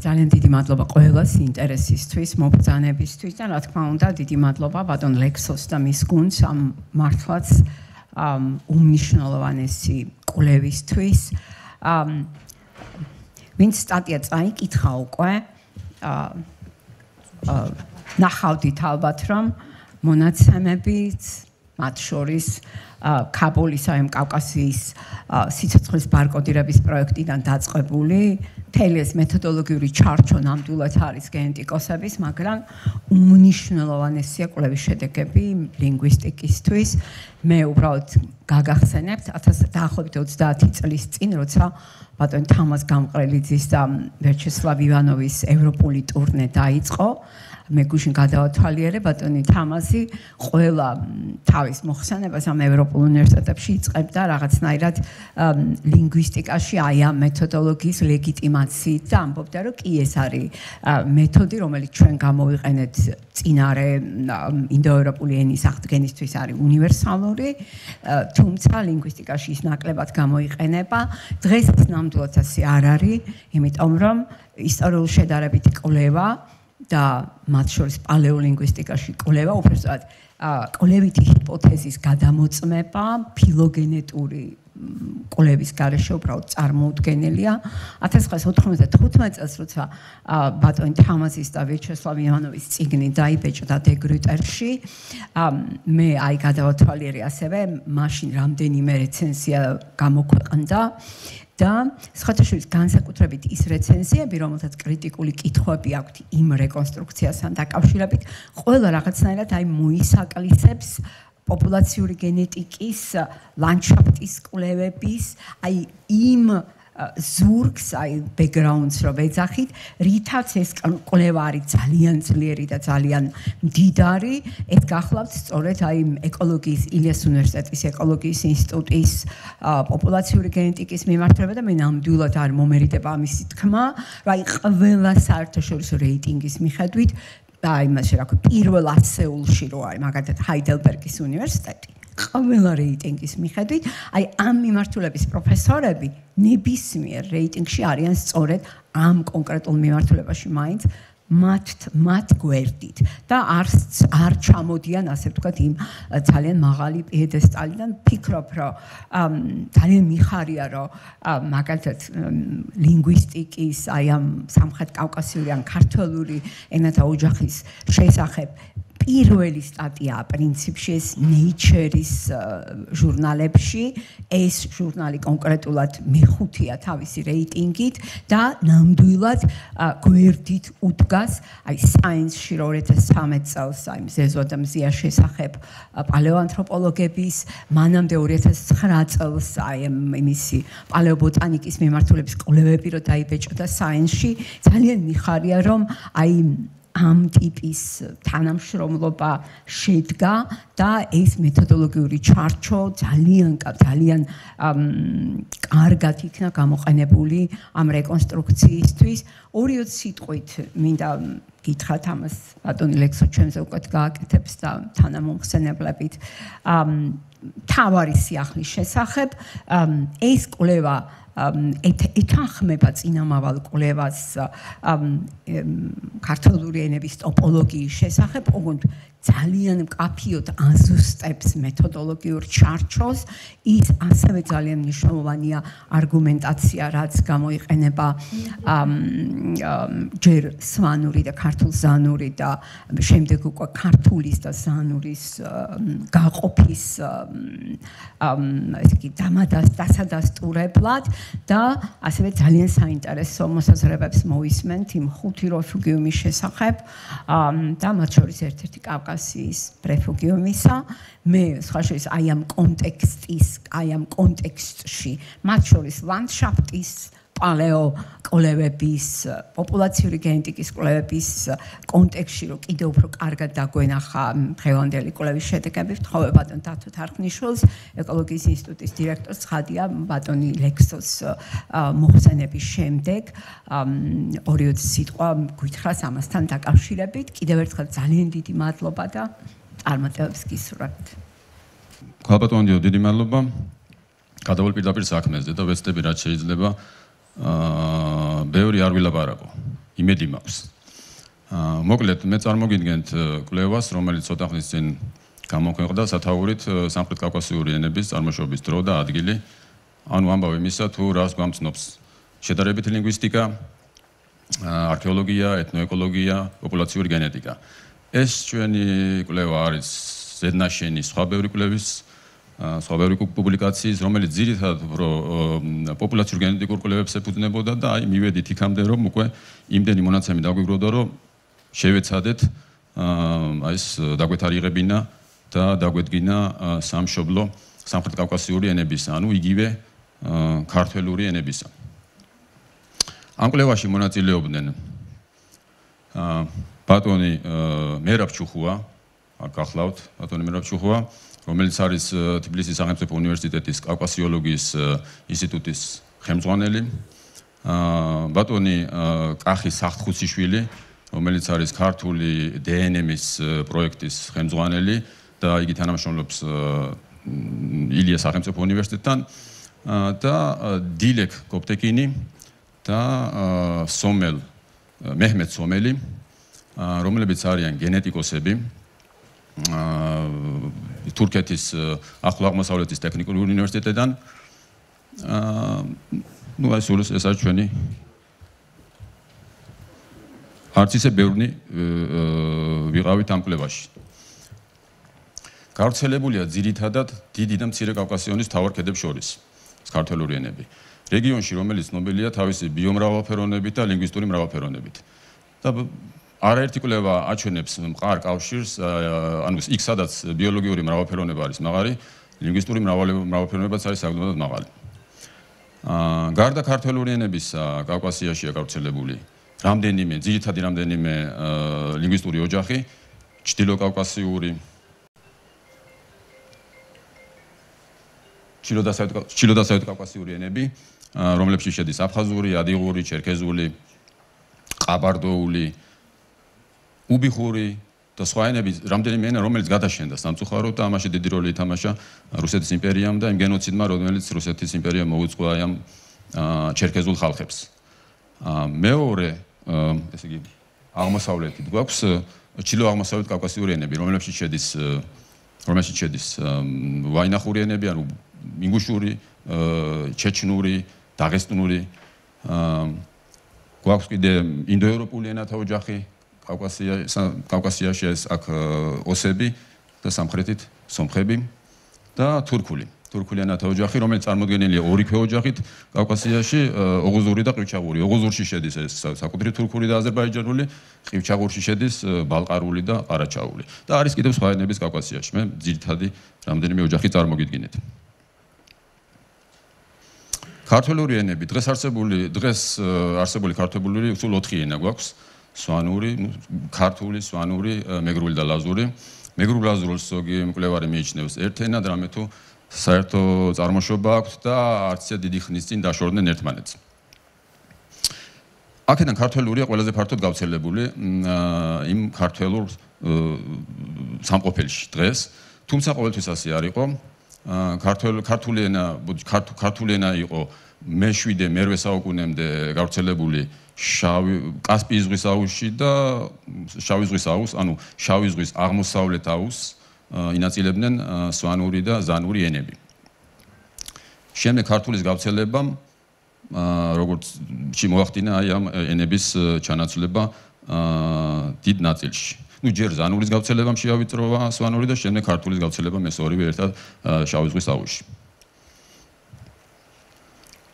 ძალიან დიდი მადლობა ყველას ინტერესისთვის, მობრძანებისთვის და რა თქმა უნდა დიდი მადლობა ბატონ ლექსოს და მის გუნდს ამ მართლაც უმნიშვნელოვანესი კვლევისთვის. ვინც სტატია წაიკითხა უკვე ნახავდით ალბათ რომ მონაცემებით მათ შორის კაბულის აი კავკასიის სიცოცხლის ბარკოდირების პროექტიდან დაწყებული მთელი ეს მეთოდოლოგიური ჩარჩო ნამდვილად არის გენეტიკოსების, მაგრამ უმნიშვნელოვანესია კვლევის შედეგები ლინგვისტიკისთვის. მე უბრალოდ გაგახსენებთ 1930 წლის წინ, როცა ბატონ თამაზ გამყრელიძის და ვიაჩესლავ ივანოვის ევროპული ტურნე დაიწყო. მე გუშინ გადავათვალიერე ბატონი თამაზი ყველა თავის მოხსენებას ამ ევროპულ უნივერსიტეტებში იწყებდა რაღაცნაირად ლინგვისტიკაში აი ამ მეთოდოლოგიის ლეგიტიმაციით და ამბობდა რომ კი ეს არის მეთოდი რომელიც ჩვენ გამოვიყენეთ წინარე ინდოევროპული ენის აღდგენისთვის არის უნივერსალური თუმცა ლინგვისტიკაში ის ნაკლებად გამოიყენება დღეს ეს ნამდვილად ასე არ არის იმიტომ რომ ისტორიულ შედარებითი კვლევა და მათ შორის პალეოლინგვისტიკაში კვლევა უბრალოდ კვლევითი ჰიპოთეზის გადამოწმება ფილოგენეტური კვლევის გარეშე უბრალოდ წარმოუდგენელია 1995 წელს როცა ბატონი თამაზის და ვიაჩესლავ ივანოვის წიგნი დაიბეჭდა დეგრუტერში მე აი გადავათვალიერე ასევე მაშინ რამდენიმე რეცენზია გამოქვეყნდა და სხვათაშორის განსაკუთრებით ის რეცენზიები, რომელთაც კრიტიკული კითხვები აქვთ იმ რეკონსტრუქციასთან დაკავშირებით, ყველა რაღაცნაირად აი მოისაკლისებს პოპულაციური გენეტიკის, ლანდშაფტის კვლევების, აი იმ ზურგს, აი ბექგრაუნდს რო ვეძახით, რითაც ეს კვლევა არის ძალიან ძლიერი და ძალიან მდიდარი, ეს გახლავთ სწორედ აი ეკოლოგიის ილიას უნივერსიტეტის ეკოლოგიის ინსტიტუტის პოპულაციური გენეტიკის მიმართულება და მე ნამდვილად არ მომერიდება ამისი თქმა, რომ აი ყველა საერთაშორისო რეიტინგის მიხედვით აი იმაში რა ქვია პირველ 10-ულში რო არის მაგალითად ჰაიდელბერგის უნივერსიტეტი ყველა რეიტინგის მიხედვით, აი ამ მიმართულების პროფესორები ნებისმიერ რეიტინგში არიან სწორედ ამ კონკრეტულ მიმართულებაში მაინც მათ გვერდით და არ ჩამოდიან ასე ვთქვათ იმ ძალიან მაღალი პიედესტალიდან ფიქრობ რომ ძალიან მიხარია რომ მაგალითად ლინგვისტიკის აი ამ სამხრეთ კავკასიური ან ქართული ენათა ოჯახის შესახებ პირველი სტატია პრინციპში ეს Nature-ის ჟურნალებში ეს ჟურნალი კონკრეტულად მეხუთეა თავისი რეიტინგით და ნამდვილად გვერდით უდგას აი Science-ში 2013 წელს აი მზეზო და მზია შესახებ პალეოანთროპოლოგების მანამდე 2009 წელს აი იმისი პალეობოტანიკის მიმართულების კვლევები რო დაიბეჭდა Science-ში ძალიან მიხარია რომ აი ამ ტიპის თანამშრომლობა შედგა და ეს მეთოდოლოგიური ჩარჩო ძალიან კარგად იქნა გამოყენებული ამ რეკონსტრუქციისთვის. ორი სიტყვით მინდა გითხრათ ამას ბატონი ლექსო ჩვენზე უკვე გააკეთებს და თანამომხსენებლებით თავარი სიახლის შესახებ ეს კვლევა ეთანხმება წინამავალ კვლევას ქართული ენების ტოპოლოგიის შესახებ, ოღონდ ძალიან მკაფიოდ აზუსტებს მეთოდოლოგიურ ჩარჩოს, ის ასევე ძალიან მნიშვნელოვანია არგუმენტაცია, რაც გამოიყენება ჯერ სვანური და ქართულ-ზანური და შემდეგ უკვე ქართულის და ზანურის გაყოფის ესე იგი დასადასტურებლად და ასევე ძალიან საინტერესო მოსაზრებებს მოისმენთ იმ ხუთი რეფუგიუმის შესახებ და მათ შორის ერთ-ერთი კავკასიის რეფუგიუმისა. მე სხვა შორის აი ამ კონტექსტში მათ შორის ლანდშაფტის პალეო კვლევების, პოპულაციური გენეტიკის კვლევების კონტექსტში რომ კიდევ უფრო კარგად დაგვენახა დღევანდელი კვლევის შედეგები, ვთხოვე ბატონ დათო თარხნიშვილს, ეკოლოგიის ინსტიტუტის დირექტორს ცხადია ბატონი ლექსოს მოხსენების შემდეგ ორი სიტყვა გითხრას ამასთან დაკავშირებით. კიდევ ერთხელ ძალიან დიდი მადლობა და წარმატებებს გისურვებთ. ქალბატონო, დიდი მადლობა. გადავალ პირდაპირ საქმეზე და ვეცდები რაც შეიძლება ბევრი არ ვილაპარაკო. იმედი მაქვს. მოკლედ მე წარმოგიდგენთ კვლევას, რომელიც ცოტა ხნის წინ გამოქვეყნდა სათაურით სამხრეთ კავკასიური ენების წარმოშობის დრო და ადგილი. ანუ ამბავი იმისა, თუ რას გვამცნობს შედარებითი ლინგვისტიკა, არქეოლოგია, ეთნოეკოლოგია, პოპულაციური გენეტიკა. ეს ჩვენი კვლევა არის ზედნაშენი სხვა ბევრი კვლევის, სხვა ბევრი პუბლიკაციის, რომელიც ძირითადად პოპულაციურ გენეტიკურ კვლევებს ეფუძნებოდა და აი მივედით იქამდე, რომ უკვე იმდენი მონაცემი დაგვიგროვდა, რომ შევეცადეთ აი ეს დაგვეთარიღებინა და დაგვედგინა სამშობლო სამხრეთ კავკასიური ენებისა, ანუ იგივე ქართველური ენებისა. ამ კვლევაში მონაწილეობდნენ ბატონი მერაბ ჩუხუა, აქ გახლავთ ბატონი მერაბ ჩუხუა, რომელიც არის თბილისის სახელმწიფო უნივერსიტეტის კავკასიოლოგიის ინსტიტუტის ხელმძღვანელი, ბატონი კახი სახთხუციშვილი, რომელიც არის ქართული დნმ-ის პროექტის ხელმძღვანელი და იგი თანამშრომლობს ილია სახელმწიფო უნივერსიტეტთან და დილეკ გოპტეკინი და სომელ მეჰმედ სომელი, რომლებიც არიან გენეტიკოსები თურქეთის ახლო აღმოსავლეთის ტექნიკური უნივერსიტეტიდან. ნუ აი სულ ეს არის ჩვენი არც ისე ბევრი ვიყავით ამ კვლევაში. გავრცელებულია ძირითადად დიდი და მცირე კავკასიონის მთავარ ქედებს შორის ქართველური ენები. რეგიონში, რომელიც ცნობილია თავისი ბიომრავალფეროვნებით და ლინგვისტური მრავალფეროვნებით. და არაერთი კვლევა აჩვენებს მყარ კავშირს, ანუ იქ სადაც ბიოლოგიური მრავალფეროვნება არის მაღალი, ლინგვისტური მრავალფეროვნებაც არის საკმაოდ მაღალი. გარდა ქართველური ენებისა, კავკასიაშია გავრცელებული რამდენიმე, ძირითადი რამდენიმე ლინგვისტური ოჯახი, ჩრდილო-დასავლეთ კავკასიური ენები, რომლებშიც შედის აფხაზური, ადიღური, ჩერქეზული, ყაბარდოული, უბიხური და სხვა ენები, რამდენიმე ენა, რომელიც გადაშენდა სამწუხაროდ და ამაში დიდი როლი ითამაშა რუსეთის იმპერიამ და იმ გენოციდმა, რომელიც რუსეთის იმპერიამ მოუწყო აი ამ ჩერქეზულ ხალხებს. მეორე, ესე იგი, აღმოსავლეთით გვაქვს ჩრდილო-აღმოსავლეთ კავკასიური ენები, რომლებშიც შედის ვაინახური ენები, ანუ ინგუშური, ჩეჩნური, დაღესტნური, გვაქვს კიდე ინდოევროპული ენათა ოჯახი, კავკასიაში ეს აქ ოსები და სამხრეთით სომხები და თურქული ენათა ოჯახი, რომელიც წარმოდგენილია ორი ქვეოჯახით კავკასიაში, ოღუზური და ყივჩაღური. ოღუზურში შედის ეს საკუთრივ თურქული და აზერბაიჯანული, ყივჩაღურში შედის ბალყარული და ყარაჩაული. და არის კიდევ სხვა ენების კავკასიაში. მე ძირითადი რამდენიმე ოჯახი წარმოგიდგინეთ. ქართველური ენები, დღეს არსებული ქართველური სულ 4 ენა გვაქვს. სვანური, ქართული, სვანური, მეგრული და ლაზური. მეგრულ ლაზურს ზოგი მკვლევარი მიიჩნევს ერთ ენად, რამე თუ საერთო წარმოშობა აქვს და არც ისე დიდი ხნის წინ დაშორდნენ ერთმანეთს. აქედან ქართველურია ყველაზე ფართოდ გავრცელებული იმ ქართველურ სამყოფელში დღეს, თუმცა ყოველთვის ასე არ იყო. ქართული ენა იყო მე-7-მე-8 საუკუნემდე გავრცელებული კასპიის ზღვის აუზში და შავი ზღვის აუზს, ანუ შავი ზღვის აღმოსავლეთ აუზს ინაწილებდნენ სვანური და ზანური ენები. შემდეგ ქართულის გავრცელებამ როგორც მოახდინა აი ამ ენების ჩანაცვლება დიდ ნაწილში. ნუ ჯერ ზანურის გავრცელებამ შეავიწროვა სვანური და შემდეგ ქართულის გავრცელებამ ეს ორივე ერთად შავი ზღვის აუზში.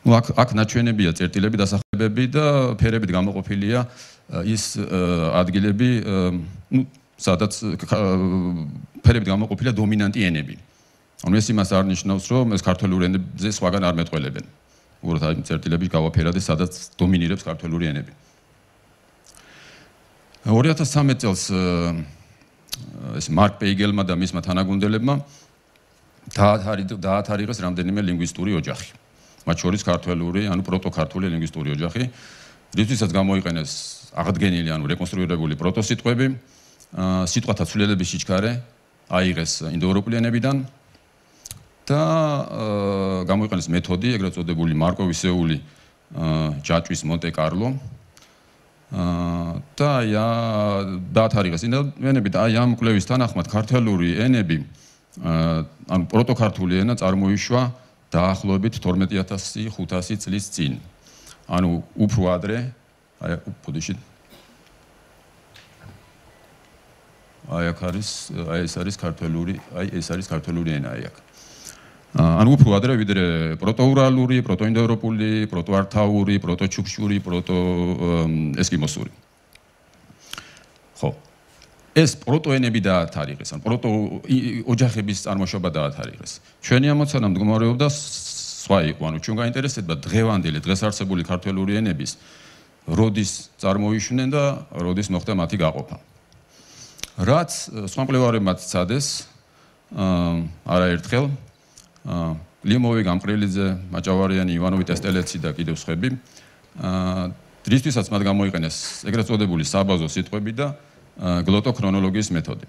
ნუ აქ ნაჩვენებია წერტილები, დასახელებები და ფერებით გამოყოფილია ის ადგილები, ნუ სადაც ფერებით გამოყოფილია დომინანტი ენები. ანუ ეს იმას არ ნიშნავს, რომ ეს ქართველური ენებზე სხვაგან არ მეტყველებენ. უბრალოდ აი წერტილები გავაფერადე, სადაც დომინირებს ქართველური ენები. 2013 წელს ეს მარკ პეიგელმა და მისმა თანაგუნდელებმა დაათარიღეს რამდენიმე ლინგვისტური ოჯახი. მათ შორის ქართველური, ანუ პროტოქართული ლინგვისტური ოჯახი, რისთვისაც გამოიყენეს აღდგენილი, ანუ რეკონსტრუირებული პროტოსიტყვები, სიტყვათა ცვლილების სიჩქარე აიღეს ინდოევროპული ენებიდან და გამოიყენეს მეთოდი, ეგრეთ წოდებული მარკოვისეული ჯაჭვის მონტე-კარლო და დაათარიღეს ინდოენები და ამ კვლევის თანახმად ქართული ენები ანუ პროტოქართული ენა წარმოიშვა დაახლოებით 12500 წლის წინ. ანუ უფრო ადრე ბოდიში ეს არის ქართული ენა აქ. ანუ უფრო ადრე ვიდრე პროტოურალური, პროტოინდოევროპული, პროტოართაური, პროტოჩუქშური, პროტოესკიმოსური. ხო. ეს პროტოენები დაათარიღეს, ან პროტოოჯახების წარმოშობა დაათარიღეს. ჩვენი ამოცანა მდგომარეობდა სხვა იყო, ანუ ჩვენ გაინტერესებდა დღევანდელი, დღეს არსებული ქართული ენების როდის წარმოიშვნენ და როდის მოხდა მათი გაყოფა. რაც სხვა მკვლევარებმა სცადეს არაერთხელ ლიმოვი, გამყრელიძე, მაჭავარიანი, ივანოვი, ტესტელეცი და კიდევ სხვები დრისთვისაც მათ გამოიყენეს ეგრეთ წოდებული საბაზო სიტყვები და გლოტოქრონოლოგიის მეთოდი.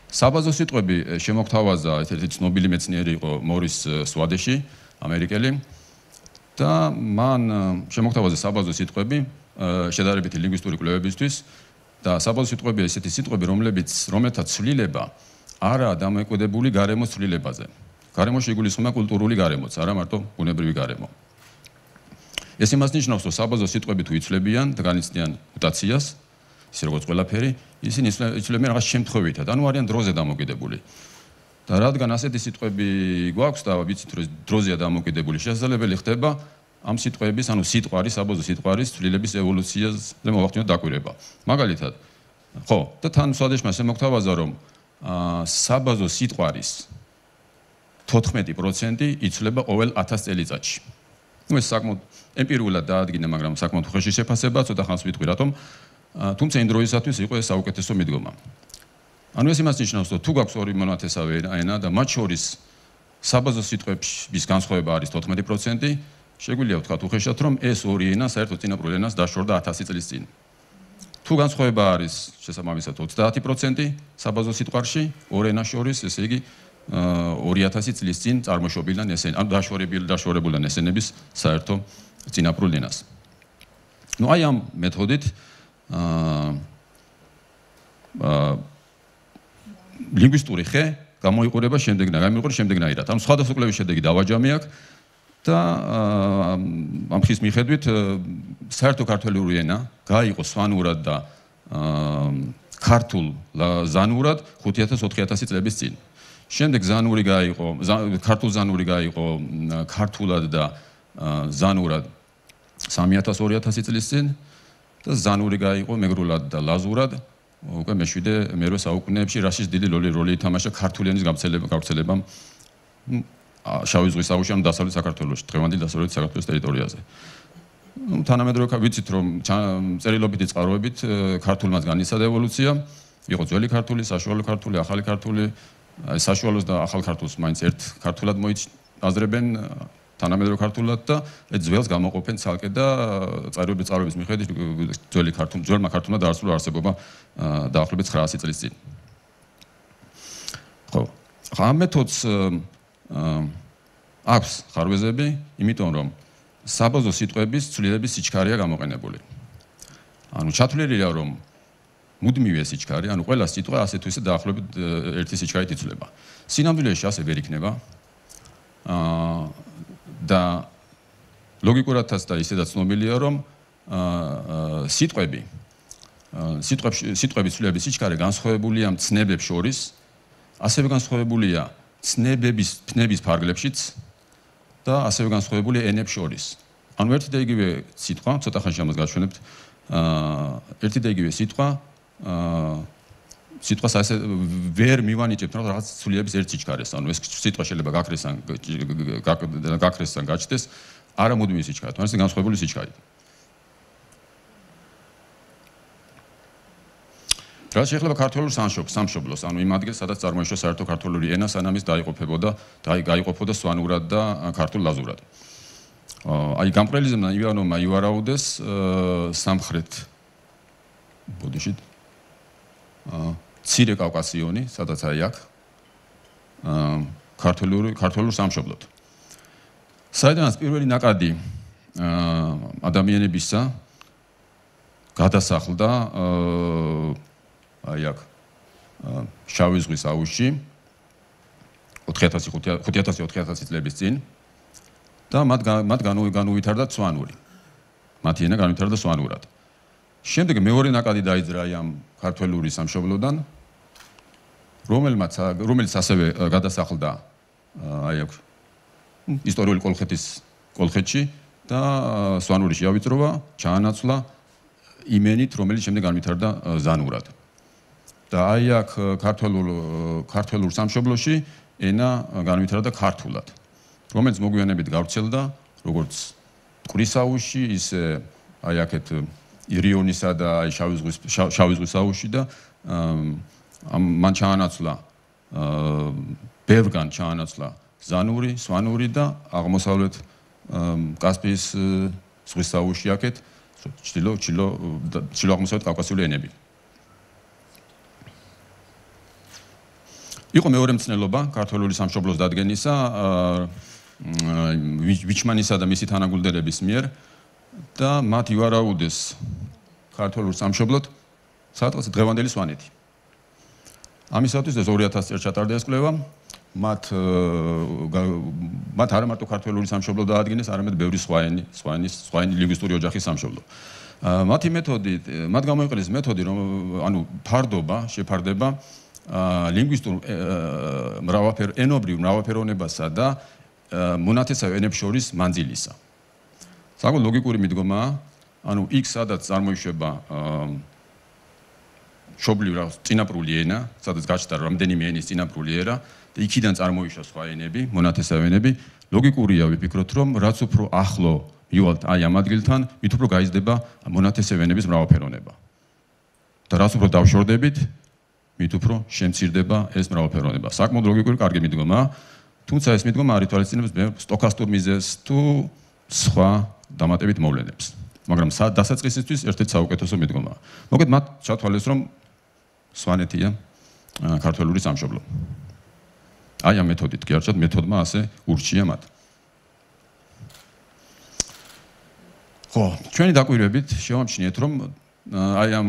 საბაზო სიტყვები შემოგთავაზა ერთ-ერთი ცნობილი მეცნიერი იყო მორის სვადეში, ამერიკელი და მან შემოგთავაზა საბაზო სიტყვები შედარებითი ლინგვისტური კვლევებისთვის და საბაზო სიტყვებია ისეთი სიტყვები, რომელთაც ცვლილება არაა დამოუკიდებელი გარემოს ცვლილებაზე. გარემოში იგულისხმება კულტურული გარემოც, არა მარტო ბუნებრივი გარემო. ეს იმას ნიშნავს, რომ საბაზო სიტყვები თუ იცვლებიან და განიცდიან მუტაციას, ისე როგორც ყველაფერი, ისინი იცვლებიან რაღაც შემთხვევითად, ანუ არიან დროზე დამოკიდებული. და რადგან ასეთი სიტყვები გვაქვს და ვიცით, რომ დროზეა დამოკიდებული, შესაძლებელი ხდება ამ სიტყვების, ანუ სიტყვარის, საბაზო სიტყვარის ცვლილების ევოლუციაზე მოვახდინოთ დაკვირვება. მაგალითად, ხო, და თან სვადეშმა შემოგთავაზა, რომ საბაზო სიტყვარის 14% იცვლება ყოველ 1000 წელიწადში. ეს საკმაოდ ემპირიულად დაადგინა, მაგრამ საკმაოდ უხეში შეფასება, ცოტა ხანს ვიტყვი რატომ. თუმცა იმ დროისათვის იყო ეს საუკეთესო მიდგომა. ანუ ეს იმას ნიშნავს, რომ თუ გაქვს ორი მონათესავე ენა და მათ შორის საბაზო სიტყვების განსხვავება არის 14%, შეგვიძლია ვთქვათ უხეშად, რომ ეს ორი ენა საერთოდ წინაპრულ ენას დაშორდა 1000 წლის წინ. თუ განსხვავება არის შესაბამისად 30% საბაზო სიტყვაში ორ ენას შორის, ესე იგი 2000 წლის წინ წარმოშობილან ესენი, ანუ დაშორებულან ესენების საერთო წინაპრულ ენას. ნუ აი ამ მეთოდით ლინგვისტური ხე გამოიყურება შემდეგნაირად. ანუ სხვადასხვა კვლევის შედეგი დავაჯამე აქ და ამ ხის მიხედვით საერთო ქართული ენა გაიყო სვანურად და ქართულ ზანურად 5000-4000 წლების წინ. შემდეგ ზანური გაიყო, ქართულ ზანური გაიყო ქართულად და ზანურად 3000-2000 წლის წინ და ზანური გაიყო მეგრულად და ლაზურად უკვე მე-7-მე საუკუნეებში, რასაც დიდი როლი ითამაშა ქართული ენის გავრცელებამ შავი ზღვის აუზში, ანუ დასავლეთ საქართველოში, დღევანდელი დასავლეთ საქართველოს ტერიტორიაზე. თანამედროვე ვიცით, რომ წერილობითი წყაროებით ქართულმაც განიცადა ევოლუცია, იყო ძველი ქართული, საშუალო ქართული, ახალი ქართული, საშუალოს და ახალ ქართულს მაინც ერთ ქართულად მოიაზრებენ თანამედროვე ქართულად და ძველს გამოყოფენ ცალკე და წყაროების მიხედვით ძველმა ქართულმა დაასრულა არსებობა დაახლოებით 900 წლის წინ. ხო, ამ მეთოდს აქვს ხარვეზები, იმიტომ რომ საბაზო სიტყვების ცვლილების სიჩქარეა გამოყენებული. ანუ ჩათვლილია, რომ მუდმივი სიჩქარე, ანუ ყველა სიტყვა ასე თუ ისე დაახლოებით ერთი სიჩქარით იცვლება. სინამდვილეში ასე ვერ იქნება. და ლოგიკურადაც და ისედაც ცნობილია, რომ სიტყვების ცვლილების სიჩქარე განსხვავებულია ცნებებს შორის, ასევე განსხვავებულია ცნებების ფნების ფარგლებშიც და ასევე განსხვავებულია ენებს შორის. ანუ ერთი და იგივე სიტყვა, ცოტა ხანში ამას გაჩვენებთ, ერთი და იგივე სიტყვას ასე ვერ მივანიჭებთ, რომ რაღაც ცვლილების ერთ სიჩქარეს. ანუ ეს სიტყვა შეიძლება გაქრეს ან გაჩნდეს არა მუდმივი სიჩქარით, თუმცა განსხვავებული სიჩქარით. რაც შეიძლება ქართულ სამშობლოს, ანუ იმ ადგილს, სადაც წარმოიშვა საერთო ქართული ენა, სანამ ის გაიყოფოდა სვანურად და ქართულ ლაზურად. აი გამყრელიძემ და ივანოვმა ივარაუდეს სამხრეთ ბოდიში ცირე კავკასიონი, სადაც აი აქ ქართულ სამშობლოდ. საიდანაც პირველი ნაკადი ადამიანებისა გადასახლდა აი აქ შავი ზღვის აუზში 5000-4000 წლების წინ და მათ განუვითარდა სვანური. მათი ენა განუვითარდა სვანურად. შემდეგ მეორე ნაკადი დაიძრა ამ ქართველური სამშობლოდან, რომელიც ასევე გადასახლდა აი აქ ისტორიული კოლხეთში და სვანურში ავიწროვა, ჩაანაცვლა იმენით, რომელიც შემდეგ განვითარდა ზანურად. და აი აქ ქართველურ სამშობლოში ენა განვითარდა ქართულად, რომელიც მოგვიანებით გავრცელდა როგორც მტკვრის აუზში, ისე აი აქეთ ირიონისა და აი შავი ზღვის აუზში და მან ჩაანაცვლა ბევრგან ჩაანაცვლა ზანური, სვანური და აღმოსავლეთ კასპიის ზღვის აუზში აქეთ ჩრდილო აღმოსავლეთ კავკასიური ენები. იყო მეორე მცნელობა ქართველური სამშობლოს დადგენისა ვიჩმანისა და მისი თანაგულდერების მიერ და მათ ივარაუდეს ქართველურ სამშობლოდ სადღაც დღევანდელი სვანეთი. ამისათვის ეს 2000 წელს ჩატარდა ეს კვლევა, მათ არა მარტო ქართველური სამშობლო დაადგენეს, არამედ ბევრი სხვა ლინგვისტური ოჯახის სამშობლო. მათი მეთოდი, მათ გამოიყენეს მეთოდი, რომ ანუ შეფარდება ლინგვისტურ ენობრივ მრავალფეროვნებასა და მონათესავე ენებს შორის მანძილისა. საკუთარ ლოგიკური მიდგომაა, ანუ იქ სადაც წარმოიშვება მშობლიური წინაპრული ენა, სადაც გაჩნდა რამდენიმე ენის წინაპრული ერა და იქიდან წარმოიშვა სხვა ენები, მონათესავე ენები, ლოგიკურია ვიფიქროთ, რომ რაც უფრო ახლო მივალთ აი ამ ადგილთან, მით უფრო გაიზრდება მონათესავე ენების მრავალფეროვნება. და რაც უფრო დავშორდებით, მით უფრო შემცირდება ეს მრავალფეროვნება. საკმაოდ ლოგიკური კარგი მიდგომაა, თუმცა ეს მიდგომა არ ითვალისწინებს სტოქასტურ მიზეზს თუ სხვა დამატებით მოვლენებს. მაგრამ დასაწყისისთვის ერთ-ერთი საუკეთესო მიდგომაა. მოგეთ მათ ჩათვალეს, რომ სვანეთია ქართველური სამშობლო. აი ამ მეთოდით კი არჩათ მეთოდმა ასე ურჩია მათ. ხო, ჩვენი დაკვირვებით შევამჩნიეთ, რომ აი ამ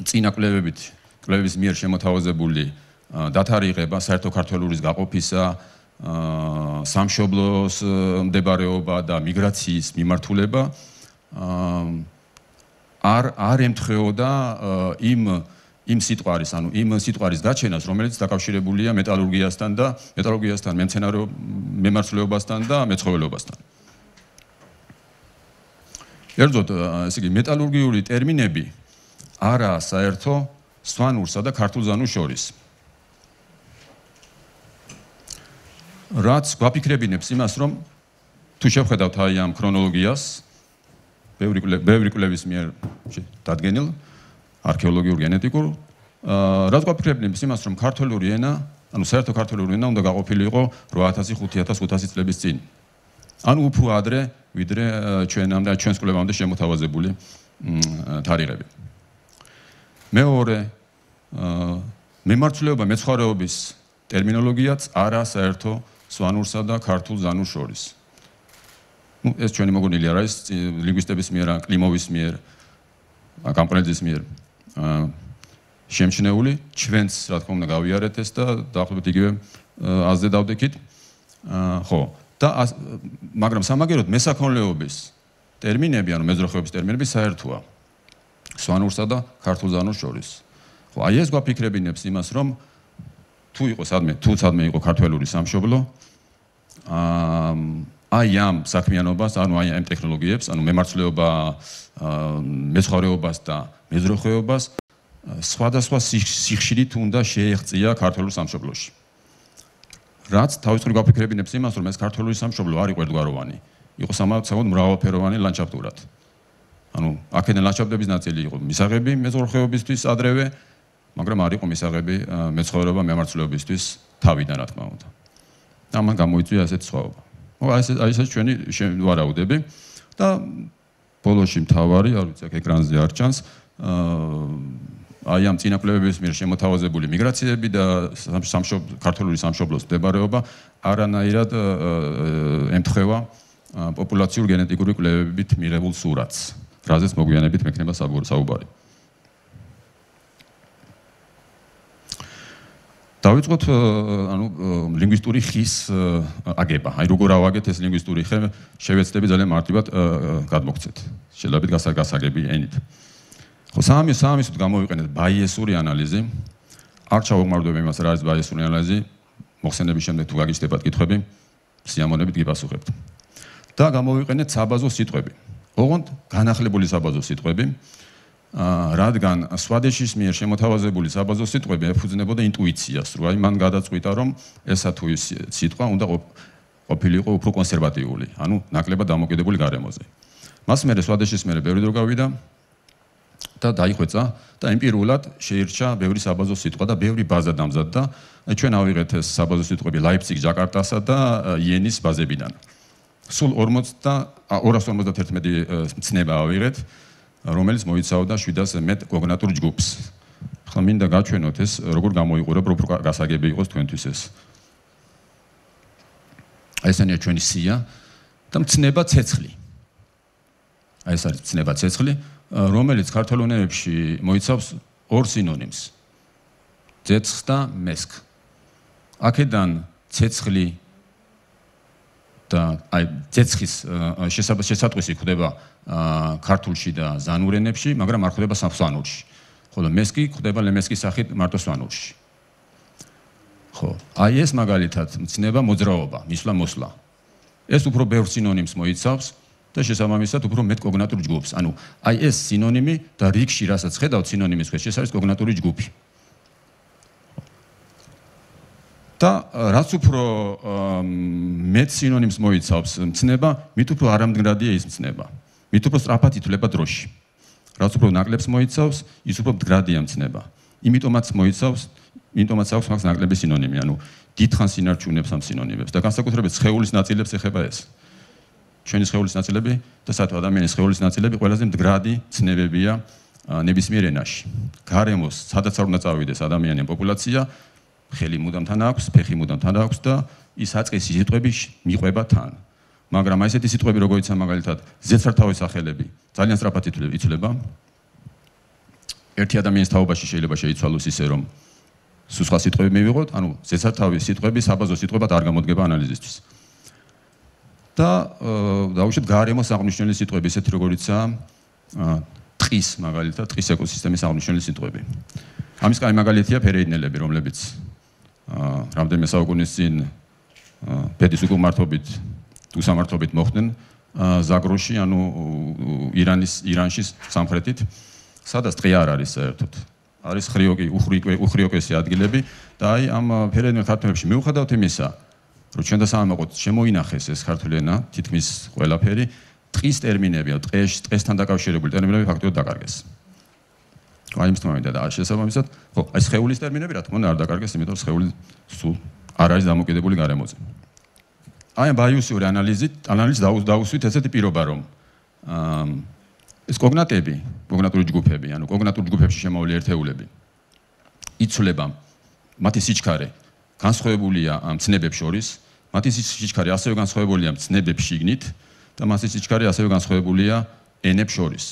წინა კვლევების მიერ შემოთავაზებული დათარიღება საერთო ქართველურის გაყოფისა, სამშობლოს მდებარეობა და მიგრაციის მიმართულება არ ემთხვეოდა იმ სიტყვარის გაჩენას, რომელიც დაკავშირებულია მეტალურგიასთან, მემარცვლეობასთან და მეცხოველეობასთან. ერთოდ, ესე იგი, მეტალურგიული ტერმინები არაა საერთო სვანურსა და ქართულ ზანურს შორის. რაც გვაფიქრებინებს იმას, რომ თუ შევხედავთ აი ამ ქრონოლოგიას, ბევრი კვლევის მიერ დადგენილ, არქეოლოგიურ გენეტიკურ, რაც გვაფიქრებინებს იმას, რომ ქართული ენა, ანუ საერთო ქართული ენა უნდა გაყოფილიყო 8000-5500 წლების წინ. ანუ უფრო ადრე, ვიდრე ჩვენს კვლევამდე შემოთავაზებული თარიღები. მეორე, მემარცვლეობა მეცხვარეობის ტერმინოლოგიაც არა საერთო სვანურსა და ქართულ ზანურს შორის. ეს ჩვენი მოგონილი არ არის ლინგვისტების მიერ, კლიმოვის მიერ, კამპრეძის მიერ შემჩნეული, ჩვენც რა თქმა უნდა გავიარეთ ეს და დაახლოებით იგივე აზრზე დავდექით. ხო, და მაგრამ სამაგეროდ მესაქონლეობის ტერმინები, ანუ მეზროხეობის ტერმინები საერთოა სვანურსა და ქართულ ზანურს შორის. ხო, აი ეს გვაფიქრებინებს იმას, რომ თუ სადმე იყო ქართველური სამშობლო, აი ამ საქმიანობას, ანუ აი ამ ტექნოლოგიებს, ანუ მემარცვლეობა, მეცხვარეობას და მეზროხეობას სხვადასხვა სიხშირით უნდა შეეღწია ქართულ სამშობლოში. რაც თავისუფლად გვაფიქრებინებს იმას, რომ ეს ქართული სამშობლო არ იყო ერთგვაროვანი, იყო სამავდაცავად მრავალფეროვანი ლანდშაფტურად. ანუ აქედან ლანდშაფტების ნაწილი იყო მისაღები მეზროხეობისთვის ადრევე, მაგრამ არ იყო მისაღები მეცხოველეობა მემარცვლეობისთვის თავიდან, რა თქმა უნდა. და ამან გამოიწვია ასეთი სხვაობა. აი ეს ჩვენი ვარაუდები და ბოლოში მთავარი, არ ვიცი, აქ ეკრანზე არ ჩანს, აი ამ წინა კვლევების მიერ შემოთავაზებული მიგრაციები და ქართული სამშობლოს მდებარეობა არანაირად ემთხვევა პოპულაციურ გენეტიკური კვლევებით მიღებულ სურათს. რაზეც მოგვიანებით მექნება საუბარი. დავიწყოთ ლინგვისტური ხის აგება. აი როგორ ავაგეთ ეს ლინგვისტური ხე, შევეცდები ძალიან მარტივად გადმოგცეთ. შეიძლება გასაგები ენით. ხო, სამისოდ გამოვიყენეთ ბაიესური ანალიზი. არ ჩავუყმარდები იმას, რა არის ბაიესური ანალიზი. მოხსენების შემდეგ თუ გაგიჩნდებათ კითხვები, სიამოვნებით გიპასუხებთ. და გამოვიყენეთ საბაზო სიტყვები. ოღონდ განახლებული საბაზო სიტყვები. რადგან სვადეშის მიერ შემოთავაზებული საბაზო სიტყვები ეფუძნებოდა ინტუიციას, რომ აი მან გადაწყვიტა, რომ ესა თუ ის სიტყვა უნდა ყოფილიყო უფრო კონსერვატიული, ანუ ნაკლებად დამოკიდებული გარემოზე. მას მერე სვადეშის მერე ბევრი დრო გავიდა და დაიხვეწა და ემპირიულად შეირჩა ბევრი საბაზო სიტყვა და ბევრი ბაზა დამზადდა. აი ჩვენ ავიღეთ ეს საბაზო სიტყვები ლაიფციგ, ჯაკარტასა და იენის ბაზებიდან. სულ 251 მცნება ავიღეთ, რომელიც მოიცავდა 700-ზე მეტ კოგნატურ ჯგუფს. ახლა მინდა გაჩვენოთ ეს როგორ გამოიყურებ, რომ გასაგები იყოს თქვენთვის ეს. აი ესენია ჩვენი სია და მცნება ცეცხლი. აი ეს არის მცნება ცეცხლი, რომელიც ქართულ ენებში მოიცავს ორ სინონიმს. ცეცხლ და მესქ. აქედან ცეცხლი და აი ცეცხლის შესატყვისი ხდება ქართულში და ზანურ ენებში, მაგრამ არ ხდება სვანურში. ხოლო მესკი ხდება ლემესკის სახით მარტო სვანურში. ხო, აი ეს მაგალითად მცნება მოძრაობა, მისვლა-მოსვლა. ეს უფრო ბევრ სინონიმს მოიცავს და შესაბამისად უფრო მეტ კოგნატურ ჯგუფს. ანუ აი ეს სინონიმი და რიგში რასაც ხედავთ სინონიმის ქვეშ, ეს არის კოგნატური ჯგუფი. და რაც უფრო მეტ სინონიმს მოიცავს მცნება, მით უფრო არამდგრადია ის მცნება. მით უფრო სწრაფად ითვლება დროში. რაც უფრო ნაკლებს მოიცავს, ის უფრო მდგრადია მცნება. იმიტომაც აქვს მაგას ნაკლები სინონიმი, ანუ დიდხანს ინარჩუნებს ამ სინონიმებს და განსაკუთრებით სხეულის ნაწილებს ეხება ეს. ჩვენი სხეულის ნაწილები და საერთოდ ადამიანის სხეულის ნაწილები ყველაზე მდგრადი ცნებებია ნებისმიერ ენაში. გარემოს, სადაც არ უნდა წავიდეს ადამიანი ან პოპულაცია, ხელი მუდამ თან აქვს, ფეხი მუდამ თან აქვს და ის აწყისი სიტყვები მიყვება თან. მაგრამ აი ესეთი სიტყვები როგორიცაა მაგალითად ზეცართავის სახელები ძალიან სწრაფად იცვლება. ერთი ადამიანის თაობაში შეიძლება შეიცვალოს ისე რომ სხვა სიტყვები მივიღოთ, ანუ ზეცართავის სიტყვები საბაზო სიტყვებად არ გამოდგება ანალიზისთვის. და დაუშვით გარემოს აღნიშნული სიტყვები, ისეთი როგორიცაა ტყის მაგალითად, ტყის ეკოსისტემის აღნიშნული სიტყვები. ამის კაი მაგალითია ფერეიდნელები, რომლებიც რამდენიმე საუკუნის წინ ბედის უკმართობით თუ სამართობით მოხვდნენ ზაგროში, ანუ ირანში სამხრეთით, სადაც ტყე არ არის საერთოდ. არის უხრიოკესი ადგილები და აი ამ ფერეიდნელ ქართველებში მიუხედავად იმისა, რომ ჩვენ და სამაყოთ შემოინახეს ეს ქართული ენა, თითქმის ყველაფერი, ტყის ტერმინები, ტყესთან დაკავშირებული ტერმინები ფაქტობრივად დაკარგეს. აი იმის თქმამინდა და შესაბამისად, ხო, აი სხეულის ტერმინები რა თქმა უნდა არ დაკარგეს, იმიტომ რომ სხეული სულ არ არის დამოკიდებული გარემოზე. აი ბაიუსური ანალიზით დაუსვით ესეთი პირობა, რომ ეს კოგნატები, კოგნატური ჯგუფები, ანუ კოგნატურ ჯგუფებში შემოვლი ერთეულები იცვლება მათი სიჩქარე განსხვავებულია მცნებებს შორის, მათი სიჩქარე ასევე განსხვავებულია მცნებებს შიგნით და მათი სიჩქარე ასევე განსხვავებულია ენებს შორის.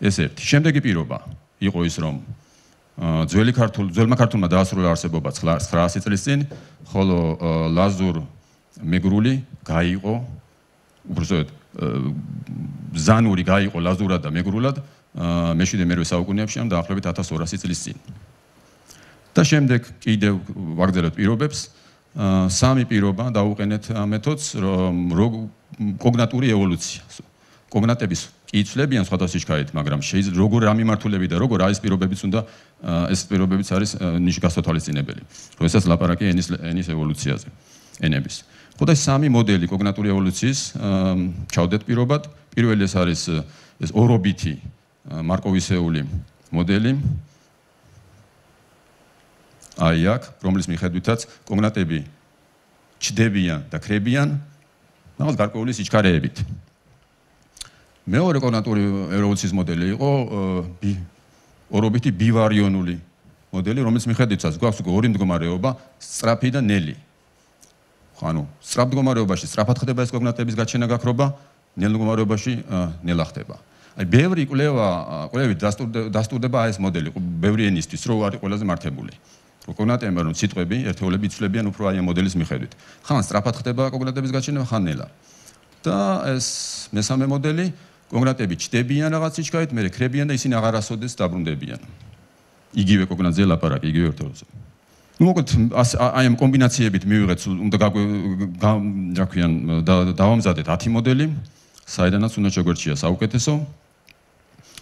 ეს ერთი. შემდეგი პირობა იყო ის, რომ ძველმა ქართულმა დაასრულა არსებობა 900 წლის წინ, ხოლო ლაზურ მეგრული გაიყო, უბრალოდ ზანური გაიყო ლაზურად და მეგრულად მე-7-მე საუკუნეებში, ამ დაახლოებით 1200 წლის წინ. და შემდეგ კიდევ ვაგრძელებთ პირობებს, სამი პირობა დაუყენეთ მეთოდს, რომ კოგნატური ევოლუცია. კოგნატების კი იცვლებიან სხვადასხვა სიჩქარით, მაგრამ შეიძლება როგორ რა მიმართულები და როგორ არის პირობებიც უნდა ეს პირობებიც არის ნიშგასთვალისწინებელი. როდესაც ლაპარაკია ენის ევოლუციაზე, ენების. ხო და სამი მოდელი კოგნატური ევოლუციის ჩავდეთ პირობად. პირველი ეს არის ეს ორობითი მარკოვისეული მოდელი. აი აქ, რომლის მიხედვითაც კოგნატები ჩდებიან და ქრებიან რაღაც გარკვეული სიჩქარეებით. მეორე კოგნატური ევოლუციის მოდელი იყო ორობითი ბივარიონული მოდელი, რომელიც მიხედვითაც გვაქვს ორი მდგომარეობა, სწრაფი და ნელი. ანუ სწრაფ მდგომარეობაში სწრაფად ხდება ეს კოგნატების გაჩენა გაქრობა ნელ მდგომარეობაში ნელა ხდება. აი ბევრი კვლევით დასტურდება ეს მოდელი, ბევრი ენისთვის, რომ არის ყველაზე მართებული. კოგნატებმა რომ სიტყვები, ერთეულები იცვლებიან უფრო აი ამ მოდელის მიხედვით. ხან სწრაფად ხდება კოგნატების გაჩენება, ხან ნელა. და ეს მესამე მოდელი, კოგნატები ჩდებიან რაღაც სიჩქარით, მერე ქრებიან და ისინი აღარასოდეს დაბრუნდებიან. იგივე კოგნატზე ლაპარაკი, იგივე ერთეულზე. ну მოკლედ აი ამ კომბინაციებით მივიღეთ უნდა დავამზადეთ 10 მოდელი, საიდანაც უნდა შეგვერჩია საუკეთესო.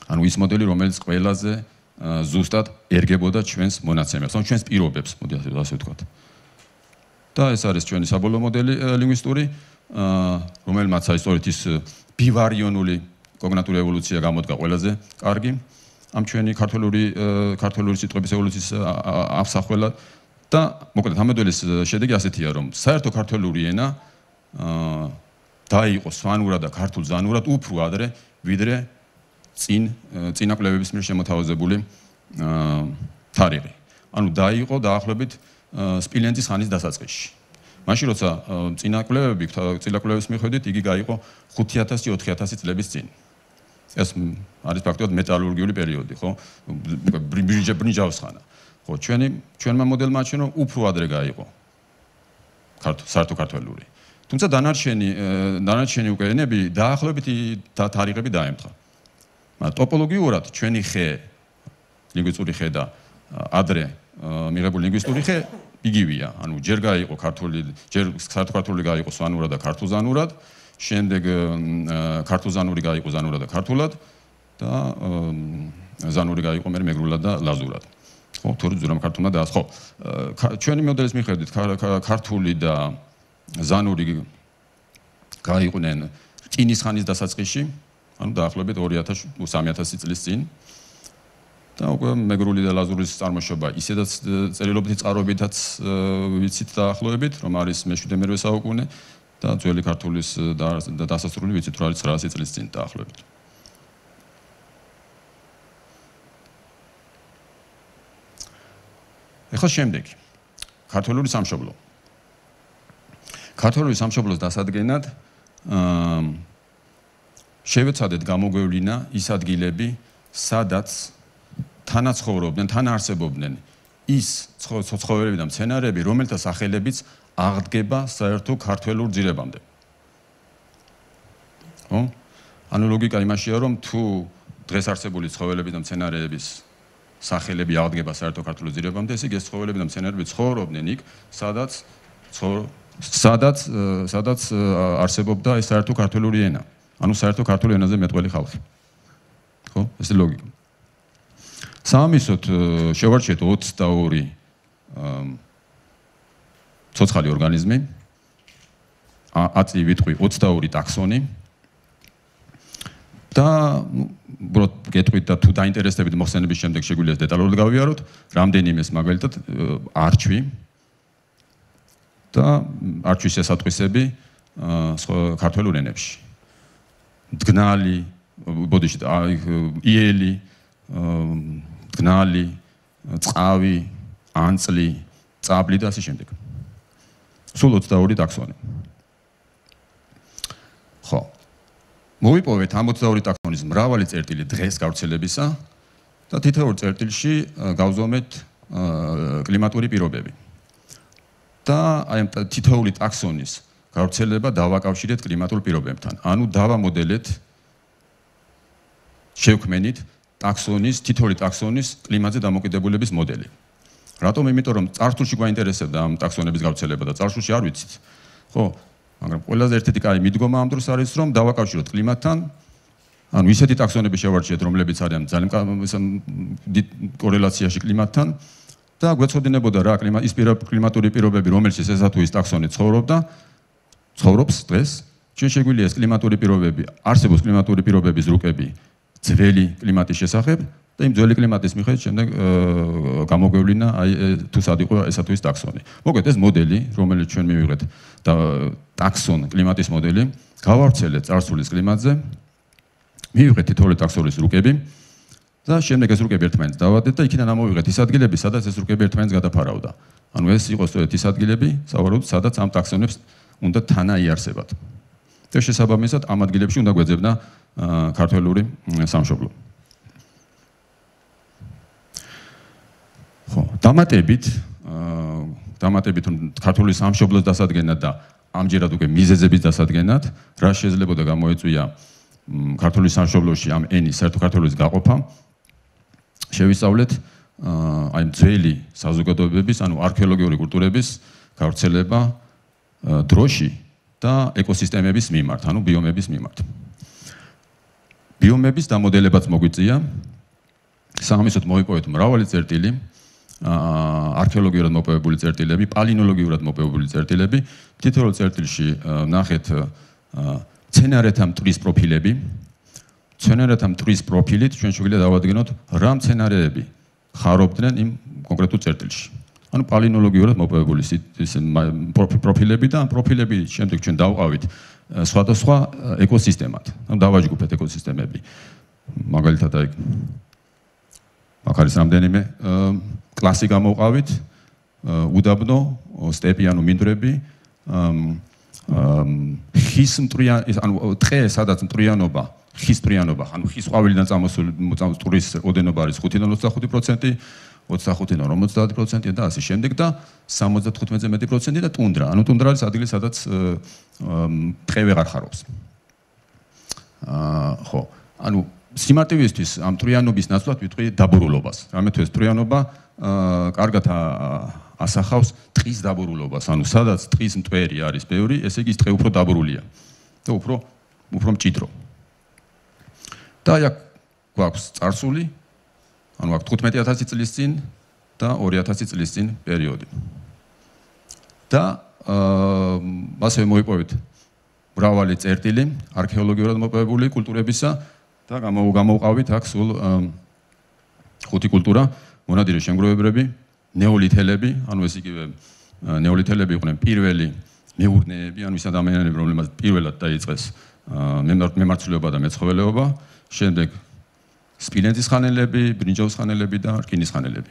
ანუ ის მოდელი, რომელიც ყველაზე ზუსტად ერგებოდა ჩვენს მონაცემებს, ან ჩვენს პირობებს, მოდი ასე ვთქვათ. და ეს არის ჩვენი საბოლოო მოდელი ლინგვისტური, რომელმაც აი სწორედ ის ბივარიონული კოგნიტური ევოლუცია გამოდგა ყველაზე კარგი ამ ჩვენი ქართული სიტყვების ევოლუციის ამსახველად და მოკლედ ამ მოდელის შედეგი ასეთია, რომ საერთო ქართული ენა დაიყო სვანურად და ქართულ ზანურად უფრო ადრე, ვიდრე წინა კვლევების მიერ შემოთავაზებული თარიღი. ანუ დაიყო დაახლოებით სპილენძის ხანის დასაწყისში. მაშინ როცა წინა კვლევების მიხედვით იგი გაიყო 5000-4000 წლების წინ. ეს არის ფაქტობრივად მეტალურგიული პერიოდი, ხო? ბრინჯაოს ხანა. ხო, ჩვენმა მოდელმა აჩვენა უფრო ადრე გაიყო საერთო ქართული. თუმცა დანარჩენი უკვე ენები დაახლოებით თარიღები დაემთხა. ტოპოლოგიურად ჩვენი ხე, ლინგვისტური ხე და ადრე მიღებული ლინგვისტური ხე იგივეა. ანუ ჯერ გაიყო საერთო ქართული გაიყო სვანურად და ქართულზანურად, შემდეგ ქართულზანური გაიყო ზანურად და ქართულად და ზანური გაიყო მეგრულად და ლაზურად. ხო, თორე ზურამ ქართულმა და ხო, ჩვენი მოდელის მიხედვით ქართული და ზანური გაიყვნენ რკინის ხანის დასაწყისში, ანუ დაახლოებით 2000-3000 წლის წინ. და უკვე მეგრული და ლაზურის წარმოშობა ისედაც წერილობითი წყაროებითაც ვიცით დაახლოებით, რომ არის მე-7-მე საუკუნე და ძველი ქართულის დასასრული ვიცით, რომ არის 900 წლის წინ დაახლოებით. ეხლა შემდეგი ქართული სამშობლო. ქართული სამშობლოს დასადგენად შევეცადეთ გამოგვევლინა ის ადგილები, სადაც თანაცხოვრობდნენ, თანაარსებობდნენ ის ცხოველები და მცენარეები, რომელთა სახელებიც აღდგება საერთო ქართველურ ძირებამდე. ხო? ანუ ლოგიკა იმაშია, რომ თუ დღეს არსებული ცხოველები და მცენარეების სახელები აღდგება საერთო ქართულ ძირებამდე, ესე იგი ეს ცხოველები და მცენარეები ცხოვრობდნენ იქ, სადაც არსებობდა ეს საერთო ქართული ენა. ანუ საერთო ქართული ენაზე მეტყველი ხალხი. ხო? ეს ლოგიკა. სამისოთ შევარჩიეთ 22 ცოცხალი ორგანიზმი, აწი ვიტყვი 22 ტაქსონი და უბრალოდ გეტყვით და თუ დაინტერესდებით მოხსენების შემდეგ შეგვიძლია დეტალურად გავიაროთ, რამდენიმეს მაგალითად არჩვი და არჩვის შესატყვისები ქართულ ენებში. მდგნალი, ბოდიში, იელი, მდგნალი, წყავი, ანწლი, წაბლი და ასე შემდეგ. სულ 22 ტაქსონი. ხო. მოვიპოვეთ ამ 22 ტაქსონის მრავალი წერტილი დღეს გავრცელებისა და თითოეულ წერტილში გავზომეთ კლიმატური პირობები. და აი თითოეული ტაქსონის გავრცელება დავაკავშირეთ კლიმატურ პირობებთან. ანუ დავამოდელეთ შევქმენით თითოეული ტაქსონის კლიმატზე დამოკიდებულების მოდელი. რატომ? იმიტომ რომ წარსულში გვაინტერესებდა ამ ტაქსონების გავრცელება და წარსულში არ ვიცით. ხო, მაგრამ ყველაზე ერთ-ერთი კაი მიდგომა ამ დროს არის, რომ დავაკავშიროთ კლიმატთან, ანუ ისეთი ტაქსონები შევარჩიეთ, რომლებიც არიან ძალიან დიდ კორელაციაში კლიმატთან და გვეცოდინებოდა რა ის კლიმატური პირობები, რომელშიც ესა თუ ის ტაქსონი ცხოვრობს დღეს, ჩვენ შეგვიძლია ეს კლიმატური პირობები, არსებობს კლიმატური პირობების რუკები ძველი კლიმატის შესახებ და იმ ძველი კლიმატის მიხედვით შემდეგ გამოგვევლინა აი თუ სად იყო ესა თუ ის ტაქსონი. მოკლედ ეს მოდელი, რომელიც ჩვენ მივიღეთ და ტაქსონ კლიმატის მოდელი, გავავრცელეთ წარსულის კლიმატზე, მივიღეთ თითოეული ტაქსონის რუკები და შემდეგ ეს რუკები ერთმანეთს დავადეთ და იქიდან ამოვიღეთ ის ადგილები, სადაც ეს რუკები ერთმანეთს გადაფარავდა. ანუ ეს იყო სწორედ ის ადგილები, სავარაუდოდ, სადაც ამ ტაქსონებს უნდა თანაიარსებათ. და შესაბამისად ამ ადგილებში უნდა გვეძებნა ქართველური სამშობლო. ხო, დამატებით ქართული სამშობლოს დასადგენად და ამჯერად უკვე მიზეზების დასადგენად, რა შეიძლებოდა გამოეწვია ქართული სამშობლოში ამ ენის საერთო ქართულის გაყოფა, შევისწავლეთ აი ძველი საზოგადოებების, ანუ არქეოლოგიური კულტურების გავრცელება დროში და ეკოსისტემების მიმართ, ანუ ბიომების მიმართ. ბიომების დამოდელებაც მოგვიწია, სამისოთ მოვიპოვეთ მრავალი წერტილი, არქეოლოგიურად მოპოვებული წერტილები, პალინოლოგიურად მოპოვებული წერტილები, თითოეულ წერტილში ნახეთ მცენარეთა მტვრის პროფილები. მცენარეთა მტვრის პროფილით ჩვენ შეგვიძლია დავადგენოთ რა მცენარეები ხარობდნენ იმ კონკრეტულ წერტილში. ანუ პალინოლოგიურად მოპოვებული პროფილები და ამ პროფილები შემდეგ ჩვენ დავყავით სხვადასხვა ეკოსისტემად. ანუ დავაჯგუფეთ ეკოსისტემები. მაგალითად აი აქ არის რამდენიმე კლასი გამოვყავით, უდაბნო, სტეპი ანუ მინდვრები, ხის მტრიანი, ანუ ტყე, სადაც მტრიანობა, ხის მტრიანობა, ანუ ხის ყვავილიდან წამოსული მტვრის ოდენობა არის 5-დან 25%, 25-დან 50% და ასე შემდეგ და 75-ზე მეტი პროცენტი და ტუნდრა. ანუ ტუნდრა არის ადგილი, სადაც ტყე ვეღარ ხარობს. ხო, ანუ სიმარტივისთვის ამ მტრიანობის ნაცვლად ვიტყვი დაბურულობას. რამე თუ ეს მტრიანობა კარგად ასახავს ტყის დაბურულობას, ანუ სადაც ტყის მტვერი არის ბევრი, ესე იგი ტყე უფრო დაბურულია და უფრო მჭიდრო. და აი აქ გვაქვს წარსული, ანუ აქ 15000 წლის წინ და 2000 წლის წინ პერიოდი. და ასევე მოიპოვეთ მრავალი წერტილი არქეოლოგიურად მოპოვებული კულტურებისა და გამოვყავით აქ სულ 5 კულტურა, მონადირე შემგროვებლები, ნეოლითელები, ანუ ეს იგივე ნეოლითელები იყვნენ პირველი მეურნეები, ანუ ის ადამიანები, რომლებმაც პირველად დაიწყეს მემარცვლეობა და მეცხოველეობა, შემდეგ სპილენძის ხანელები, ბრინჯაოს ხანელები და რკინის ხანელები.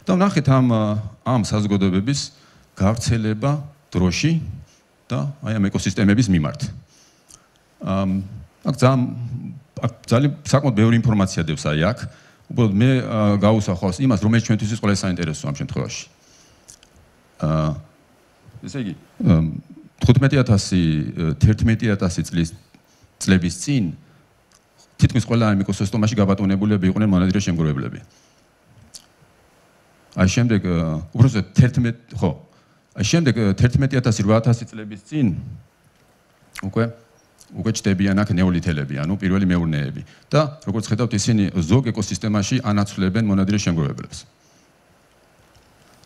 და ნახეთ ამ საზოგადოებების გავრცელება დროში და აი ამ ეკოსისტემების მიმართ. აქ ძალიან საკმაოდ ბევრი ინფორმაცია დევს აი აქ. უბრალოდ მე გავუსახავს იმას, რომელიც ჩვენთვის ყველა საინტერესოა ამ შემთხვევაში. ესე იგი 15000 წლების წინ თითქმის ყველა ამ ეკოსისტემაში გაბატონებულები იყვნენ მონადირე შემგროვებლები. აი შემდეგ უბრალოდ 11800 წლების წინ უკვე ჩდებიან აქ ნეოლითელები, ანუ პირველი მეურნეები და როგორც ხედავთ ისინი ზოგ ეკოსისტემაში ანაცვლებენ მონადირე შემგროვებლებს.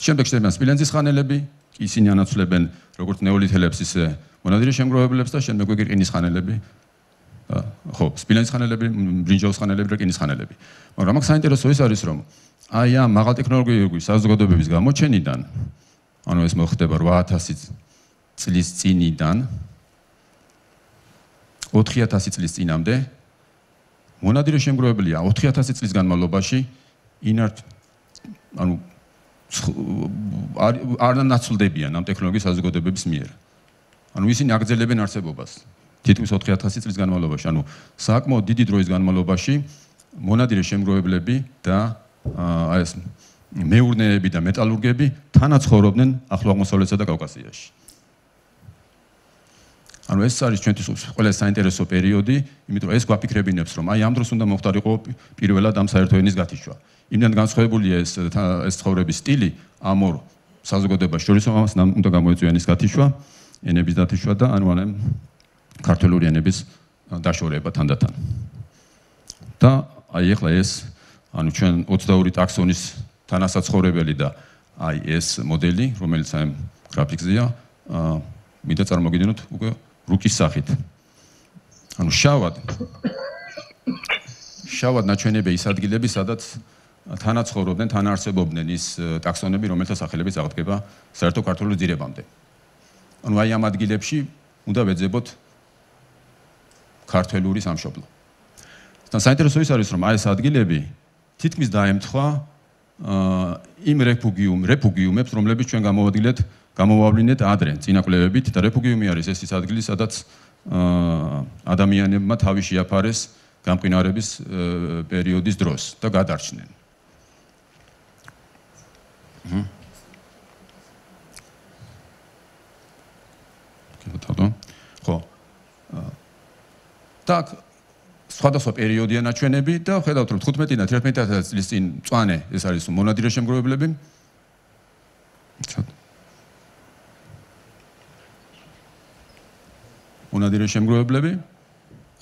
შემდეგ ჩდებიან სპილენძის ხანელები, ისინი ანაცვლებენ როგორც ნეოლითელებს ისე მონადირე შემგროვებლებს და შემდეგ უკვე რკინის ხანელები. ხო, სპილენძის ხანელები, ბრინჯაოს ხანელები და რკინის ხანელები. მაგრამ აქ საინტერესო ის არის, რომ აი ამ მაღალტექნოლოგიური საზოგადოებების გამოჩენიდან, ანუ ეს მოხდება 8000 წლის წინიდან 4000 წლის წინამდე მონადირე შემგროვებელია 4000 წლის განმავლობაში ანუ არ ნაცვლდებიან ამ ტექნოლოგიის საზოგადოებების მიერ. ანუ ისინი აგრძელებენ არსებობას თითქმის 4000 წლის განმავლობაში, ანუ საკმაოდ დიდი დროის განმავლობაში მონადირე შემგროვებლები და აი ეს მეურნეები და მეტალურგები თანაც ცხოვრობდნენ ახლო აღმოსავლეთსა და კავკასიაში. ანუ ეს არის ჩვენთვის ყველა საინტერესო პერიოდი, იმიტომ რომ ეს გვაფიქრებინებს, რომ აი ამ დროს უნდა მოხდარიყო პირველად ამ საერთო ენის გათიშვა. იმდან განსხვავებულია ეს ცხოვრების სტილი ამ ორ საზოგადოებას შორის, ამას უნდა გამოეწვია ენის გათიშვა, ენების დათიშვა და ანუ ქართული ენების დაშორება თანდათან. და აი ახლა ეს ანუ ჩვენ 22 ტაქსონის თანასაცხოვრებელი და აი ეს მოდელი, რომელიც აი გრაფიკზეა, მინდა წარმოგიდგენოთ უკვე რუკის სახით. ანუ შავად ნაჩვენებია ის ადგილები, სადაც თანაცხოვრობდნენ, თანაარსებობდნენ ის ტაქსონები, რომელთა სახელებიც აღდგება საერთო ქართული ძირებამდე. ანუ აი ამ ადგილებში უნდა ვეძებოთ ქართული სამშობლო. და საინტერესო ის არის, რომ აი ეს ადგილები თითქმის დაემთხვა იმ რეფუგიუმებს, რომლებიც ჩვენ გამოვავლინეთ ადრე წინა კვლევებით და რეფუგიუმი არის ეს ის ადგილი, სადაც ადამიანებმა თავი შეაფარეს გამყინვარების პერიოდის დროს და გადარჩნენ. ხო. так სხვადასხვა პერიოდია ნაჩვენები და ხედავთ რომ 15-დან 11 წლის წინ მწვანე ეს არის მონადირე შემგროვებლები. მონადირე შემგროვებლები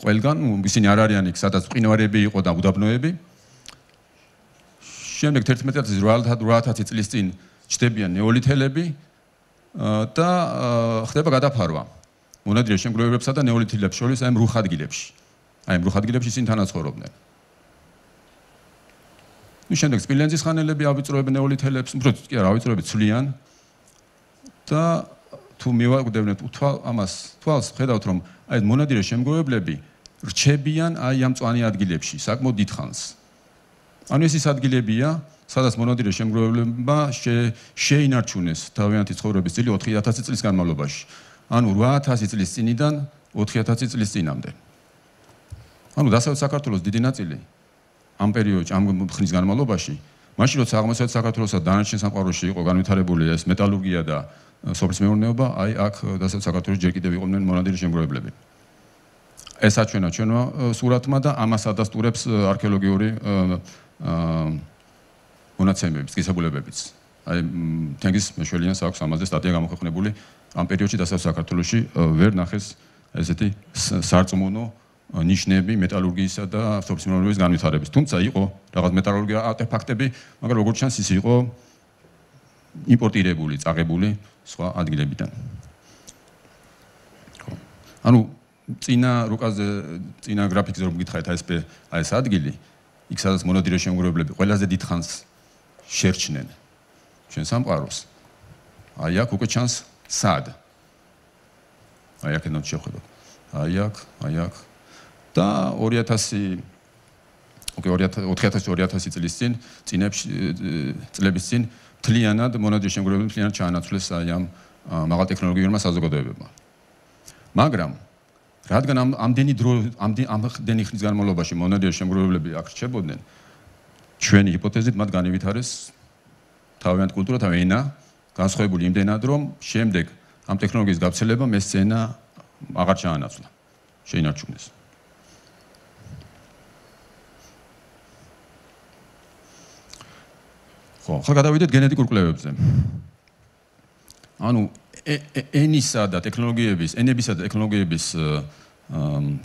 ყველგან ისინი არ არიან იქ სადაც მყინვარები იყო და უდაბნოები. შემდეგ 11-8 წლის წინ ჩდებიან ნეოლითელები და ხდება გადაფარვა მონადირე შემგროვებლებსა და ნეოლითელებს შორის აი რუხ ადგილებში. აი რუხ ადგილებში ისინი თანაცხოვრობდნენ. შემდეგ სპილენძის ხანელები ავიწროებენ ნეოლითელებს, უფრო კი არა ავიწროებენ ცვლიან და თუ მივაკვდევნეთ ამას თვალს ხედავთ რომ აი მონადირე შემგროვებლები რჩებიან აი ამ მწვანე ადგილებში საკმაოდ დიდხანს. ანუ ეს ის ადგილებია, სადაც მონადირე შემგროვებლებმა შეინარჩუნეს თავიანთი ცხოვრების წილი 4000 წლის განმავლობაში. ანუ 8000 წლის წინიდან 4000 წლის წინამდე. ანუ დასავლეთ საქართველოს დიდი ნაწილი ამ პერიოდში, ამ ხნის განმავლობაში, მაშინ როცა აღმოსავლეთ საქართველოსა და დანარჩენ სამყაროში იყო განვითარებული ეს მეტალურგია და სოფლის მეურნეობა, აი აქ დასავლეთ საქართველოს ჯერ კიდევ იყვნენ მონადირე შემგროვებლები. ეს აჩვენა ჩვენმა სურათმა და ამას ადასტურებს არქეოლოგიური მონაცემებიც, გისაგულებებიც. აი თენგიზ მეშველიანს აქვს ამაზე სტატია გამოქვეყნებული ამ პერიოდში დასავლეთ საქართველოში ვერ ნახეს ესეთი სარწმუნო ნიშნები მეტალურგიისა და სოფლის მეურნეობის განვითარების. თუმცა იყო რაღაც მეტალურგია არტეფაქტები, მაგრამ როგორც ჩანს ის იყო იმპორტირებული, წაღებული სხვა ადგილებიდან. ანუ წინა რუკაზე, წინა გრაფიკზე რომ გითხარით აი ეს ადგილი, იქ სადაც მონადირე შემგროვებლები ყველაზე დიდხანს შერჩნენ ჩვენ სამყაროს. აი აქ უკვე ჩანს სად. აი აქ ენოთ შევხედოთ. აი აქ და 4000 წლის წინ წლების წინ მთლიანად მონადირე შემგროვებლები მთლიანად ჩაანაცვლეს აი ამ მაღალ ტექნოლოგიურმა საზოგადოებებმა. მაგრამ რადგან ამდენი ხნის განმავლობაში მონადირე შემგროვებლები აქ რჩებოდნენ, ჩვენი ჰიპოთეზით მათ განივითარეს თავიანთი კულტურა, თავიანთი ენა, განსხვავებული იმდენად, რომ შემდეგ ამ ტექნოლოგიის გავრცელებამ ეს ენა აღარ ჩაანაცვლა, შეინარჩუნეს. ხო, ახლა გადავიდეთ გენეტიკურ კვლევებზე. ანუ ენისა და ტექნოლოგიების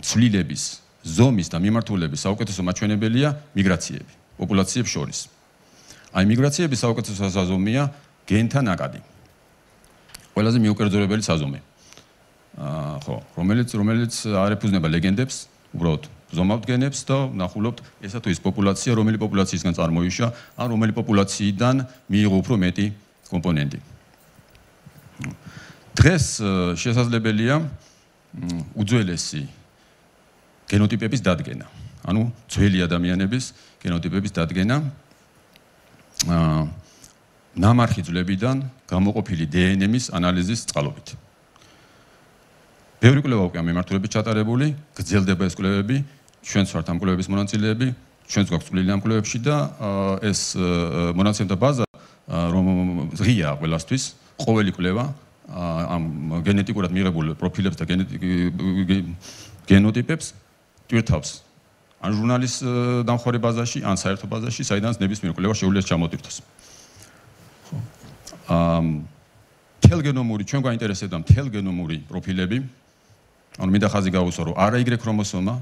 ცვლილების, ზომის და მიმართულების საუკეთესო მაჩვენებელია მიგრაციები პოპულაციებს შორის. აი მიგრაციების საუკეთესო საზომია გენთა ნაკადი. ყველაზე მიუკერძორებელი საზომი. ხო, რომელიც არ ეფუძნება ლეგენდებს, უბრალოდ ზომავთ გენებს და ნახულობთ ესა თუ ის პოპულაცია, რომელი პოპულაციისგან წარმოიშვა, ან რომელი პოპულაციიდან მიიღო უფრო მეტი კომპონენტი. დღეს შესაძლებელია უძველესი გენოტიპების დადგენა. ანუ ძველი ადამიანების გენოტიპების დადგენა ნამარხი ძვლებიდან გამოყოფილი დნმ-ის ანალიზის წყალობით. ბევრი კვლევა უკვე ამ მიმართულებით ჩატარებული, გრძელდება ეს კვლევები, ჩვენც ვართ ამ კვლევების მონაწილეები, ჩვენც გვაქვს წვლილი ამ კვლევებში და ეს მონაცემთა ბაზა რომ ღია ყველასთვის, ყოველი კვლევა ამ გენეტიკურად მიღებულ პროფილებს და გენოტიპებს ტვირთავს ან ჟურნალის დამხმარე ბაზაში, ან საერთო ბაზაში, საიდანაც ნებისმიერ კვლევას შეუძლია ჩამოტვირთოს. თელგენომური, ჩვენ გვაინტერესებდა თელგენომური პროფილები. ანუ მინდა ხაზი გავუსვა, რომ არა Y ქრომოსომა,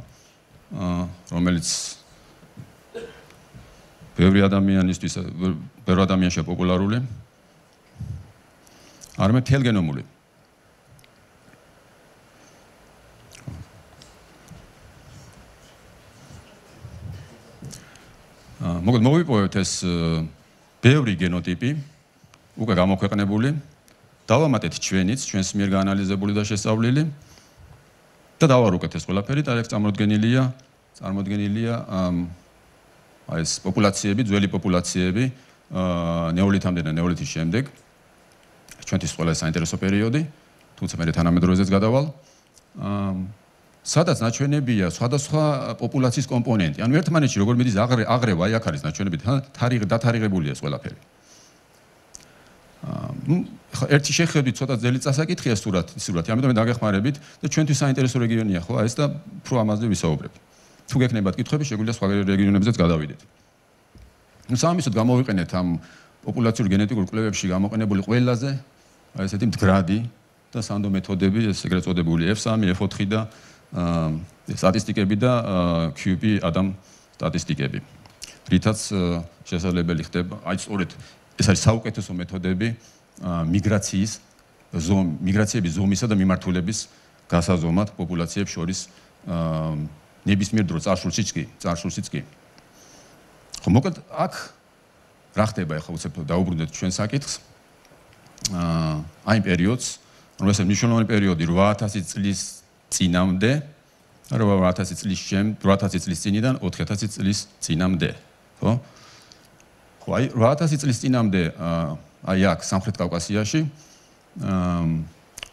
რომელიც ბევრი ადამიანშია პოპულარული, არამედ თელგენომური. მოგეთ მოვიპოვეთ ეს ბევრი გენოტიპი, უკვე გამოქვეყნებული, დავამატეთ ჩვენიც, ჩვენს მიერ გაანალიზებული და შესწავლილი და დავარუკეთ ეს ყველაფერი და აქ წარმოდგენილია აი ეს პოპულაციები, ძველი პოპულაციები ნეოლითამდე და ნეოლითის შემდეგ. ჩვენთვის ყველა საინტერესო პერიოდი, თუმცა მე თანამედროვეზეც გადავალ სადაც ნაჩვენებია სხვადასხვა პოპულაციის კომპონენტი. ანუ ერთმანეთში როგორ მიდის აღრევა, აი აქ არის ნაჩვენები, დათარიღებულია ეს ყველაფერი. ერთი შეხედვით ცოტა ძელი წასაკითხია სურათი, ამიტომ დაგეხმარებით და ჩვენთვის საინტერესო რეგიონია ხო ეს და უფრო ამაზე ვისაუბრებ. თუ გექნებათ კითხვები, შეგვიძლია სხვა რეგიონებზეც გადავიდეთ. სამისოდ გამოვიყენეთ ამ პოპულაციურ გენეტიკურ კვლევებში გამოყენებული ყველაზე ესეთი მდგრადი და სანდო მეთოდები, ეს ეგრეთ წოდებული F3, F4 და სტატისტიკები და QP адам სტატისტიკები. რითაც შესაძლებელი ხდება, აი სწორედ ეს არის საუკეთესო მეთოდები მიგრაციების ზომისა და მიმართულების გასაზომად პოპულაციებს შორის ნებისმიერ დრო წარსულშიც კი. ხო, მოკლედ აქ რა ხდება ახლა უცებ დაუბრუნდეთ ჩვენ საკითხს. აი პერიოდს, რომელსაც მნიშვნელოვანი პერიოდი 8000 წლის წინამდე, 8000 წლის წინიდან 4000 წლის წინამდე, ხო? ხო, აი 8000 წლის წინამდე აი აქ სამხრეთ კავკასიაში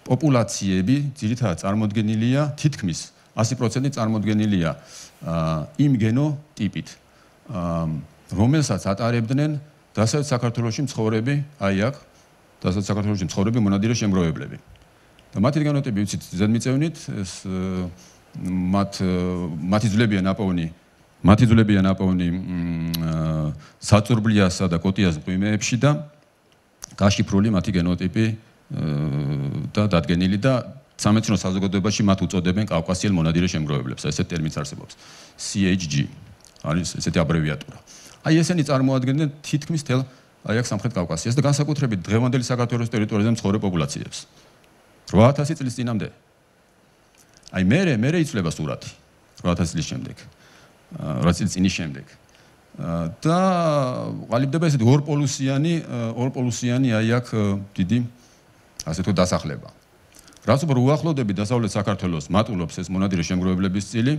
პოპულაციები ძირითადად წარმოდგენილია თითქმის 100% წარმოდგენილია იმ გენოტიპით, რომელსაც ატარებდნენ დასავლეთ საქართველოში მცხოვრები, აი აქ დასავლეთ საქართველოში მცხოვრები მონადირე შემგროვებლები. და მათი გენოტიპი ვიცით ზედმიწევნით, ეს მათი ძვლებია ნაპოვნი საწურბლიასა და კოტიას მღვიმეებში და გაშიფრული მათი გენოტიპი და დადგენილი და სამეცნიერო საზოგადოებაში მათ უწოდებენ კავკასიელ მონადირე შემგროვებლებს. ესეთი ტერმინიც არსებობს. CHG არის ესეთი აბრევიატურა. აი ესენი წარმოადგენენ თითქმის თელ აი აქ სამხრეთ კავკასიას და განსაკუთრებით დღევანდელი საქართველოს ტერიტორიაზე მცხოვრებ პოპულაციებს. 8000 წლის წინამდე. აი მე იცვლება სურათი 8000 წლის შემდეგ. 8000 წლის წინის შემდეგ. და ყალიბდება ესეთი ორპოლუსიანი აი აქ დიდი ასე თქო დასახლება. რაც უფრო უახლოვდები დასავლეთ საქართველოს მატულობს ეს მონადირე შემგროვებლების წილი,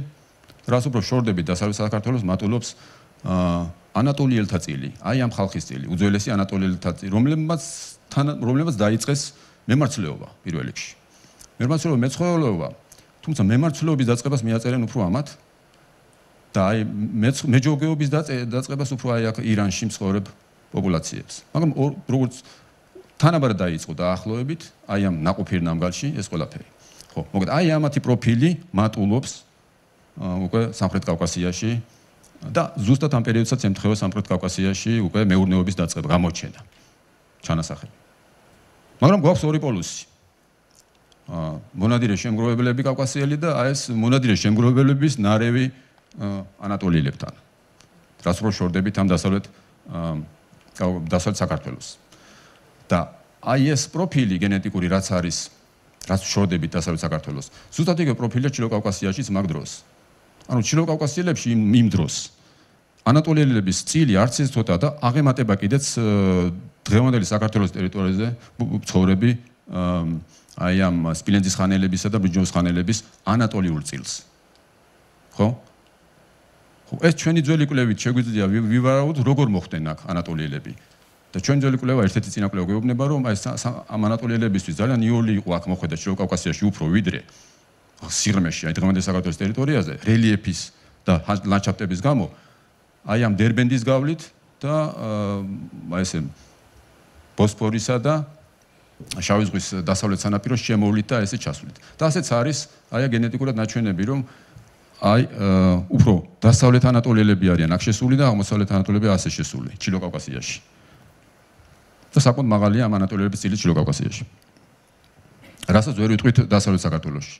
რაც უფრო შორდები დასავლეთ საქართველოს მატულობს ანატოლიელთა წილი, აი ამ ხალხის წილი, უძველესი ანატოლიელთა წილი, რომლებმაც დაიწყეს მემარცვლეობა პირველ რიგში. მემარცვლეობა მეცხოველეობა, თუმცა მემარცვლეობის დაწყებას მიაწერენ უფრო ამათ და აი მეჯოგეობის დაწყებას უფრო აი აქ ირანში მცხოვრებ პოპულაციებს. მაგრამ როგორც თანაბარ დაიწყო დაახლოებით აი ამ ნაყოფიერ ნამგალში ეს ყველაფერი. ხო, მოკლედ აი ამათი პროფილი მატულობს უკვე სამხრეთ კავკასიაში და ზუსტად ამ პერიოდსაც ემთხვევა სამხრეთ კავკასიაში უკვე მეურნეობის დაწყება, გამოჩენა, ჩანასახები. მაგრამ გვაქვს ორი პოლუსი. მონადირე შემგროვებლები კავკასიელი და აი ეს მონადირე შემგროვებლების ნარევი ანატოლიელებთან. რაც რო შორდებით ამ დასავლეთ საქართველოს. და აი ეს პროფილი გენეტიკური რაც არის, რაც შორდებით დასავლეთ საქართველოს. ზუსტად იგივე პროფილია ჩილოკავკასიაშიც მაგ დროს. ანუ ჩილოკავკასიელებში იმ დროს ანატოლიელების წილი არც ის ცოტა და აღემატება კიდეც დღევანდელი საქართველოს ტერიტორიაზე მცხოვრები აი ამ სპილენძის ხანელებისა და ბრინჯაოს ხანელების ანატოლიურ წილს. ხო? ხო, ეს ჩვენი ძველი კვლევით შეგვიძლია ვივარავოთ როგორ მოხდნენ აქ ანატოლიელები. და ჩვენ ძველი კვლევა ერთ-ერთი წინა კვლევა გვეუბნება რომ აი ამ ანატოლიელებისთვის ძალიან იოლი იყო აქ მოხვედა ჩილოკავკასიაში უფრო ვიდრე სიღრმეში აი დღევანდელი საქართველოს ტერიტორიაზე რელიეფის და ლანდშაფტების გამო აი ამ დერბენდის გავლით და აი ესე ბოსფორისა და შავი ზღვის დასავლეთ სანაპიროს შემოვლით და ესე ჩასვლით. და ასეც არის აი გენეტიკურად ნაჩვენები რომ აი უფრო დასავლეთ ანატოლიელები არიან აქ შესული და აღმოსავლეთ ანატოლიელები ასე შესული ჩილოკავკასიაში. და საკმაოდ მაღალია ამ ანატოლიელების წილი ჩილოკავკასიაში. რასაც ვერ ვიტყვით დასავლეთ საქართველოში.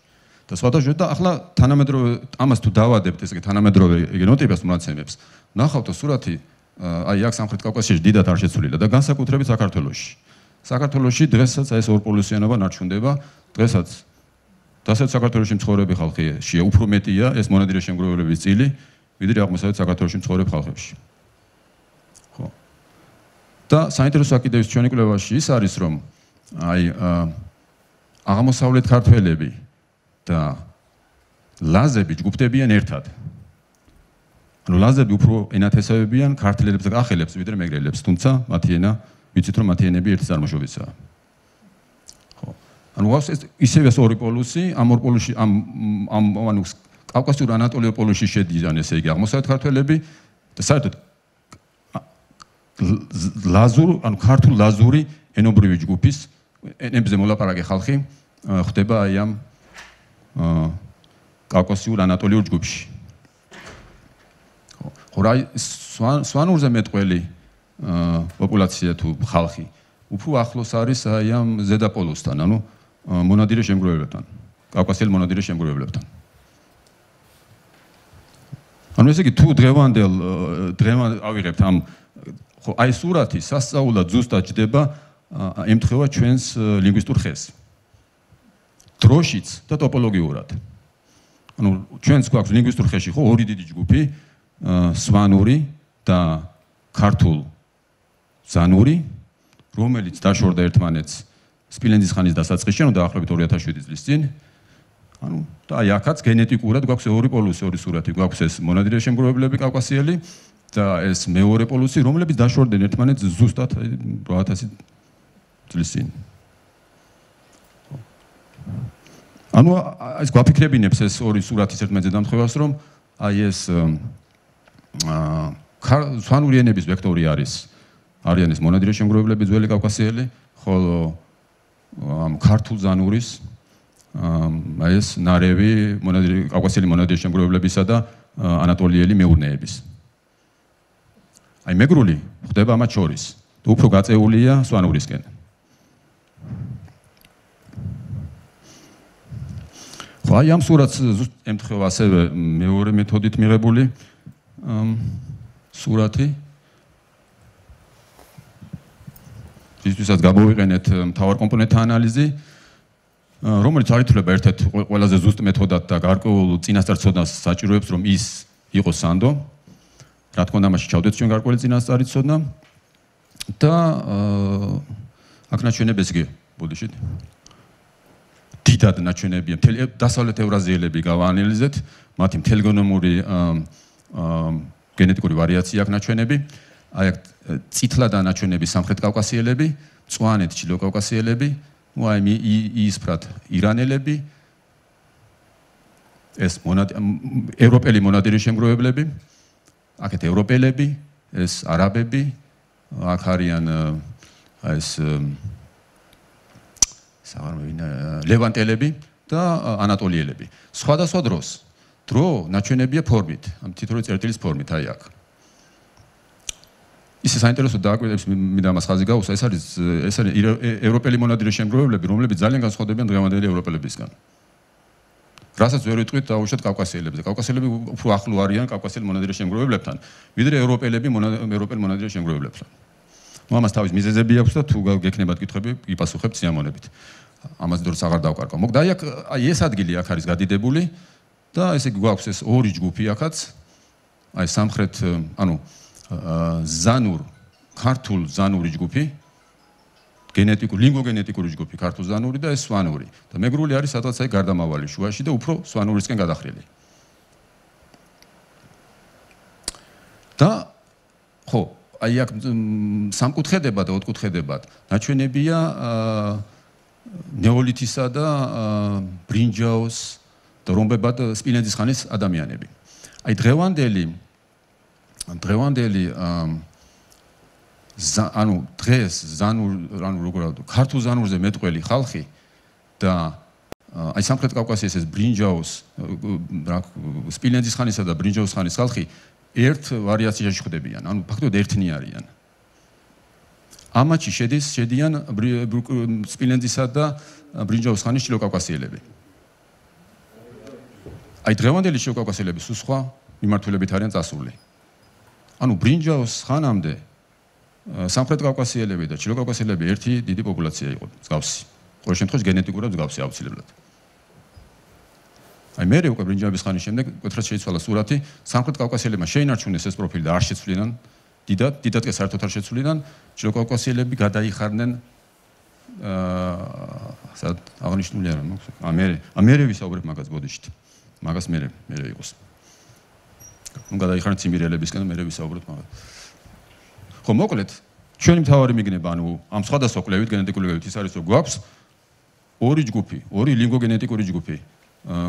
და სხვადასხვა და ახლა თანამედროვე ამას თუ დავადებთ ესე თანამედროვე გენოტიპის მონაცემებს, ნახავთ სურათი აი აქ სამხრეთ კავკასიაში დიდად არ შეცვლილია და განსაკუთრებით საქართველოში. საქართველოში დღესაც ეს ორპოლუსიანობა ნარჩუნდება, დღესაც დასავლეთ საქართველოში მცხოვრები ხალხია უფრო მეტია ეს მონადირე შემგროვებლების წილი, ვიდრე აღმოსავლეთ საქართველოში მცხოვრებ ხალხებში. ხო. და საინტერესო საკითხების ჩვენი კვლევაში ის არის რომ აი აღმოსავლეთ ქართველები და ლაზები ჯგუფდებიან ერთად. ანუ ლაზები უფრო ენათესავებიან ქართველებს და კახელებს ვიდრე მეგრელებს, თუმცა მათი ენა ვიცით რომ მათი ენები ერთი წარმოშობისაა. ხო. ანუ ანუ ისევე ორი პოლუსი, ამ ორ პოლუსში ანუ კავკასიურ ანატოლიურ პოლუსში შედიან, ესე იგი, აღმოსავლეთ ქართველები და საერთოდ ანუ ქართულ ლაზური ენობრივი ჯგუფის ენებზე მოლაპარაკე ხალხი ხდება აი ამ კავკასიურ ანატოლიურ ჯგუფში. ხო, რა სვანურზე მეტყველი პოპულაცია თუ ხალხი უფრო ახლოს არის აი ამ ზედა პოლუსთან, ანუ მონადირე შემგროვებლებთან, კავკასიელ მონადირე შემგროვებლებთან. ანუ ესე იგი თუ დღევანდელ ავიღებთ ამ ხო აი სურათი სასწაულად ზუსტად ჯდება ემთხვევა ჩვენს ლინგვისტურ ხეს. დროშიც და ტოპოლოგიურად. ანუ ჩვენს გვაქვს ლინგვისტურ ხეში ხო ორი დიდი ჯგუფი, სვანური და ქართულ ზანური, რომელიც დაშორდა ერთმანეთს სპილენძის ხანის დასაწყისში, ანუ დაახლოებით 2007 წლის წინ. ანუ და აი აქაც გენეტიკურად გვაქვს ორი პოლუსი, ორი სურათი, გვაქვს ეს მონადირე შემგროვებლები კავკასიელი და ეს მეორე პოლუსი, რომლებიც დაშორდნენ ერთმანეთს ზუსტად 8000 წლის წინ. ანუ ეს გვაფიქრებინებს ეს ორი სურათის ერთმანეთზე დამთხევას, რომ აი ეს სვანური ენების ვექტორი არიან ეს მონადირე შემგროვებლები ძველი კავკასიელი, ხოლო ამ ქართულ ზანურის აი ეს ნარევი კავკასიელი მონადირე შემგროვებლებისა და ანატოლიელი მეურნეების. აი მეგრული ხდება მათ შორის და უფრო გაწეულია სვანურისკენ. ხო აი ამ სურათს ემთხვევა ასევე მეორე მეთოდით მიღებული სურათი. ისთვისაც გამოვიყენეთ მთავარ კომპონენტთა ანალიზი, რომელიც აითვლება ერთ-ერთ ყველაზე ზუსტ მეთოდად და გარკვეულ წინასწარ-ცოდნას საჭიროებს, რომ ის იყოს სანდო. რა თქმა უნდა, მაშინ ჩავდეთ ჩვენ გარკვეული წინასწარი ცოდნა და აქ ნაჩვენებს კი ბოდიშით. დიდად ნაჩვენებია მთელი დასავლეთ ევრაზიელები გავაანალიზეთ, მათი მთელგენომური გენეტიკური ვარიაცია აქვს ნაჩვენები. აი აქ წითლად ნაჩვენები სამხრეთ კავკასიელები, მწვანედ ჩრდილო კავკასიელები, აი იისფრად ირანელები, ეს ევროპელი მონადირე შემგროვებლები, აქეთ ევროპელები, ეს არაბები, აქ არიან ეს ლევანტელები და ანატოლიელები. სხვადასხვა დრო ნაჩვენებია ფორმით, ამ თითოეული წერტილის ფორმით, აი აქ. ისე საინტერესო დააკვირდებს მინდა ამას ხაზი გაუსვა, ეს არის ევროპელი მონადირე შემგროვებლები, რომლებიც ძალიან განსხვავდებიან დღევანდელი ევროპელებისგან. რასაც ვერ ვიტყვით დაუშვათ კავკასიელებზე. კავკასიელები უფრო ახლო არიან კავკასიელ მონადირე შემგროვებლებთან, ვიდრე ევროპელები ევროპელ მონადირე შემგროვებლებთან. ნუ ამას თავის მიზეზები აქვს და თუ გექნებათ კითხვები, იპასუხებთ სიამოვნებით. ამას დროც აღარ დავკარგავ. მოგდა აი ეს ადგილი აქ არის გადიდებული და ესე იგი გვაქვს ეს ორი ჯგუფი აქაც. აი სამხრეთ, ანუ ქართულ ზანური ჯგუფი, ლინგვოგენეტიკური ჯგუფი ქართულ ზანური და ეს სვანური. და მეგრული არის სადღაც აი გარდამავალი შუაში და უფრო სვანურისკენ გადახრილი. და ხო, აი აქ სამკუთხედებად და ოთხკუთხედებად ნაჩვენებია ნეოლითისა და ბრინჯაოს და რომბებად სპილენძის ხანის ადამიანები. აი დღევანდელი ანუ დღეს ქართულ ზანურზე მეტყველი ხალხი და აი სამხრეთ კავკასიის ეს ბრინჯაოს სპილენძის ხანისა და ბრინჯაოს ხანის ხალხი ერთ ვარიაციაში ხდებიან, ანუ ფაქტობრივად ერთნი არიან. ამაში შედიან სპილენძისა და ბრინჯაოს ხანის ჩრდილო კავკასიელები. აი დღევანდელი ჩრდილო კავკასიელები სულ სხვა მიმართულებით არიან წასული. ანუ ბრინჯაოს ხანამდე სამხრეთ კავკასიელები და ჩრდილო კავკასიელები ერთი დიდი პოპულაცია იყო, მსგავსი. ყოველ შემთხვევაში გენეტიკურად მსგავსი აუცილებლად. აი მე უკვე ბრინჯაოს ხანის შემდეგ კეთრად შეიცვალა სურათი, სამხრეთ კავკასიელებმა შეინარჩუნეს ეს პროფილი და არ შეცვლინან, დიდად კი საერთოდ არ შეცვლინან, ჩრდილო კავკასიელები გადაიხარდნენ სად აღნიშნული არა მაქვს. ამერე ვისაუბრებ მაგას ბოდიშით. მაგას მე იყოს. ნუ გადაიხარნენ ციმბირელებისგან და მე ვისაუბრებ მაგას. ხო, მოკლედ, ჩვენი მთავარი მიგნება, ანუ ამ სხვადასხვა კვლევით, გენეტიკული კვლევით ის არის, რომ გვაქვს ორი ჯგუფი, ორი ლინგვოგენეტიკური ჯგუფი,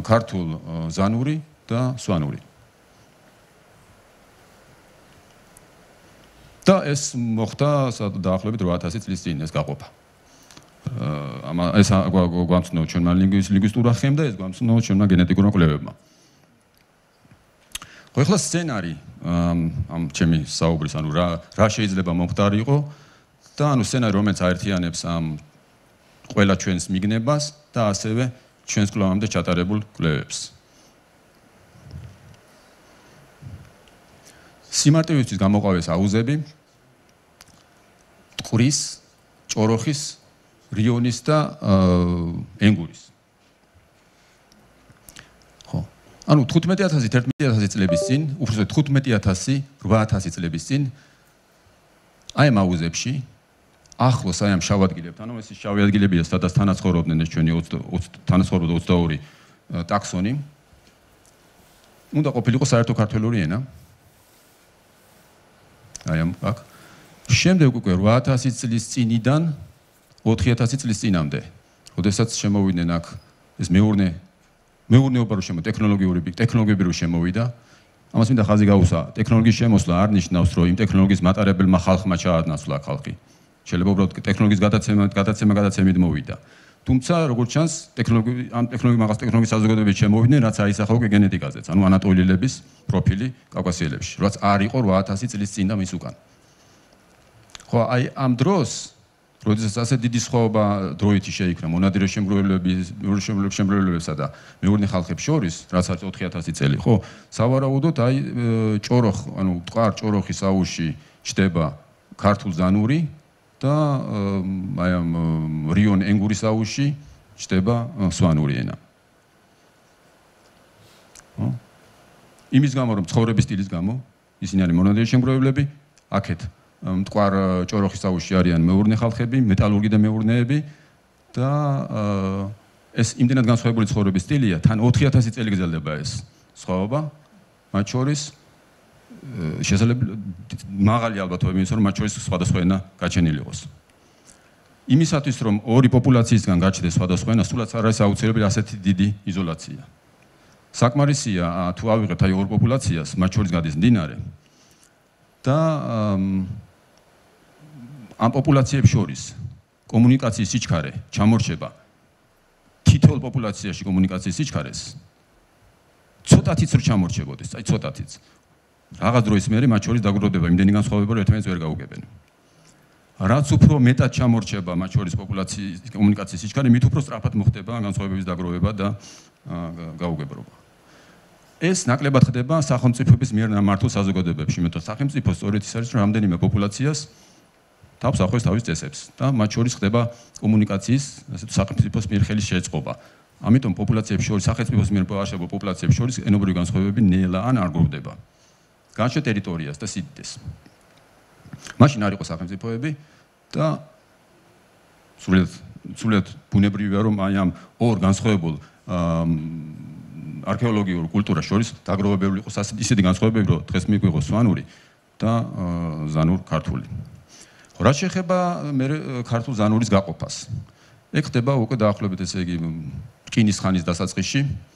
ქართულ ზანური და სვანური. და ეს მოხდა დაახლოებით 8000 წლის წინ ეს გაყოფა. ეს გვამცნო ჩვენმა ლინგვისტურმა ხემ და ეს გვამცნო ჩვენმა გენეტიკურმა კვლევებმა. ხო, ეხლა სცენარი ამ ჩემი საუბრის, ანუ რა შეიძლება მომხდარიყო და ანუ სცენარი, რომელიც აერთიანებს ამ ყველა ჩვენს მიგნებას და ასევე ჩვენს კვლევამდე ჩატარებულ კვლევებს. სიმარტივისთვის გამოყავეს აუზები, ტყურის, ჭოროხის, რიონის და ენგურის. ხო. ანუ 15000 11000 წლების წინ, უბრალოდ 15000 8000 წლების წინ აი ამ აუზებში ახლოს აი ამ შავ ადგილებთან, ანუ ეს შავი ადგილებია, სადაც თანაცხოვრობდნენ ეს ჩვენი 22 ტაქსონი. უნდა ყოფილიყო საერთო ქართველური ენა. აი ამ აქ. შემდეგ უკვე 8000 წლის წინიდან 4000 წლის წინამდე, როდესაც შემოვიდნენ აქ ეს მეურნეობა რო ტექნოლოგიები რო შემოვიდა, ამას მინდა ხაზი გაუსვა, ტექნოლოგიის შემოსვლა არ ნიშნავს, რომ იმ ტექნოლოგიის მატარებელმა ხალხმა ჩაადნასლა ხალხი. შეიძლება უბრალოდ ტექნოლოგიის გადაცემით მოვიდა. თუმცა, როგორც ჩანს, ტექნოლოგიის საზოგადოებებში შემოვიდნენ, რაც აისახა უკვე გენეტიკაზეც, ანუ ანატოლიელების პროფილი კავკასიელებში, რაც არ იყო 8000 წლის წინ და მის უკან. ხო, აი ამ დროს, როდესაც ასე დიდი სხვაობა დროითი შეიქმნა მონადირე შემგროვებლებსა და მეურნე ხალხებს შორის, რაც არის 4000 წელი, ხო, სავარაუდოდ აი ტყარ ჭოროხის აუზში ჩდება ქართულ ზანური და აი ამ რიონ ენგურის აუზში ჩდება სვანური ენა. ხო? იმის გამო, რომ ცხოვრების სტილის გამო, ისინი არის მონადირე შემგროვებლები, აქეთ მტკვარ ჭოროხის აუზში არიან მეურნე ხალხები, მეტალურგი და მეურნეები და ეს იმდენად განსხვავებული ცხოვრების სტილია, თან 4000 წელი გრძელდება ეს სხვაობა, მათ შორის შესაძლებელი მაღალი ალბათობა იმის, რომ მათ შორის სხვადასხვა ენა გაჩენილი იყოს. იმისათვის, რომ ორი პოპულაციისგან გაჩნდეს სხვადასხვა ენა, სულაც არ არის აუცილებელი ასეთი დიდი იზოლაცია. საკმარისია თუ ავიღებთ აი ორ პოპულაციას, მათ შორის გადის მდინარე და ამ პოპულაციებს შორის კომუნიკაციის სიჩქარე ჩამორჩება თითოეულ პოპულაციაში კომუნიკაციის სიჩქარეს ცოტათიც რო ჩამორჩებოდეს, აი ცოტათიც. რაღაც დროის მერე მათ შორის დაგროვდება იმდენი განსხვავება, რომ ერთმანეთს ვერ გაუგებენ. რაც უფრო მეტად ჩამორჩება მათ შორის პოპულაციის კომუნიკაციის სიჩქარე, მით უფრო სწრაფად მოხდება განსხვავებების დაგროვება და გაუგებრობა. ეს ნაკლებად ხდება სახელმწიფოების მიერ ნამართულ საზოგადოებებში, იმიტომ რომ სახელმწიფო სწორედ ის არის, რომ რამდენიმე პოპულაციას თავს ახვევს თავის წესებს და მათ შორის ხდება კომუნიკაციის, ასე სახელმწიფოს მიერ ხელის შეწყობა. ამიტომ პოპულაციებს შორის, სახელმწიფოს მიერ აღშენებულ პოპულაციებს შორის ენობრივი განსხვავებები ნელა ან არ გროვდება. განშე ტერიტორიას და სიდიდეს. მაშინ არ იყო სახელმწიფოები და სრულიად ბუნებრივია, რომ აი ამ ორ განსხვავებულ არქეოლოგიურ კულტურას შორის დაგროვებული იყოს ისეთი განსხვავებები, რომ დღეს მიგვიღოს სვანური და ზანურ ქართული. რაც შეეხება ქართულ ზანურის გაყოფას. ეგ ხდება უკვე დაახლოებით ესე იგი რკინის ხანის დასაწყისში.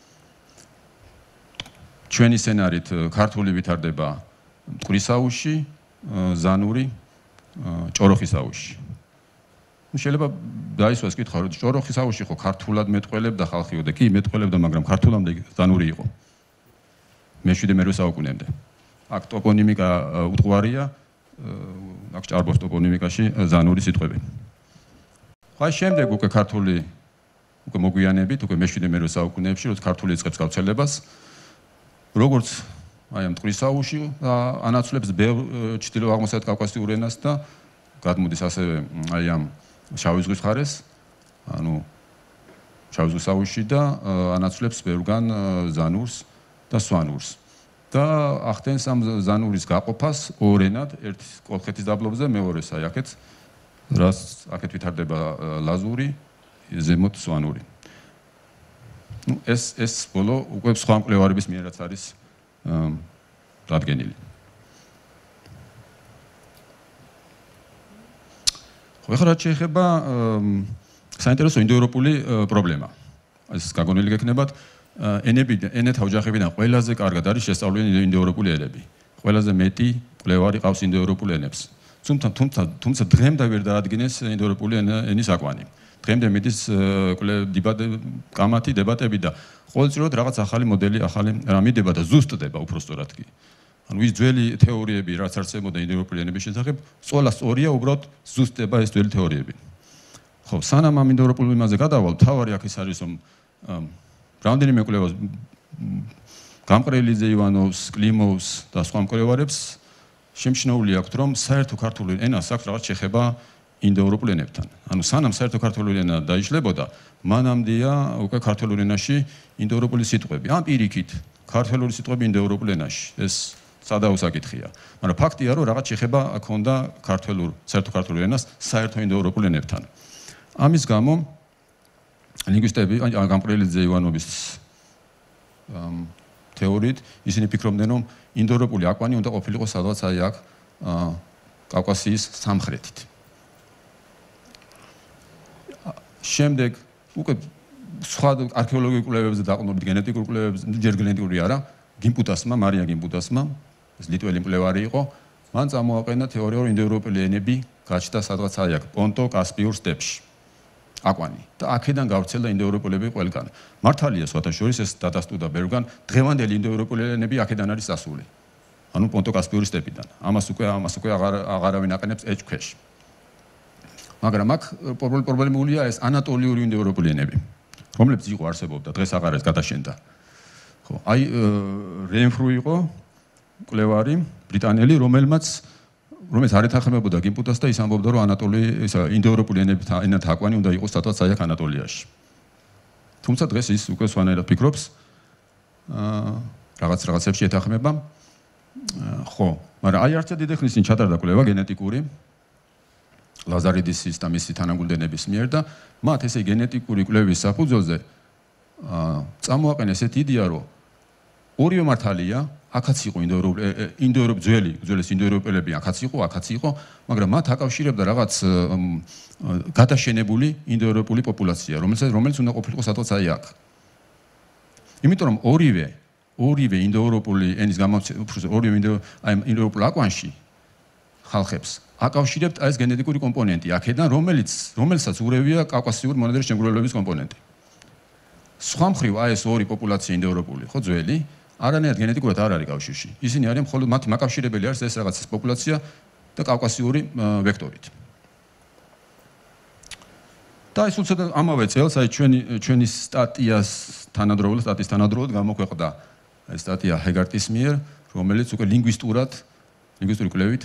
ჩვენი სცენარით ქართული ვითარდება მტკვრის აუზში, ზანური ჭოროხის აუზში. შეიძლება დაისვას კითხვა, რომ ჭოროხის აუზში ხო ქართულად მეტყველებდა ხალხიო და კი მეტყველებდა, მაგრამ ქართულამდე ზანური იყო. მე-7 საუკუნემდე. აქ ტოპონიმიკა უტყვარია, აქ ჭარბობს ტოპონიმიკაში ზანური სიტყვები. ხო, შემდეგ უკვე ქართული უკვე მოგვიანებით, უკვე მე-7 საუკუნეებში, როცა ქართული იწყებს გავრცელებას, როგორც აი ამ მტკვრის აუზში ანაცვლებს ბევრ ჩრდილო-აღმოსავლეთ კავკასიურ ენას და გადმოდის ასევე აი ამ შავი ზღვის მხარეს, ანუ შავი ზღვის აუზში და ანაცვლებს ბევრგან ზანურს და სვანურს. და ახდენს ამ ზანურის გაყოფას ორ ენად, ერთ კოლხეთის დაბლობზე, მეორეს აი აქეთ, რაც აქეთ ვითარდება ლაზური, ზემოთ სვანური. ეს ბოლო უკვე სხვა მკვლევარების მიერაც არის დადგენილი. ხო, ახლა რაც შეეხება საინტერესო ინდოევროპული პრობლემა. ეს გაგონილი გექნებათ, ენათა ოჯახებიდან ყველაზე კარგად არის შესწავლილი ინდოევროპული ენები. ყველაზე მეტი კვლევარი ყავს ინდოევროპულ ენებს. თუმცა დღემდე ვერ დაადგინეს ინდოევროპული ენის აკვანი. დღემდე მიდის კამათი დებატები და ყოველწლიურად რაღაც ახალი მოდელი, ახალი რამიდება და ზუსტდება უბრალოდ კი. ანუ ის ძველი თეორიები, რაც არსებობდა ინდოევროპული ენების შესახებ, სწორად სწორია, უბრალოდ ზუსტდება ეს ძველი თეორიები. ხო, სანამ ამ ინდოევროპულ იმაზე გადავალ, თავარი აქ ის არის, რომ რამდენიმე კვლევას გამყრელიძე ივანოვს, კლიმოვს და სხვა მკვლევარებს შემჩნეული აქვთ, რომ საერთო ქართული ენას აქვს რაღაც შეხება ინდოევროპულ ენებთან. ანუ სანამ საერთო ქართული ენა დაიშლებოდა, მანამდეა უკვე ქართულ ენაში ინდოევროპული სიტყვები. ამ პირიქით, ქართული სიტყვები ინდოევროპულ ენაში. ეს სადაო საკითხია. მაგრამ ფაქტია, რომ რაღაც შეხება ჰქონდა საერთო ქართულ ენას საერთო ინდოევროპულ ენებთან. ამის გამო ლინგვისტები, გამყრელიძე ივანოვის თეორიით, ისინი ფიქრობდნენ, რომ ინდოევროპული აკვანი უნდა ყოფილიყო სადღაც აი აქ კავკასიის სამხრეთით. შემდეგ უკვე სხვა არქეოლოგიურ კვლევებზე დაყრდნობით გენეტიკურ კვლევებზე, ჯერ გენეტიკური არა, გიმპუტასმა, მარია გიმპუტასმა, ეს ლიტველი მკვლევარი იყო, მან წამოაყენა თეორია, რომ ინდოევროპელი ენები გაჩნდა სადღაც აი აქ, პონტო-კასპიურ სტეპში. აკვანი და აქედან გავრცელდა ინდოევროპელები ყველგან. მართალია სხვათა შორის ეს დადასტურდა ბევრგან, დღევანდელი ინდოევროპელი ენები აქედან არის ასული. ანუ პონტო-კასპიური სტეპიდან. ამას უკვე აღარავინ აყენებს ეჭქვეშ. მაგრამ აქ პრობლემულია ეს ანატოლიური ინდოევროპელი ენები, რომლებიც იყო არსებობდა, დღეს აღარ არის გადაშენდა. ხო, აი რენფრუ იყო მკვლევარი ბრიტანელი, რომელიც არ ეთანხმებოდა გიმპუტას და ის ამბობდა, რომ ინდოევროპული ენათა აკვანი უნდა იყოს სადღაც აი აქ ანატოლიაში. თუმცა დღეს ის უკვე სხვანაირად ფიქრობს, რაღაცებში ეთანხმება. ხო, მაგრამ აი არც დიდი ხნის წინ ჩატარდა კვლევა გენეტიკური ლაზარიდისის და მისი თანაგუნდენების მიერ და მათ ესე გენეტიკური კვლევის საფუძველზე წამოაყენეს ესეთი იდეა, რომ ორივე მართალია, აქაც იყო ძველის ინდოევროპელები, აქაც იყო, მაგრამ მათ აკავშირებდა რაღაც გადაშენებული ინდოევროპული პოპულაცია, რომელიც უნდა ყოფილიყო სადღაც აი აქ. იმიტომ რომ ორივე ინდოევროპული ენის ორივე ინდოევროპულ აკვანში ხალხებს აკავშირებთ ეს გენეტიკური კომპონენტი, აქედან რომელსაც ურევია კავკასიური მონადირის შემგროვებლობის კომპონენტი. სხვა მხრივ აი ეს ორი პოპულაცია ინდოევროპული, ხო ძველი, არანაირად გენეტიკურად არ არის კავშირში. ისინი არიან მხოლოდ მათი მაკავშირებელი არის ეს რაღაც პოპულაცია და კავკასიური ვექტორით. და ეს უცებ ამავე წელს აი ჩვენი სტატიის თანადროულად გამოქვეყნდა ეს სტატია ჰეგარტის მიერ, რომელიც უკვე ლინგვისტური კვლევით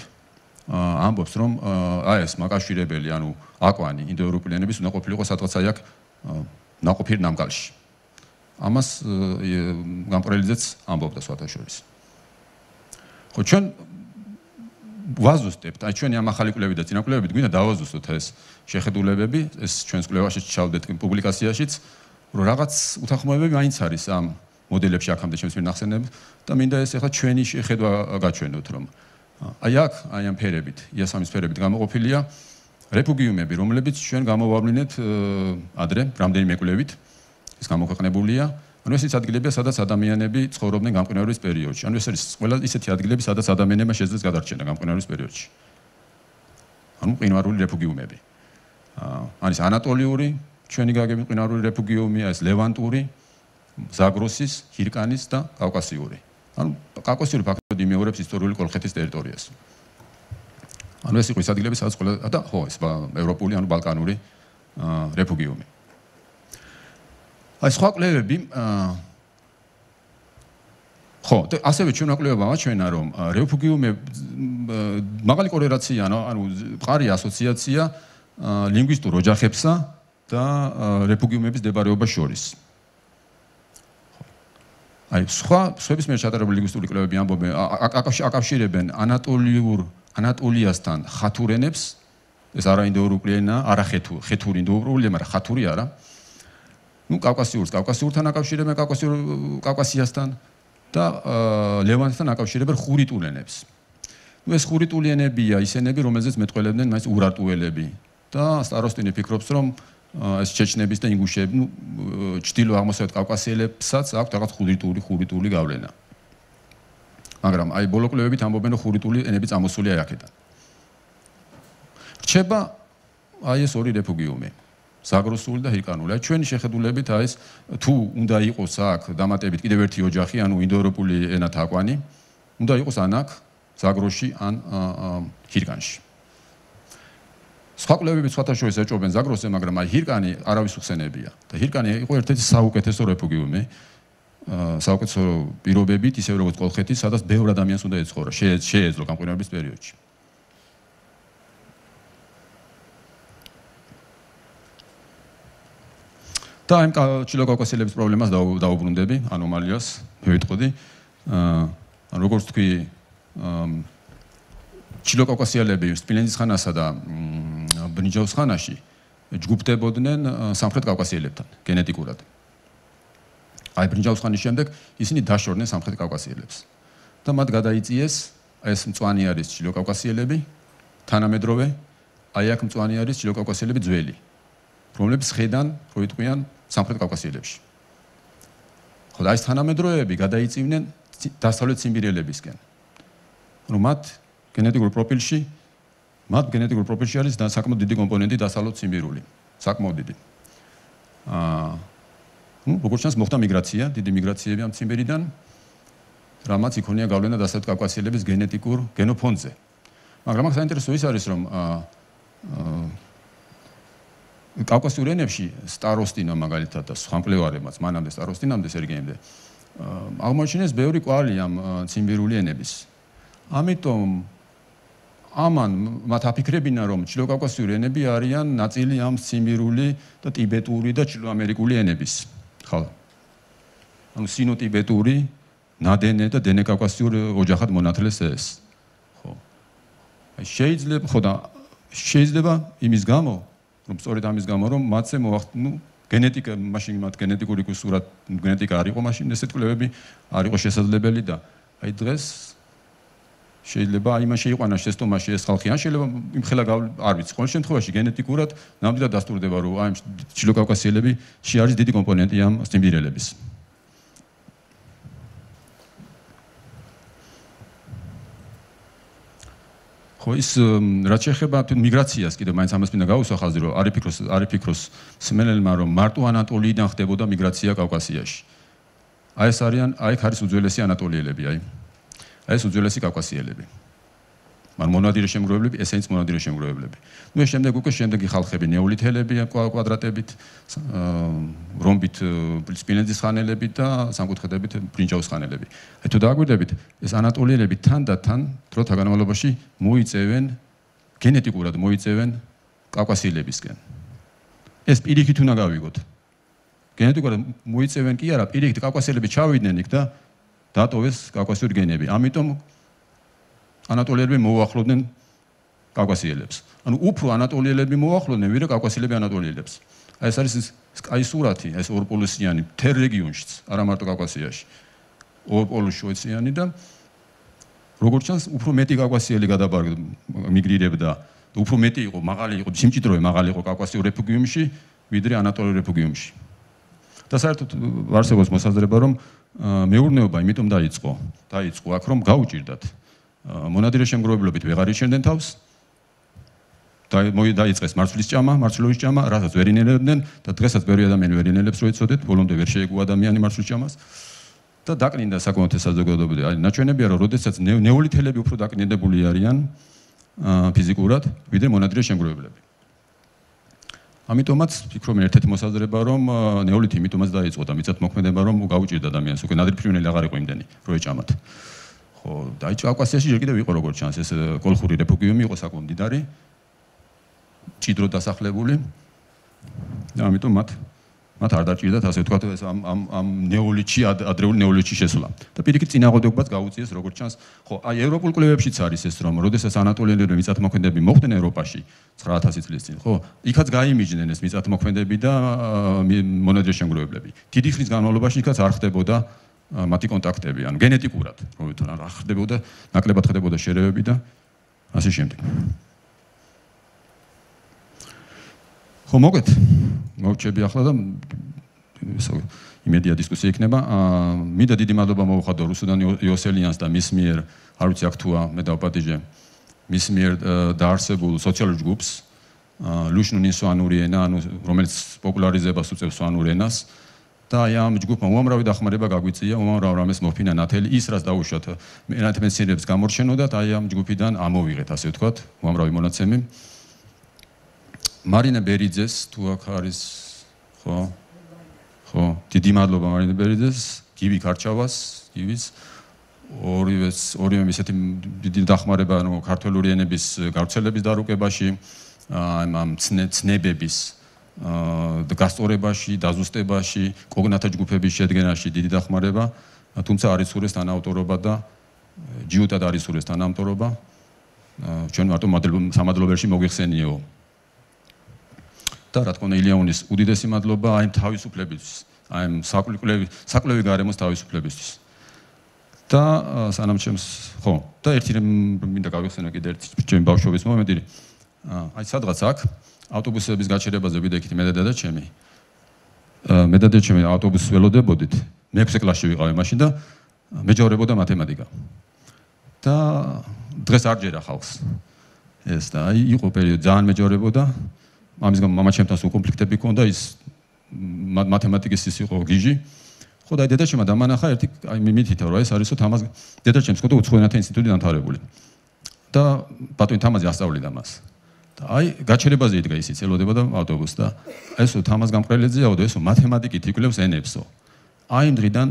ამბობს, რომ აი ეს მაკავშირებელი, ანუ აკვანი ინდოევროპული ენების უნდა ყოფილიყო სადღაც აი აქ ნაყოფიერ ნამგალში. ამას გამყრელიძეც ამბობდა სხვათა შორის. ხო, ჩვენ ვაზუსტებთ, აი ჩვენი ამ ახალი კვლევით და წინა კვლევით გვინდა დავაზუსტოთ ეს შეხედულებები, ეს ჩვენს კვლევაში ჩავდეთ პუბლიკაციაშიც, რომ რაღაც უთანხმოებები მაინც არის ამ მოდელებში აქამდე ჩემს მიერ ნახსენებ და მინდა ეს ახლა ჩვენი შეხედვა გაჩვენოთ, რომ აი აქ, აი ამ ფერებით, იასამის ფერებით გამოყოფილია რეფუგიუმები, რომლებიც ჩვენ გამოვავლინეთ ადრე, რამდენიმე კვლევით, ის გამოქვეყნებულია. ანუ ეს ის ადგილებია, სადაც ადამიანები ცხოვრობდნენ გამყინვარების პერიოდში. ანუ ეს არის ყველა ისეთი ადგილები, სადაც ადამიანებმა შეძლეს გადარჩენა გამყინვარების პერიოდში. ანუ მყინვარული რეფუგიუმები. არის ანატოლიური, ჩვენი გაგები მყინვარული რეფუგიუმია, ეს ლევანტური, ზაგროსის, ჰირკანის და კავკასიური. ანუ კავკასიური ფაქტობრივად იმეორებს ისტორიული კოლხეთის ტერიტორიას. ანუ ეს იყო ის ადგილები, სადაც ყველა და ხო, ეს ევროპული, ანუ ბალკანური რეფუგიუმი. აი სხვა კვლევები ხო, ასევე ჩვენ კვლევებმა აჩვენა, რომ რეფუგიუმები მაღალი კორელაცია, ანუ მყარი ასოციაცია ლინგვისტურ ოჯახებსა და რეფუგიუმების მდებარეობას შორის. აი სხვების მიერ ჩატარებული ლინგვისტური კვლევები ამბობენ, აკავშირებენ ანატოლიასთან ხათურ ენებს, ეს არა ინდოევროპული ენა, არა ხეთური ინდოევროპული, მაგრამ ხათური არა. ნუ კავკასიურთან აკავშირებენ კავკასიასთან და ლევანტთან აკავშირებენ ხურიტულ ენებს. ნუ ეს ხურიტული ენებია ის ენები, რომელზეც მეტყველებდნენ მაინც ურარტუელები და სტაროსტინი ფიქრობს, რომ ეს ჩეჩნების და ინგუშების, ჩრდილო-აღმოსავლეთ კავკასიელებსაც აქვს რაღაც ხურიტული გავლენა. მაგრამ აი ბოლო კვლევებით ამბობენ, რომ ხურიტული ენები წამოსულია აქედან. რჩება აი ეს ორი რეფუგიუმი, ზაგროსული და ჰირკანული. აი ჩვენი შეხედულებით აი ეს თუ უნდა იყოს აქ დამატებით კიდევ ერთი ოჯახი, ანუ ინდოევროპული ენათაყვანი, უნდა იყოს ან აქ ზაგროში ან ჰირკანში. სხვა კვლევები სხვათა შორის ეჭობენ ზაგროსზე, მაგრამ აი ჰირკანი არავის უხსენებია. და ჰირკანი იყო ერთ-ერთი საუკეთესო რეფუგიუმი. საუკეთესო პირობებით, ისე როგორც კოლხეთის, სადაც ბევრ ადამიანს უნდა ეცხოვრა, შეეძლო გამყინვარების პერიოდში. და ამ ჩილოკავკასიელების პრობლემას დაუბრუნდები, ანომალიას, მივიტყოდი. ანუ როგორც თქვი, ჩილოკავკასიელები სპილენძის ხანასა და ბრინჯაოს ხანაში ჯგუფდებოდნენ სამხრეთ კავკასიელებთან გენეტიკურად. აი ბრინჯაოს ხანის შემდეგ ისინი დაშორდნენ სამხრეთ კავკასიელებს. და მათ გადაიწიეს ეს მწვანე არის ჩილოკავკასიელები, თანამედროვე, აი აქ მწვანე არის ჩილოკავკასიელები ძველი, რომლებიც ხედან, რო იტყვიან სამხრეთ კავკასიელებში. ხო და ეს თანამედროვეები გადაიწივნენ დასავლეთ ციმბირელებისკენ. რომ მათ გენეტიკურ პროფილში არის საკმაოდ დიდი კომპონენტი დასავლეთ ციმბირული, საკმაოდ დიდი. როგორც ჩანს მოხდა მიგრაცია, დიდი მიგრაციები ამ ციმბირიდან, რამაც იქონია გავლენა დასავლეთ კავკასიელების გენეტიკურ გენოფონდზე. მაგრამ აქ საინტერესო ის არის, რომ კავკასიურ ენებში სტაროსტინა მაგალითად და სხვა მკვლევარებმაც მანამდე სტაროსტინამდე სერგეიმდე აღმოაჩინეს ბევრი კვალი ამ ციმბირული ენების. ამიტომ ამან მათ აფიქრებინა, რომ ჩილოკავკასიური ენები არიან ნაწილი ამ ციმბირული და ტიბეტური და ჩილოამერიკული ენების. ხო. ანუ სინო-ტიბეტური, ნადენე და დენე-კავკასიური ოჯახად მონათლეს ეს. ხო. აი შეიძლება იმის გამო, რომ სწორედ ამის გამო, რომ მათზე გენეტიკა, მაშინ მათ გენეტიკური კუსურად გენეტიკა არ იყო, მაშინ ესეთ კვლევები არ იყო შესაძლებელი და აი დღეს შეიძლება იმან შეიყვანა შეცდომაში ეს ხალხი, ან შეიძლება იმხელა არ ვიცი, ყოველ შემთხვევაში გენეტიკურად ნამდვილად დასტურდება, რომ აი ჩილოკავკასიელები არის დიდი კომპონენტი ამ ციმბირელების. ხო ის რაც შეეხება მიგრაციას, კიდევ მაინც ამას მინდა გავუსვა ხაზი, რომ არ იფიქროს მსმენელმა, რომ მარტო ანატოლიიდან ხდებოდა მიგრაცია კავკასიაში. აი ეს არის უძველესი ანატოლიელები, აი ეს უძველესი კავკასიელები. მაგრამ მონადირე შემგროვებლები, ესენიც მონადირე შემგროვებლები. ეს შემდეგი ხალხები, ნეოლითელები კვადრატებით, რომბით სპილენძის ხანელები და სამკუთხედებით ბრინჯაოს ხანელები. აი თუ დააგვირდებით, ეს ანატოლიელები თან დროთა განმავლობაში მოიწევენ გენეტიკურად მოიწევენ კავკასიელებისკენ. ეს პირიქით უნდა გავიგოთ. გენეტიკურად მოიწევენ კი არა, პირიქით კავკასიელები ჩავიდნენ იქ და დატოვეს კავკასიური გენები. ამიტომ ანატოლიელები მოუახლოვდნენ კავკასიელებს. ანუ უფრო ანატოლიელები მოუახლოვდნენ, ვიდრე კავკასიელები ანატოლიელებს. აი ეს არის აი სურათი, ეს ორპოლუსიანი მთელ რეგიონშიც, არა მარტო კავკასიაში. ორპოლუსიანი და როგორც ჩანს, უფრო მეტი კავკასიელი მიგრირებდა, უფრო მეტი იყო, მაღალი იყო, სიმჭიდროვე მაღალი იყო კავკასიურ რეფუგიუმში, ვიდრე ანატოლიურ რეფუგიუმში. და საერთოდ არსებობს მოსაზრება, რომ მეურნეობა იმიტომ დაიწყო აქ, რომ გაუჭირდათ. მონადირე შემგროვებლობით ვეღარ იჩენდნენ თავს. დაიწყეს მარცვლეულის ჭამა, რასაც ვერ ინელებდნენ და დღესაც ბევრი ადამიანი ვერ ინელებს, რო იცოდეთ, ბოლომდე ვერ შეეგუა ადამიანი მარცვლის ჭამას. და დაკნინდა საკმაოდ საზოგადოებრივი. აი ნაჩვენებია, რომ როდესაც ნეოლითელები უფრო დაკნინდებული არიან ფიზიკურად, ვიდრე მონადირე შემგროვებლები. ამიტომაც ფიქრობენ ერთ-ერთი მოსაზრება, რომ ნეოლითი იმიტომაც დაიწყო და მიწათმოქმედება რომ გაუჭირდა ადამიანს, უკვე ნადირფრინველი აღარ იყო იმდენი, რო ეჭამათ. ხო, და აი კავკასიაში ჯერ კიდევ იყო როგორც ჩანს, ეს კოლხური რეფუგიუმი იყო საკმაოდ მდიდარი, ჭიდროდ დასახლებული. და ამიტომ მათ არ დაჭირდათ ასე ვთქვათ ეს ამ ნეოლითში, ადრეული ნეოლითში შესვლა. და პირიქით წინააღმდეგობაც გაუწიეს როგორც ჩანს. ხო, აი ევროპულ კვლევებშიც არის ეს, რომ როდესაც ანატოლიელები მიწათმოქმედები მოხდნენ ევროპაში 9000 წლის წინ, ხო, იქაც გაიმიჯნენ ეს მიწათმოქმედები და მონადირე შემგროვებლები. დიდი ხნის განმავლობაში იქაც არ ხდებოდა მათი კონტაქტები, ანუ გენეტიკურად, რომ ვთქვათ, არ ხდებოდა, ნაკლებად ხდებოდა შერევები და ასე შემდეგ. ხო, მოგეთ მოვჩები ახლა და იმედია დისკუსია იქნება. მინდა დიდი მადლობა მოვუხადო რუსუდან იოსელიანს და მის მიერ, არ ვიცი აქ თუა, მე დავპატიჟე მის მიერ დაარსებულ სოციალურ ჯგუფს ლუშნუნი სვანური ენა, ანუ რომელიც პოპულარიზებას უწევს სვანურ ენას და აი ამ ჯგუფმა უამრავი დახმარება გაგვიწია, უამრავ რამეს მოფინა ნათელი, ის რაც დაუშვათ ენათმეცნიერებს გამორჩენოდათ, აი ამ ჯგუფიდან ამოვიღეთ, ასე ვთქვათ, უამრავი მონაცემი. მარინა ბერიძეს თუ აქ არის ხო, დიდი მადლობა მარინა ბერიძეს, გივი ქარჩავას, გივის ორივე ისეთი დიდი დახმარება ანუ ქართული ენების გავრცელების დარუკებაში, ამ ცნებების გასწორებაში, დაზუსტებაში, კოგნათა ჯგუფების შედგენაში დიდი დახმარება, თუმცა არის სურეს თანაავტორობა და ჯიუტად არის სურეს თანაავტორობა. ჩვენ მარტო სამადლობელში მოგვიხსენიეო. და რა თქმა უნდა ილიანის უდიდესი მადლობა აი თავისუფლებისთვის, აი საკვლევი გარემოს თავისუფლებისთვის. და სანამ ჩემს ხო, და ერთი მინდა გავიხსენო კიდე ერთი ჩემი ბავშვობის მომენტი. აი სადღაც აქ ავტობუსების გაჩერებაზე ვიდექით მე და ჩემი. მე და ჩემი ავტობუსს ველოდებოდით. მე 6 კლასში ვიყავი მაშინ და მეჯავრებოდა მათემატიკა. და დღეს არ ჯერა ხალხს. ეს და აი იყო პერიოდი ძალიან მეჯავრებოდა. ამის გამო მამაჩემთან სულ კონფლიქტები ჰქონდა, ის მათემატიკის ის იყო გიჟი. ხო და აი დედაჩემმა დამანახა ერთი აი მითითა რომ ეს არისო თამაზ დედაჩემს ხო და უცხოენათა ინსტიტუტი დამთავრებული. და ბატონი თამაზი ასწავლიდა მას. და აი გაჩერებაზე იდგა ისიც ელოდებოდა ავტობუსს და ესო თამაზ გამყრელიძეაო და ესო მათემატიკით იკვლევს ენებსო. აი იმ დღიდან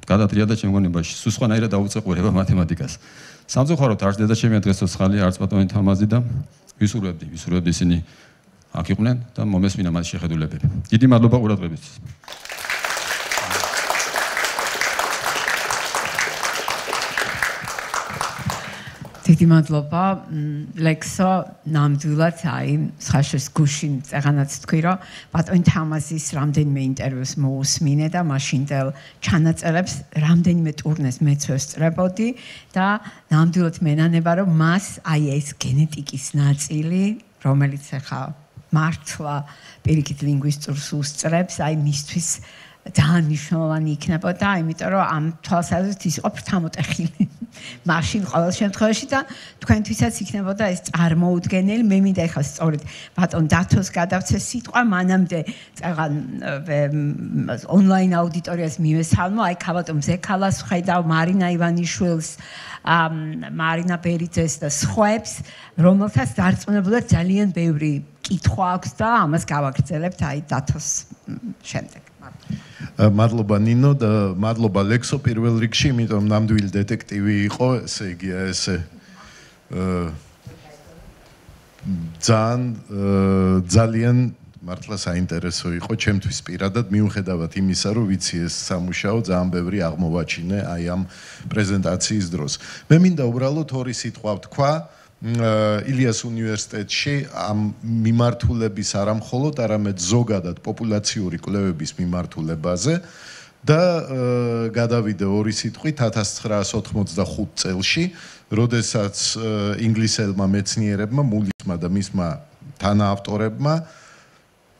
გადატრიალდა ჩემ გონებაში, სულ სხვანაირად დაუწყურება მათემატიკას. სამწუხაროდ არც დედაჩემია დღესო ხალი, არც ბატონი თამაზი და ვისურვებდი ისინი აქ იყვნენ და მომესმინა მათ შეხედულებები. დიდი მადლობა ყურადღებისთვის. დიდი მადლობა ლექსო ნამდვილად აი ხაშეს გუშინ წეღანაც თქვი რომ ბატონი თამაზის რამდენიმე ინტერვიუს მოусმინე და მაშინდელ ჩანაწერებს რამდენიმე ტურნეს მეც ვესწრებოდი და ნამდვილად მენანება რომ მას აი ეს გენეტიკის ნაწილი რომელიც ახლა მართლა პირიქით ლინგვისტურს უსწრებს აი მისთვის ძალიან მნიშვნელოვანი იქნებოდა, იმიტომ რომ ამ თვალსაზრისით ის იყო ფრთამოტეხილი. მაშინ ყოველ შემთხვევაში და თქვენთვისაც იქნებოდა ეს წარმოუდგენელი. მე მინდა ეხლა სწორედ ბატონ დათოს გადავცე სიტყვა, მანამდე წაღან ონლაინ აუდიტორიას მივესალმო, აი ქაბატო მზექალას ვხედავ, მარინა ივანიშვილს, მარინა ბერიძეს და სხვებს, რომელთაც დარწმუნებულად ძალიან ბევრი კითხვა აქვს და ამას გავაგრძელებთ აი დათოს შემდეგ. მადლობა ნინო და მადლობა ლექსო პირველ რიგში, იმიტომ ნამდვილი დეტექტივი იყო, ესე იგი ესე ძალიან მართლა საინტერესო იყო ჩემთვის პირადად, მიუხედავად იმისა, რომ ვიცი ეს სამუშაო ძალიან ბევრი აღმოვაჩინე აი ამ პრეზენტაციის დროს. მე მინდა უბრალოდ ორი სიტყვა ვთქვა ილიას უნივერსიტეტში ამ მიმართულების არამხოლოდ, არამედ ზოგადად პოპულაციური კვლევების მიმართულებაზე და გადავიდე ორი სიტყვით 1985 წელში, როდესაც ინგლისელმა მეცნიერებმა, მულისმა და მისმა თანაავტორებმა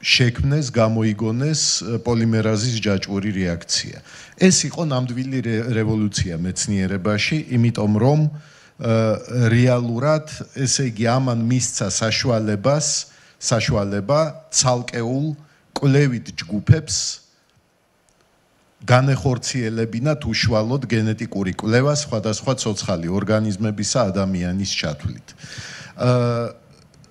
შექმნეს, გამოიგონეს პოლიმერაზის ჯაჭვური რეაქცია. ეს იყო ნამდვილი რევოლუცია მეცნიერებაში, იმიტომ რომ რეალურად, ესე იგი, ამან მისცა საშუალება ცალკეულ კვლევით ჯგუფებს განეხორციელებინათ უშუალოდ გენეტიკური კვლევა სხვადასხვა ცოცხალი ორგანიზმებისა ადამიანის ჩათვლით.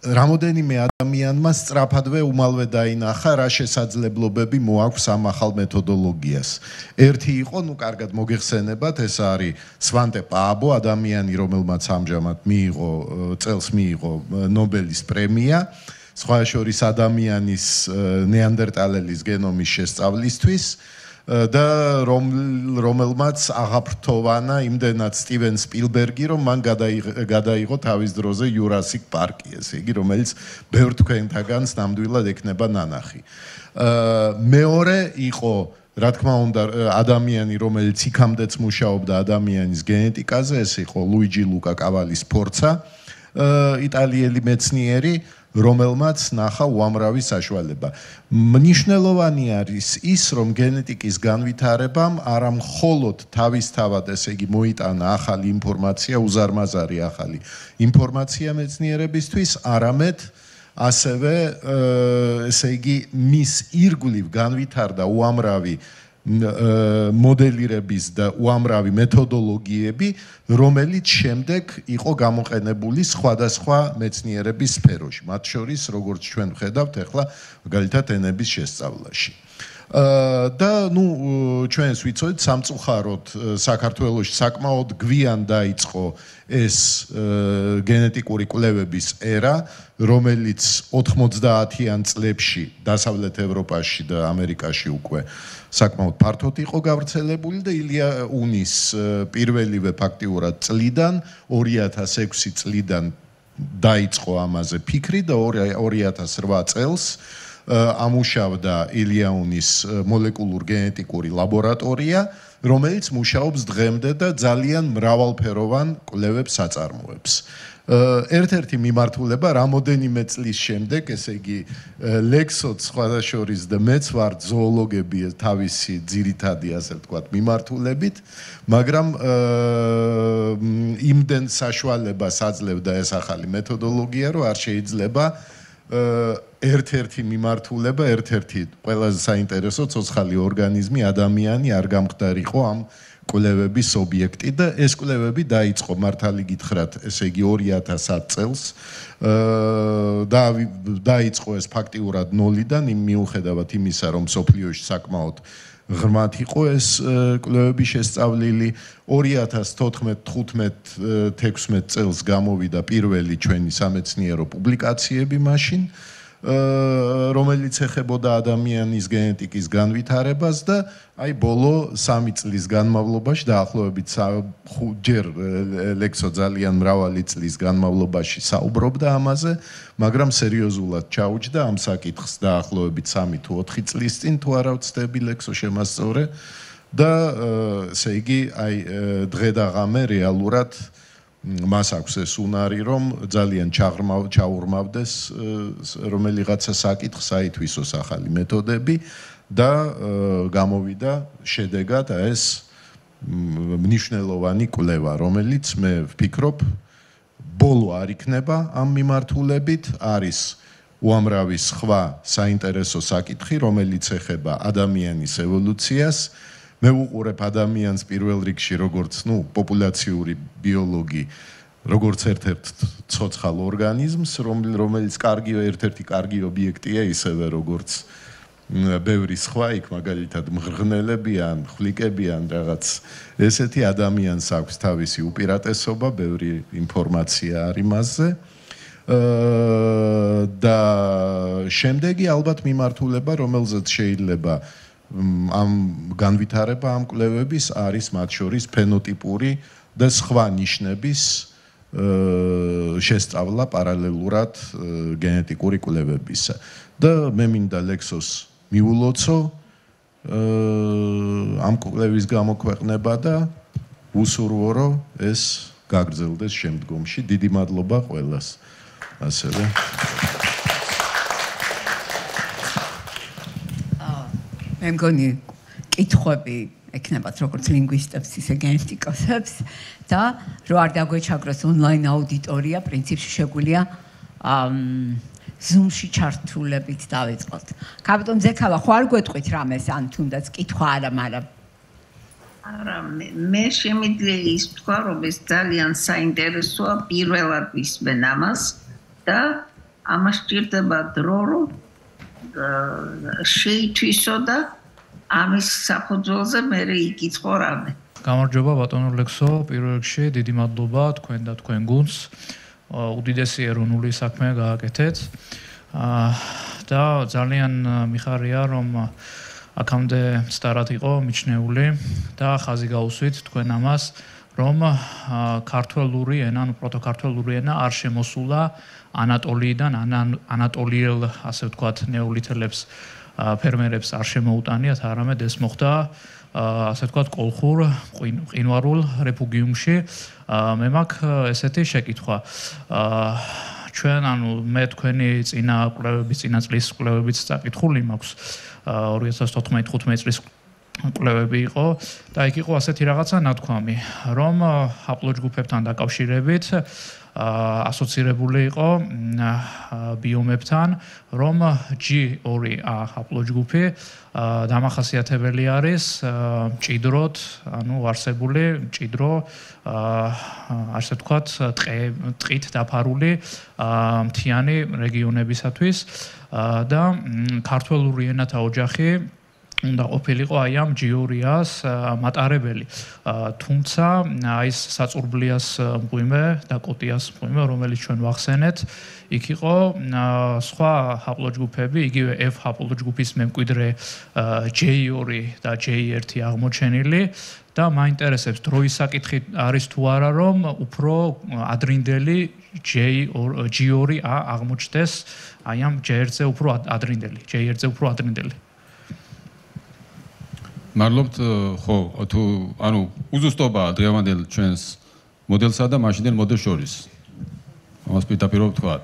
რამოდენიმე ადამიანმა სწრაფადვე უმალვე დაინახა რა შესაძლებლობები მოაქვს ამ ახალ მეთოდოლოგიას. ერთი იყო, ნუ კარგად მოგეხსენებათ, ეს არის სვანტე პააბო, ადამიანი, რომელმაც ამჟამად წელს მიიღო ნობელის პრემია, სხვა შორის ადამიანის ნეანდერტალელის გენომის შესწავლისთვის და რომელმაც აღაფრთოვანა იმდენად სტივენ სპილბერგი, რომ მან გადაიღო თავის დროზე იურასიკ პარკი, ესე იგი, რომელიც ბევრ თქვენთაგანს ნამდვილად ექნება ნანახი. მეორე იყო, რა თქმა უნდა, ადამიანი, რომელიც იქამდეც მუშაობდა ადამიანის გენეტიკაზე, ეს იყო ლუიჯი ლუკა კავალის ფორცა, იტალიელი მეცნიერი რომელმაც ნახა უამრავი საშუალება. მნიშვნელოვანი არის ის, რომ გენეტიკის განვითარებამ არა მხოლოდ თავისთავად, ესე იგი, მოიტანა ახალი ინფორმაცია, უზარმაზარი ახალი ინფორმაცია მეცნიერებისთვის, არამედ ასევე ესე იგი, მის ირგვლივ განვითარდა უამრავი მოდელირების და უამრავი მეთოდოლოგიები, რომელიც შემდეგ იყო გამოყენებული სხვადასხვა მეცნიერების სფეროში, მათ შორის, როგორც ჩვენ ვხედავთ, ახლა მაგალითად ენების შესწავლაში. და ჩვენს ვიცოდით სამწუხაროდ საქართველოში საკმაოდ გვიან დაიწყო ეს გენეტიკური კვლევების ერა, რომელიც 90-იან წლებში დასავლეთ ევროპაში და ამერიკაში უკვე საკმაოდ ფართოდ იყო გავრცელებული და ილია უნის პირველივე ფაქტიურად წლიდან 2006 წლიდან დაიწყო ამაზე ფიქრი და 2008 წელს ამუშავდა ილიაუნის მოლეკულურ გენეტიკური ლაბორატორია, რომელიც მუშაობს დღემდე და ძალიან მრავალფეროვან კვლევებს აწარმოებს. ერთ-ერთი მიმართულება რამოდენიმე წლის შემდეგ, ესე იგი, ლექსოც სხვადასხვა და მეც ვარ ზოოლოგები თავისი ძირითადი, ასე ვთქვათ, მიმართულებით, მაგრამ იმდენ საშუალებას აძლევდა ეს ახალი მეთოდოლოგია, რომ არ შეიძლება ერთ-ერთი მიმართულება, ერთ-ერთი ყველაზე საინტერესო ცოცხალი ორგანიზმი, ადამიანი არ გამხდარიყო ამ კვლევების ობიექტი და ეს კვლევები დაიწყო მართალი გითხრათ, ესე იგი 2010 წელს დაიწყო ეს ფაქტიურად ნოლიდან, მიუხედავად იმისა, რომ სოფლიოში საკმაოდ ღრმად იყო ეს კვლევები შესწავლილი. 2014-15-16 წელს გამოვიდა პირველი ჩვენი სამეცნიერო პუბლიკაციები მაშინ, რომელიც ეხებოდა ადამიანის გენეტიკის განვითარებას და აი ბოლო 3 წლის განმავლობაში დაახლოებით 5-ჯერ ლექსო ძალიან მრავალი წლის განმავლობაში საუბრობდა ამაზე, მაგრამ სერიოზულად ჩაუჯდა ამ საკითხს დაახლოებით 3 თუ 4 წლის წინ, თუ არა ვცდები ლექსო შემასწორე და ესე იგი აი დღე და ღამე რეალურად მას აქვს ეს უნარი, რომ ძალიან ჩაურმავდეს რომელიღაცა საკითხს, აითვისოს ახალი მეთოდები და გამოვიდა შედეგად ეს მნიშვნელოვანი კვლევა, რომელიც მე ვფიქრობ, ბოლო არ იქნება ამ მიმართულებით, არის უამრავი სხვა საინტერესო საკითხი, რომელიც ეხება ადამიანის evolūციას. მე ვუყურებ ადამიანს პირველ რიგში როგორც, პოპულაციური ბიოლოგი, როგორც ერთ-ერთ ცოცხალ ორგანიზმს, რომელიც ერთ-ერთი კარგი ობიექტია, ისევე როგორც ბევრი სხვა, იქ მაგალითად მღრღნელები ან ხვლიკები ან რაღაც ესეთი ადამიანს აქვს თავისი უპირატესობა, ბევრი ინფორმაცია არის მასზე. და შემდეგი ალბათ მიმართულება, რომელზეც შეიძლება ამ განვითარება ამ კვლევების არის მათ შორის ფენოტიპური და სხვა ნიშნების შესწავლა პარალელურად გენეტიკური კვლევებისა. და მე მინდა ლექსოს მიულოცო ამ კვლევის გამოქვეყნება და უსურვო, რომ ეს გაგრძელდეს შემდგომში. დიდი მადლობა ყველას. ასევე მე მგონი კითხვები ეკნებათ როგორც ლინგვისტებს, ისე გენეტიკოსებს და რო არ დაგვეჩაგროს ონლაინ აუდიტორია, პრინციპში შეგვიძლია Zoom-ში ჩართულებით დავიწყოთ. კაპიტან ზექალა, ხო არ გვეტყვით რამეს, ან თუნდაც კითხვა არა, მაგრამ არა, მე შემიძლია ის თქვა, რომ ეს ძალიან საინტერესოა, პირველად ვისმენ ამას და ამას სჭირდება დრო, რომ შეითვისო და ამის საფუძველზე მე იკითხო რამე. გამარჯობა ბატონო ლექსო, პირველ რიგში დიდი მადლობა თქვენ და თქვენ გუნდს. უდიდესი ეროვნული საქმე გააკეთეთ. და ძალიან მიხარია, რომ აქამდე სტარად იყო მიჩნეული და ხაზი გაუსვით თქვენ ამას, რომ ქართველური ენა, უბრალოდ ქართველური ენა არ შემოსულა ანატოლიიდან, ანატოლიელ, ასე ვთქვათ, ნეოლითელებს, ფერმერებს არ შემოუტანიათ, არამედ ეს მოხდა, ასე ვთქვათ, კოლხურ, მყინვარულ რეფუგიუმში. მე მაქვს ესეთი შეკითხვა. ჩვენ მე თქვენი წინა წლის კვლევების წაკითხული მაქვს 2014-15 წლის კვლევები იყო და იქ იყო ასეთი რაღაცა ნათქვამი, რომ ჰაპლოჯგუფებთან დაკავშირებით ასოცირებული იყო ბიომებთან, რომ G2A ჰაპლოჯგუფი დამახასიათებელი არის მჭიდროდ, არსებული მჭიდრო ასე ვთქვათ, ტყით დაფარული მთიანი რეგიონებისათვის და ქართველური ენათა ოჯახი უნდა ყოფილიყო აი ამ G2A-ს მატარებელი. თუმცა აი ეს საწურბლიას მღვიმე და კოტიას მღვიმე, რომელიც ჩვენ ვახსენეთ, იქ იყო სხვა ჰაპლოჯგუფები, იგივე F ჰაპლოჯგუფის მემკვიდრე J2 და J1 აღმოჩენილი და მაინტერესებს დროის საკითხი არის თუ არა, რომ უფრო ადრინდელი G2A აღმოჩნდეს აი ამ J1-ზე უფრო ადრინდელი. მადლობთ, ხო, თუ უზუსტობაა დღევანდელ ჩვენს მოდელსა და მაშინდელ მოდელს შორის. ამას პირდაპირ ვთქვათ.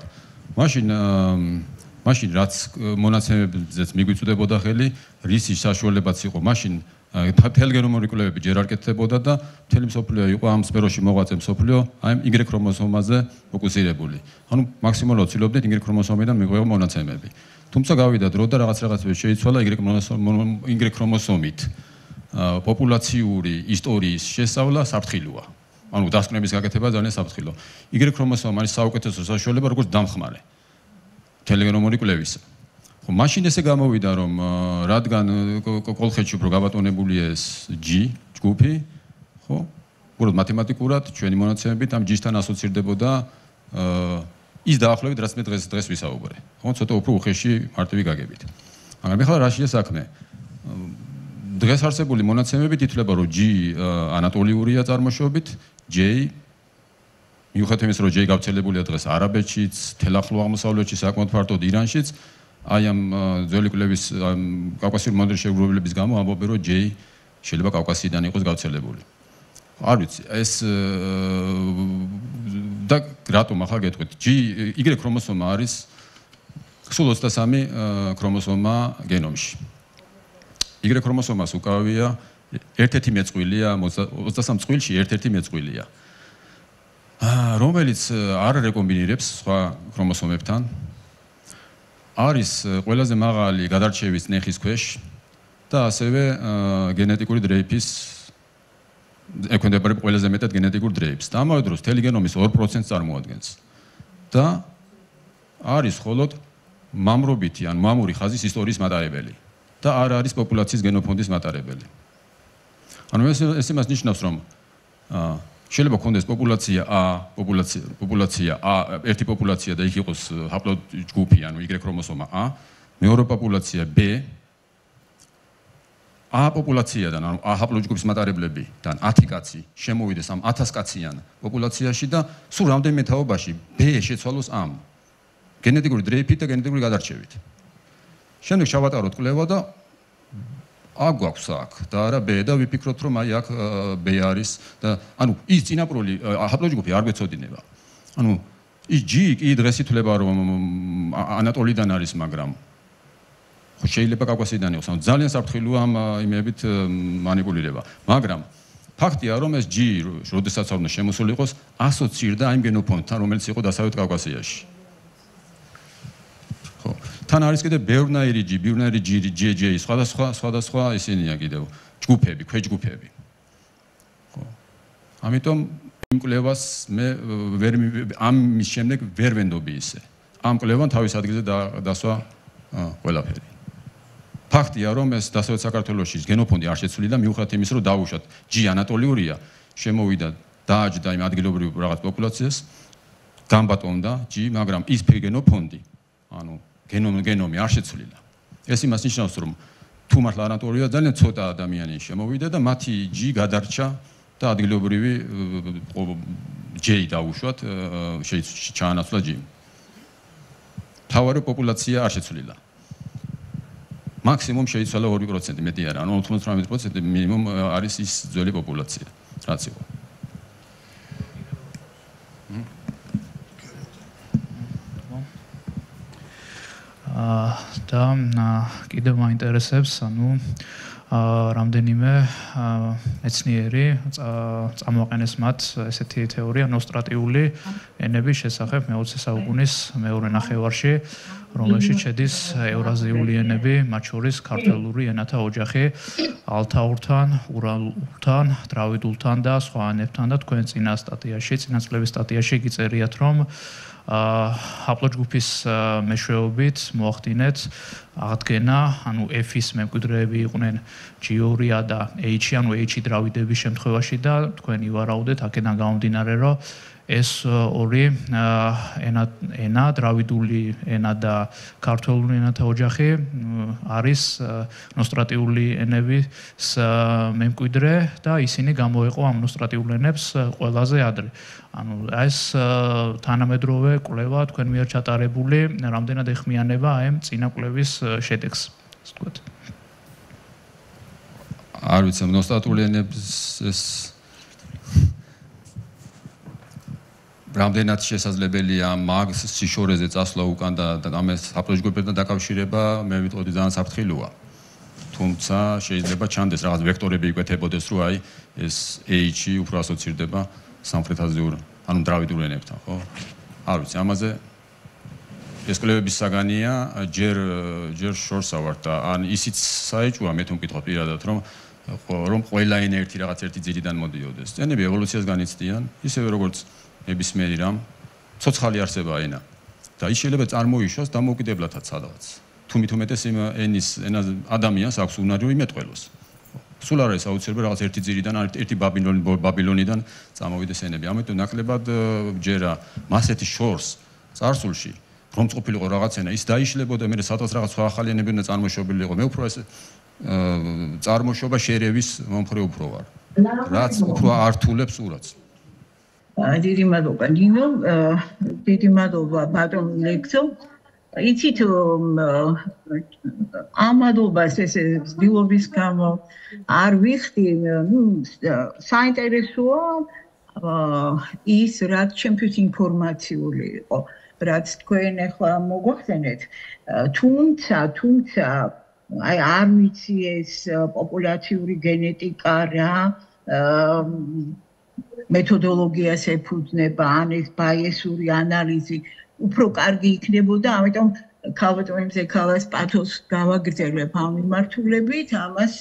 მაშინ რაც მონაცემებზეც მიგვიწვდებოდა ხელი, რისი საშუალებაც იყო, მაშინ თელგენომური კვლევები ჯერ არ კეთდებოდა და მთელი მსოფლიო იყო ამ სფეროში მოღვაწე მსოფლიო აი Y ქრომოსომაზე ფოკუსირებული. მაქსიმალურად ვცდილობდით Y ქრომოსომიდან მიგვეღო მონაცემები. თუმცა გავიდა დრო და რაღაცები შეიცვალა Y ქრომოსომით. პოპულაციური ისტორიის შესწავლა საფრთხილოა. დასკვნების გაკეთება ძალიან საფრთხილო. Y ქრომოსომა არის საუკეთესო საშუალება როგორც დამხმარე თელგენომური კვლევისა. ხო, მაშინ ესე გამოვიდა, რომ რადგან კოლხეთში უფრო გაბატონებულია ეს G ჯგუფი, ხო? უბრალოდ მათემატიკურად ჩვენი მონაცემებით ამ G-სთან ასოცირდებოდა ის დაახლოებით, რაც მე დღეს ვისაუბრე. ხო, ცოტა უფრო უხეში მარტივი გაგებით. მაგრამ ეხლა რა შეა საქმე? დღეს არსებული მონაცემებით ითვლება, რომ G ანატოლიურია წარმოშობით, J მიუხედავად იმისა, რომ J გავრცელებულია დღეს არაბეთშიც, თელ ახლო აღმოსავლეთში, საკმაოდ ფართოდ ირანშიც, აი ამ ძველი კვლევის კავკასიური მოდელის შეგროვებების გამო ამბობენ, რომ J შეიძლება კავკასიიდან იყოს გავრცელებული. არ ვიცი, ეს და რატომ ახლა გეტყვით? Y ქრომოსომა არის სულ 23 ქრომოსომა გენომში. Y ქრომოსომას უკავია ერთ-ერთი მეწყვილია, 23 წყვილში ერთ-ერთი მეწყვილია. რომელიც არ რეკომბინირებს სხვა ქრომოსომებთან. არის ყველაზე მაღალი გადარჩევის ნეხის ქვეშ და ასევე გენეტიკური დრეიფის ექვემდებარება ყველაზე მეტად გენეტიკურ დრეიფს. და ამავე დროს მთელი გენომის 2% წარმოადგენს. და არის მხოლოდ მამრობითი ან მამური ხაზის ისტორიის მატარებელი და არ არის პოპულაციის გენოფონდის მატარებელი. ეს იმას ნიშნავს, რომ შეიძლება ქონდეს პოპულაცია A, ერთი პოპულაცია და იქ იყოს ჰაპლოჯგუფი, Y ქრომოსომა A, მეორე პოპულაცია B, A პოპულაციიდან, A ჰაპლოჯგუფის მატარებლებიდან 10 კაცი შემოვიდეს ამ 1000 კაციან პოპულაციაში და სულ რამდენიმე თაობაში B შეცვალოს ამ გენეტიკური დრეიფით და გენეტიკური გადარჩევით. შემდეგ შევატაროთ კვლევა და აქ გვაქვს აქ და არა B და ვიფიქროთ, რომ აი აქ B არის და ის წინაპრული ჰაპლოჯგუფი არ გვეცოდინება. ის G კი დღეს ითვლება, რომ ანატოლიდან არის, მაგრამ ხო შეიძლება კავკასიიდან იყოს. ძალიან საფრთხილოა ამ იმებით მანიპულირება. მაგრამ ფაქტია, რომ ეს G, როდესაც არ უნდა შემოსული იყოს, ასოცირდა იმ გენოფონდთან, რომელიც იყო დასავლეთ კავკასიაში. ხო, თან არის კიდე ბევრნაირი J, სხვადასხვა ისინია კიდევ ჯგუფები, ქვეჯგუფები. ხო. ამიტომ იმ კვლევას მე ამის შემდეგ ვერ ვენდობი ისე. ამ კვლევამ თავის ადგილზე დასვა ყველაფერი. ფაქტია, რომ ეს დასავლეთ საქართველოში გენოფონდი არ შეცვლი და მიუხედავად იმისა, რომ დაუშვათ G ანატოლიურია, შემოვიდა დააჯდა იმ ადგილობრივ რაღაც პოპულაციას, გამბატონდა G, მაგრამ ის გენოფონდი, გენომი არ შეცვლილა. ეს იმას ნიშნავს, რომ თუ მართლა ანატოლია ძალიან ცოტა ადამიანი შემოვიდა და მათი G გადარჩა და ადგილობრივი J დაუშვათ, ჩაანაცვლა G. თავარი პოპულაცია არ შეცვლილა. მაქსიმუმ შეიცვალა 2%, მეტი არა, 98% მინიმუმ არის ის ძველი პოპულაცია, რაც იყო. და კიდევ მაინტერესებს, რამდენიმე მეცნიერი წამოაყენეს მათ ესეთი თეორია ნოსტრატიული ენების შესახებ მე-20 საუკუნის მეორე ნახევარში, რომელშიც შედის ევრაზიული ენები, მათ შორის ქართველური ენათა ოჯახი, ალთაურთან, ურალურთან, დრავიდულთან და სხვა ენებთან და თქვენ წინა წლების სტატიაში გიწერიათ, რომ აპლოჯგუფის მეშვეობით მოახდინეთ აღდგენა, F-ის მემკვიდრეები იყვნენ G2-ა და H-ი, H-ი დრავიდების შემთხვევაში და თქვენ ივარაუდეთ აქედან გამომდინარე, რომ ეს ორი ენა, დრავიდული ენა და ქართველური ენათა ოჯახი არის ნოსტრატიული ენების მემკვიდრე და ისინი გამოეყო ამ ნოსტრატიულ ენებს ყველაზე ადრე. ეს თანამედროვე კვლევა თქვენ მიერ ჩატარებული რამდენად ეხმიანება ამ წინა კვლევის შედეგს, ასე ვთქვათ. არ ვიცი, ნოსტრატიული ენების ეს რამდენად შესაძლებელია მაგ სიშორეზე წასვლა უკან და ამას აპლოჯგუფებთან დაკავშირება, მე ვიტყოდი ძალიან საფრთხილოა. თუმცა შეიძლება ჩანდეს რაღაც ვექტორები იკვეთებოდეს, რომ აი ეს H-ი უფრო ასოცირდება სამხრეთაზიურ, დრავიდულ ენებთან, ხო? არ ვიცი, ამაზე ეს კვლევების საგანია, ჯერ შორსა ვარ და ან ისიც საეჭვია, მე თუ მკითხავ პირადად, რომ ყველა ენა ერთი ძირიდან მოდიოდეს. ენები ევოლუციას განიცდიან, ისევე როგორც ნებისმიერი რამ, ცოცხალი არსება ენა. და ის შეიძლება წარმოიშვას დამოუკიდებლადაც სადღაც. თუ მithumetes ენის ადამიანს აქვს უნარი იმეტყველოს. სულ არ არის აუცილებელი რაღაც ერთი ძირიდან, ერთი ბაბილონიდან წამოვიდეს ენები. ამიტომ ნაკლებად ჯერა მასეთი შორს წარსულში, რომ წყופილიყო რაღაც ენა, ის დაიშლებოდა, მე სადღაც რაღაც სხვა ახალი ენები უნდა წარმოშობილიყო. მე უფრო ეს წარმოშობა შერევის მომხრე უფრო ვარ. რაც უფრო ართულებს урაც. დიდი მადლობა ნინო, დიდი მადლობა ბატონ ლექსო. იცით ამ მადლობას ეს ძილობის გამო არ ვიხდი, საინტერესოა ის რაც ჩემთვის ინფორმაციული იყო, რაც თქვენ ახლა მოგვახსენეთ, თუმცა აი არ ვიცი ეს პოპულაციური გენეტიკა რა მეთოდოლოგიას ეფუძნება, ან ეს ბაიესური ანალიზი უფრო კარგი იქნებოდა, ამიტომ ქალბატონზე ქალას პათოს გავაგრძელებ ამ მიმართულებით, ამას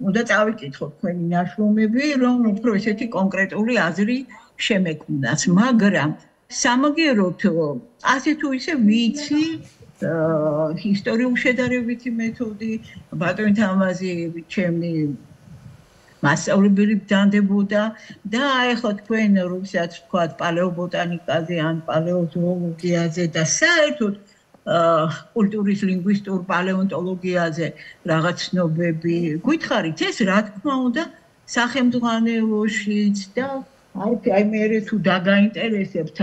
უნდა წავიკითხოთ თქვენი ნაშრომები, რომ უფრო ესეთი კონკრეტული აზრი შემექმნას, მაგრამ სამაგიეროდ ასე თუ ისე ვიცი ისტორიულ შედარებითი მეთოდი, ბატონ თამაზი ჩემი მასწავლებელი ბრძანდებოდა და ახლა თქვენ როდესაც თქვათ პალეობოტანიკაზე ან პალეოზოოლოგიაზე და საერთოდ კულტურის ლინგვისტურ პალეონტოლოგიაზე რაღაც ცნობები გითხარით, ეს რა თქმა უნდა სახელმძღვანელოშიც და აი მე თუ დაგაინტერესებთ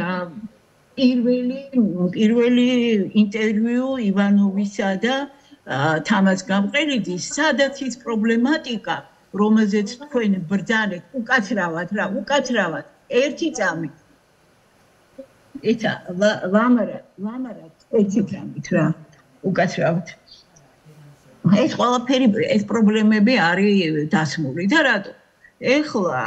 პირველი ინტერვიუ ივანოვისა და თამაზ გამყრელიძის, სადაც ის პრობლემატიკა რომელზეც თქვენ ბრძანეთ უკაცრავად ერთი წამით ეცა ლამარად ერთი წამით რა უკაცრავად ეს ყველაფერი ეს პრობლემები არის დასმული და რატო ეხლა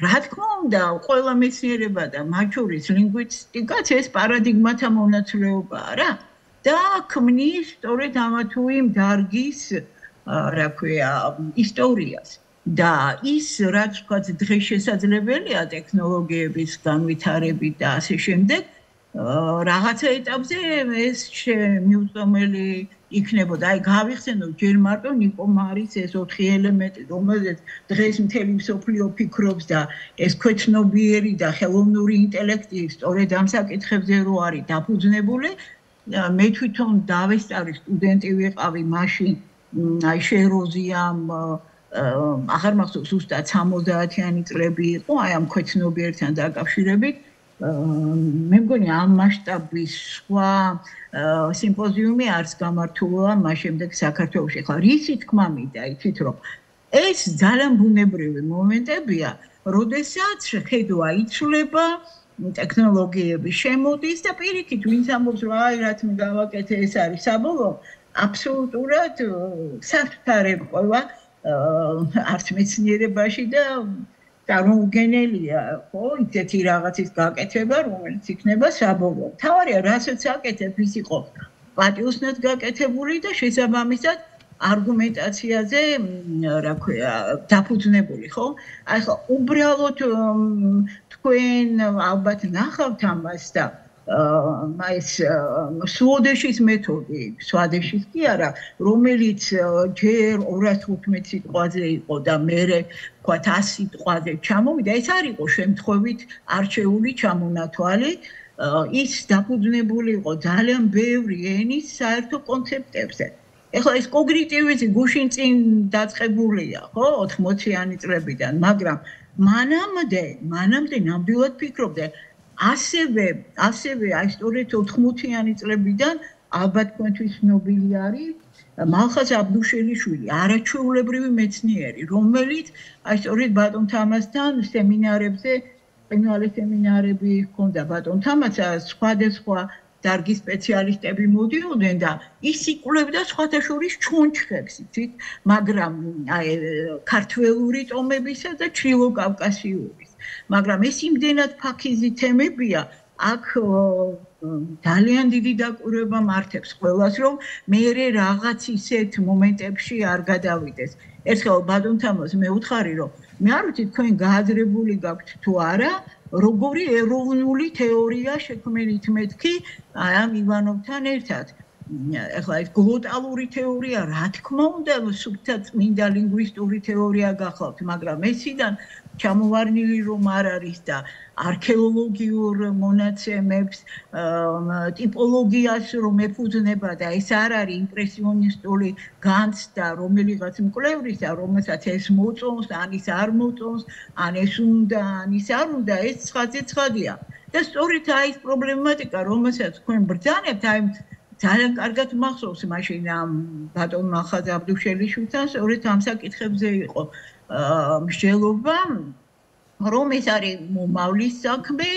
რა თქმა უნდა ყველა მეცნიერება და მათ შორის ლინგვისტიკაც ეს პარადიგმათა მონაცვლეობაა რა და ქმნის სწორედ ამა თუ იმ დარგის რა ქვია ისტორიას და ის რაც ვთქვათ დღეს შესაძლებელია ტექნოლოგიების განვითარებით და ასე შემდეგ რაღაცა ეტაპზე ეს მიუწვდომელი იქნებოდა აი გავიხსენოთ ჯერ მარტო ნიკო მარის ეს 4 ელემენტი რომელზეც დღეს მთელი მსოფლიო ფიქრობს და ეს ქვეცნობიერი და ხელოვნური ინტელექტი სწორედ ამ საკითხებზე რო არის დაფუძნებული მე თვითონ დავესწარი სტუდენტი ვიყავი მაშინ აი შეროზიამ აღარ მახსოვს ზუსტად 60-იანი წლები იყო აი ამ ქვეცნობიერთან დაკავშირებით მე მგონი ამ მასშტაბის სხვა სიმპოზიუმი არც გამართულა მას შემდეგ საქართველოში ხა რისი თქმა მინდა იცით რომ ეს ძალიან ბუნებრივი მომენტებია როდესაც ხედვა იცვლება ტექნოლოგიები შემოდის და პირიქით ვინც ამბობს რომ აი რაც მე გავაკეთე ეს არის საბოლოო აბსოლუტურად საფრთხარებყვა არც მეცნიერებაში და წარმოუდგენელია ხო ისეთი რაღაცის გაკეთება რომელიც იქნება საბოლოო თავარია რასაც აკეთებ ის იყო პატიოსნად გაკეთებული და შესაბამისად არგუმენტაციაზე რა ქვია დაფუძნებული ხო აი ხო უბრალოდ თქვენ ალბათ ნახავთ ამას და ეს სვოდეშის მეთოდი სვადეშის კი არა რომელიც ჯერ 215 სიტყვაზე იყო და მერე თქვა 100 სიტყვაზე ჩამოვიდა ეს არ იყო შემთხვევით არჩეული ჩამონათვალი ის დაფუძნებული იყო ძალიან ბევრი ენის საერთო კონცეპტებზე ეხლა ეს კოგნიტივიზმი გუშინ წინ დაწყებულია ხო 80-იანი წლებიდან მაგრამ მანამდე ნამდვილად ფიქრობდნენ ასევე აი სწორედ 80-იანი წლებიდან ალბათ თქვენთვის ცნობილი არის მალხაზ აბდუშელიშვილი არაჩვეულებრივი მეცნიერი რომელიც აი სწორედ ბატონ თამასთან სემინარებზე ყინვალის სემინარები ჰქონდა ბატონ თამასა სხვადასხვა დარგის სპეციალისტები მოდიოდნენ და ის იკვლევდა სხვათა შორის ჩონჩხებს იცით მაგრამ აი ქართველური ტომებისა და ჩრდილო კავკასიურის მაგრამ ეს იმდენად ფაქიზი თემებია აქ ძალიან დიდი დაკვირვება მართებს ყველას რომ მეერე რაღაც ისეთ მომენტებში არ გადავიდეს ერთხელ ბატონ თამას მე ვუთხარი რომ მე არ ვიცი თქვენ გააზრებული გაქვთ თუ არა როგორი ეროვნული თეორია შექმნით მეთქი ამ ივანოვთან ერთად ეხლა ეს გლოტალური თეორია რა თქმა უნდა სუფთა წმინდა ლინგვისტური თეორია გახლავთ მაგრამ ესიდან ჩამოვარნილი რომ არ არის და არქეოლოგიურ მონაცემებს ტიპოლოგიას რომ ეფუძნება და ეს არ არის იმპრესიონისტული განცდა რომელიღაც მკვლევრისა რომელსაც ეს მოწონს ან ის არ მოწონს ან ეს უნდა ან ის არ უნდა ეს ცხადია და სწორედ აი ეს პრობლემატიკა რომელსაც თქვენ ბრძანებთ აი ძალიან კარგად მახსოვს მაშინ ამ ბატონ მალხაზ აბდუშელიშვილთან სწორედ ამ საკითხებზე იყო მსჯელობა რომ ეს არის მომავლის საქმე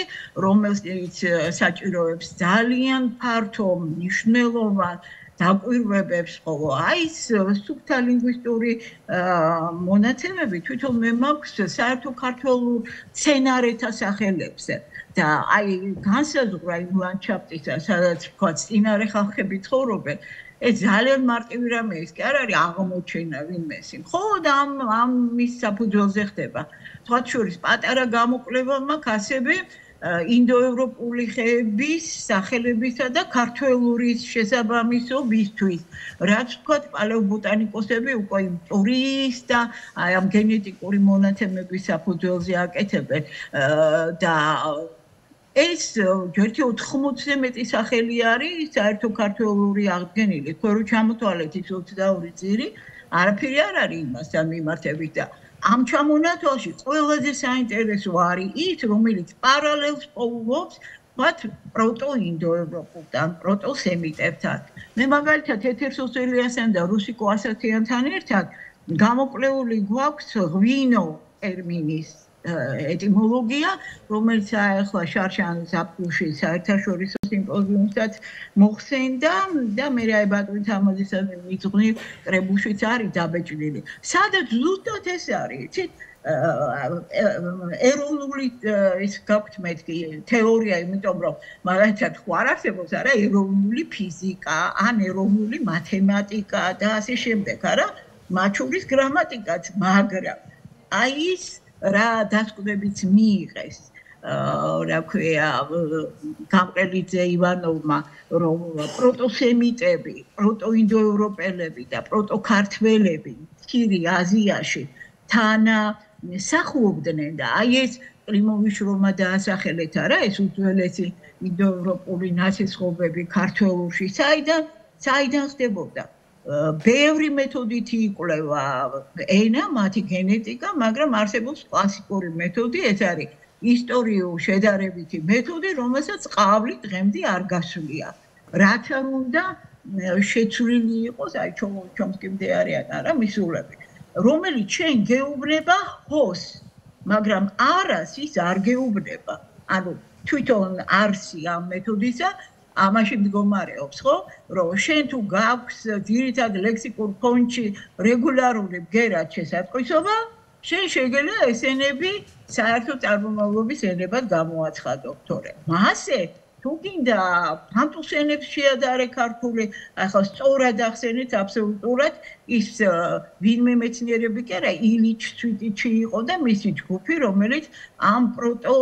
რომელსაც საჭიროებს ძალიან ფართო მნიშვნელოვან დაკვირვებებს ხოლო აი ეს სუფთა ლინგვისტური მონაცემები თვითონ მე მაქვს საერთო ქართულ სცენარეთა სახელებზე და აი განსაზღვრა იმ ლანდშაფტისა სადაც თქვა წინარე ხალხები ცხოვრობენ ეს ძალიან მარტივი რამე ის კი არ არის აღმოჩენა ვინმესი მხოლოდ ამ მის საფუძველზე ხდება თქვათ შორის პატარა გამოკვლევა მაქვს ასევე ინდოევროპული ხეების სახელებისა და ქართველურის შესაბამისობისთვის რაც თქვათ პალეობოტანიკოსები უკვე ტურის და აი ამ გენეტიკური მონაცემების საფუძველზე აკეთებენ და ეს ჯერთი 80-ზე მეტი სახელი არის საერთო ქართველური აღდგენილი თქვენ რო ჩამოთვალეთ ის 22 ძირი არაფერი არ არის იმასთან მიმართებით და ამ ჩამონათვალში ყველაზე საინტერესო არის ის რომელიც პარალელს პოულობს მათ პროტოინდოევროპულთან პროტოსემიტებთან მე მაგალითად ეთერსოსელიასთან და რუსიკო ასათიანთან ერთად გამოკვლეული გვაქვს ღვინო ტერმინის ეტიმოლოგია, რომელიც ახლა შარშანის აპრილში საერთაშორისო სიმპოზიუმსაც მოხსენდა და მე რა ბატონი თამაზისა მიძღვნილ კრებულშიც არის დაბეჭდილი. სადაც ზუსტად ეს არის, იცით? ეროვნული ის გაქვთ მეთქი თეორია, იმიტომ რომ მაგალითად ხო არ არსებობს არა ეროვნული ფიზიკა, ან ეროვნული მათემატიკა და ასე შემდეგ, არა? მათ შორის გრამატიკაც, მაგრამ აი ის რა დასკვნებიც მიიღეს რა ქვია გამყრელიძე ივანოვმა რომ პროტოსემიტები, პროტოინდოევროპელები და პროტოქართველები მცირე აზიაში თანა მსახურობდნენ და აი ეს კლიმოვის შრომა დაასახელეთ არა ეს უძველესი ინდოევროპული ნასესხობები ქართველურში საიდან ხდებოდა ბევრი მეთოდით იკვლევა ენა, მათი გენეტიკა, მაგრამ არსებობს კლასიკური მეთოდი, ეს არის ისტორიულ შედარებითი მეთოდი, რომელსაც ყავლი დღემდე არ გასვლია. რაც არ უნდა შეცვლილი იყოს, აი ჩომსკიმდე არიან არა მისულები, რომელიც შენ გეუბნება ჰოს, მაგრამ არას ის არ გეუბნება. ანუ თვითონ არსი ამ მეთოდისა ამაში მდგომარეობს, ხო? რომ შენ თუ გაქვს ძირითად ლექსიკურ ფონდში რეგულარული ბგერად შესატყვისობა, შენ შეგიძლია ეს ენები საერთო წარმომავლობის ენებად გამოაცხადო, თორე მასე თუ გინდა ფანტუს ენებს შეადარე ქართული, ახლა სწორად ახსენეთ აბსოლუტურად ის ვინმე მეცნიერები კი არა, ილიჩ ცვიტიჩი იყო და მისი ჯგუფი, რომელიც ამ პროტო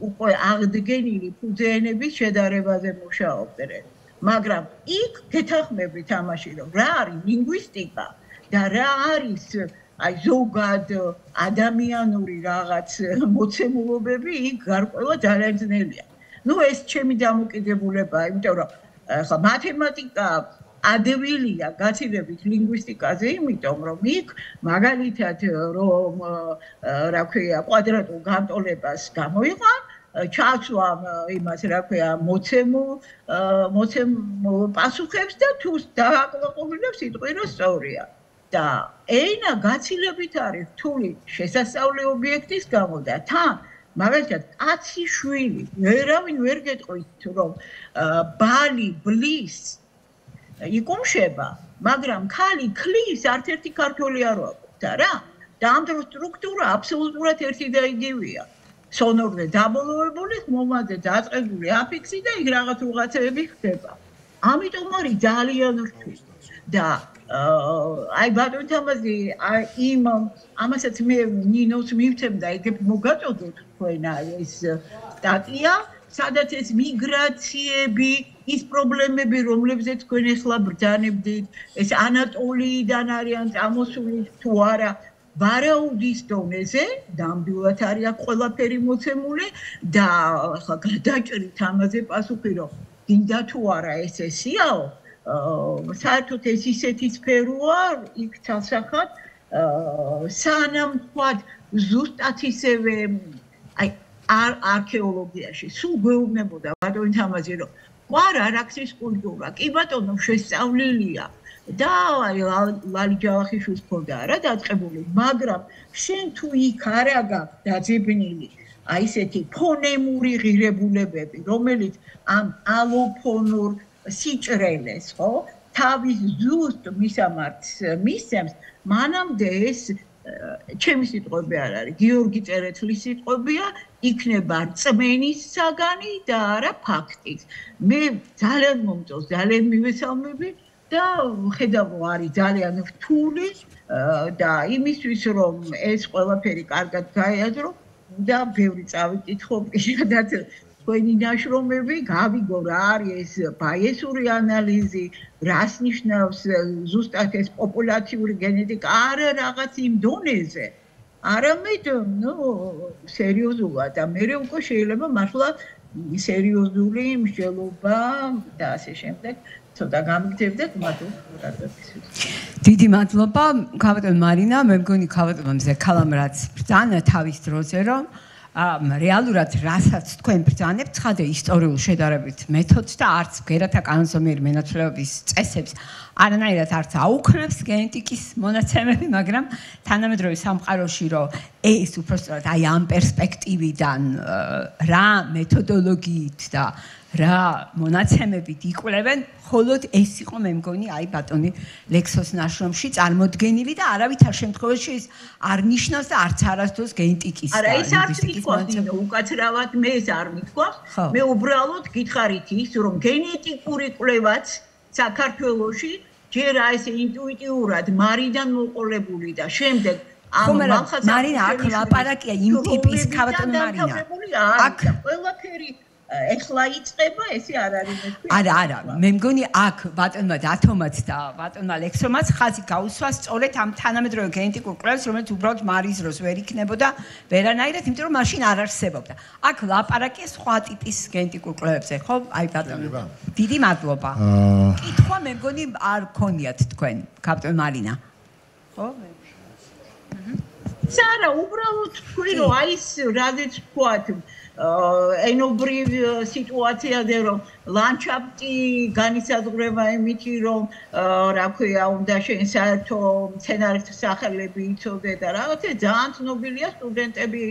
უკვე აღდგენილი ფუძეენების შედარებაზე მუშაობდნენ. მაგრამ იქ გეთანხმებით ამაში, რომ რა არის ლინგვისტიკა და რა არის აი ზოგად ადამიანური რაღაც მოცემულობები, იქ გარკვევა ძალიან ძნელია. Ну ეს ჩემი დამოკიდებულებაა, იმიტომ რომ ხა მათემატიკა ადვილია გაცილებით ლინგვისტიკაზე, იმიტომ რომ იქ მაგალითად რომ რა ქვია კვადრატულ განტოლებას გამოიყან, ჩაცვამ იმას რა ქვია მოცემულ პასუხებს და თუ დააკვირვებს სიტყვი რომ სწორია. და ენა გაცილებით არის რთული შესასწავლი ობიექტის გამო და თან მაგალითად კაცი შვილი ვერავინ ვერ გეტყვით რომ ბალი ბლის იკუმშება მაგრამ ქალი ქლის არც-ერთი ქართველი არ ვაკვირდა რა და ამ დროს სტრუქტურა აბსოლუტურად ერთი და იგივეა სონორზე დაბოლოებული ხმოვანზე დაწყებული აფიქსი და იქ რაღაცები ხდება ამიტომ არის ძალიან რთული და აი ბატონ თამაზი იმ ამასაც მე ნინოს მივცემდა ეგ მოგაწოდოთ თქვენ ეს სტატია სადაც ეს მიგრაციები ის პრობლემები რომლებზეც თქვენ ახლა ბრძანებდით ეს ანატოლიიდან არიან წამოსული თუ არა ვარაუდის დონეზე ნამდვილად არის აქ ყველაფერი მოცემული და ახლა გადაჭრით ამაზე პასუხი რომ გინდა თუ არა ეს ესიაო საერთოდ ეს ისეთი სფეროა იქ თალსახად სანამ თქვათ ზუსტად ისევე აი არქეოლოგიაში სულ გვეუბნებოდა ბატონი თამაზი რომ ყარ არაქსის კულტურა კი ბატონო შესწავლილია და აი ლალი ჯავახიშვილის ქონდა რა დაწყებული მაგრამ შენ თუ იქ არა გაქვს დაძებნილი აი ესეთი ფონემური ღირებულებები რომელიც ამ ალოფონურ სიჭრელეს ხო თავის ზუსტ მისამართს მისცემს მანამდე ეს ჩემი სიტყვები არ არის გიორგი წერეთლის სიტყვებია იქნება რწმენის საგანი და არა ფაქტის მე ძალიან მომწონს ძალიან მივესალმები და ხედავ არის ძალიან რთული და იმისთვის რომ ეს ყველაფერი კარგად გაიაზრო და ბევრი წავიკითხო პირადად თქვენი ნაშრომები გავიგო რა არის ეს ბაიესური ანალიზი რას ნიშნავს ზუსტად ეს პოპულაციური გენეტიკა არა რაღაც იმ დონეზე არამედ სერიოზულად და მე უკვე შეიძლება მართლა სერიოზული მსჯელობა და ასე შემდეგ ცოტა გამიგდებდეთ მადლობა დიდი მადლობა ქავატონ მარინა მე მგონი ქავატონ მზექალამ რაც ბრძანა თავის დროზე რომ რეალურად რასაც თქვენ ბრძანებთ ცხადე ისტორიულ შედარებით მეთოდს და არც ბგერათა კანონზომიერი მენაცვლეობის წესებს არანაირად არც აუქმებს გენეტიკის მონაცემები მაგრამ თანამედროვე სამყაროში რომ ეს უბრალოდ აი ამ პერსპექტივიდან რა მეთოდოლოგიით და რა მონაცემებით იკვლევენ მხოლოდ ეს იყო მე მგონი აი ბატონი ლექსოს ნაშრომში წარმოდგენილი და არავითარ შემთხვევაში ეს არ ნიშნავს და არც არასდროს გენეტიკის არა ეს არც მithქვას უკაცრავად მე ეს არ მithქვას მე უბრალოდ გითხარით ის რომ გენეტიკური კვლევაც საქართველოში ჯერ ეს ინტუიტიურად მარიდან მოყოლებული და შემდეგ ამ მალხაზ მარინა აქ ლაპარაკია იმ ტიპის ქავატონ მარინა აქ ყველაფერი ეხლა იწება ესე არ არის მე არა მე მგონი აქ ბატონმა დათომაც და ბატონმა ლექსომაც ხაზი გაუსვა სწორედ ამ თანამედროვე გენეტიკურ კვლევებს რომელიც უბრალოდ მარის დროს ვერ იქნებოდა ვერანაირად იმიტომ რომ მაშინ არ არსებობდა აქ ლაპარაკია სხვა ტიპის გენეტიკურ კვლევებზე ხო აი ბატონო დიდი მადლობა კითხვა მე მგონი არ გქონიათ თქვენ კაპიტან მარინა ხო არა უბრალოდ თქვი რომ აი ეს რაზეც ვთქვათ ენობრივ სიტუაციაზე რომ ლანდშაფტი განისაზღვრება იმითი რომ რა ქვია უნდა შენ საერთო მცენარეთა სახელები იცოდე და რაღაცა ძალიან ცნობილია სტუდენტები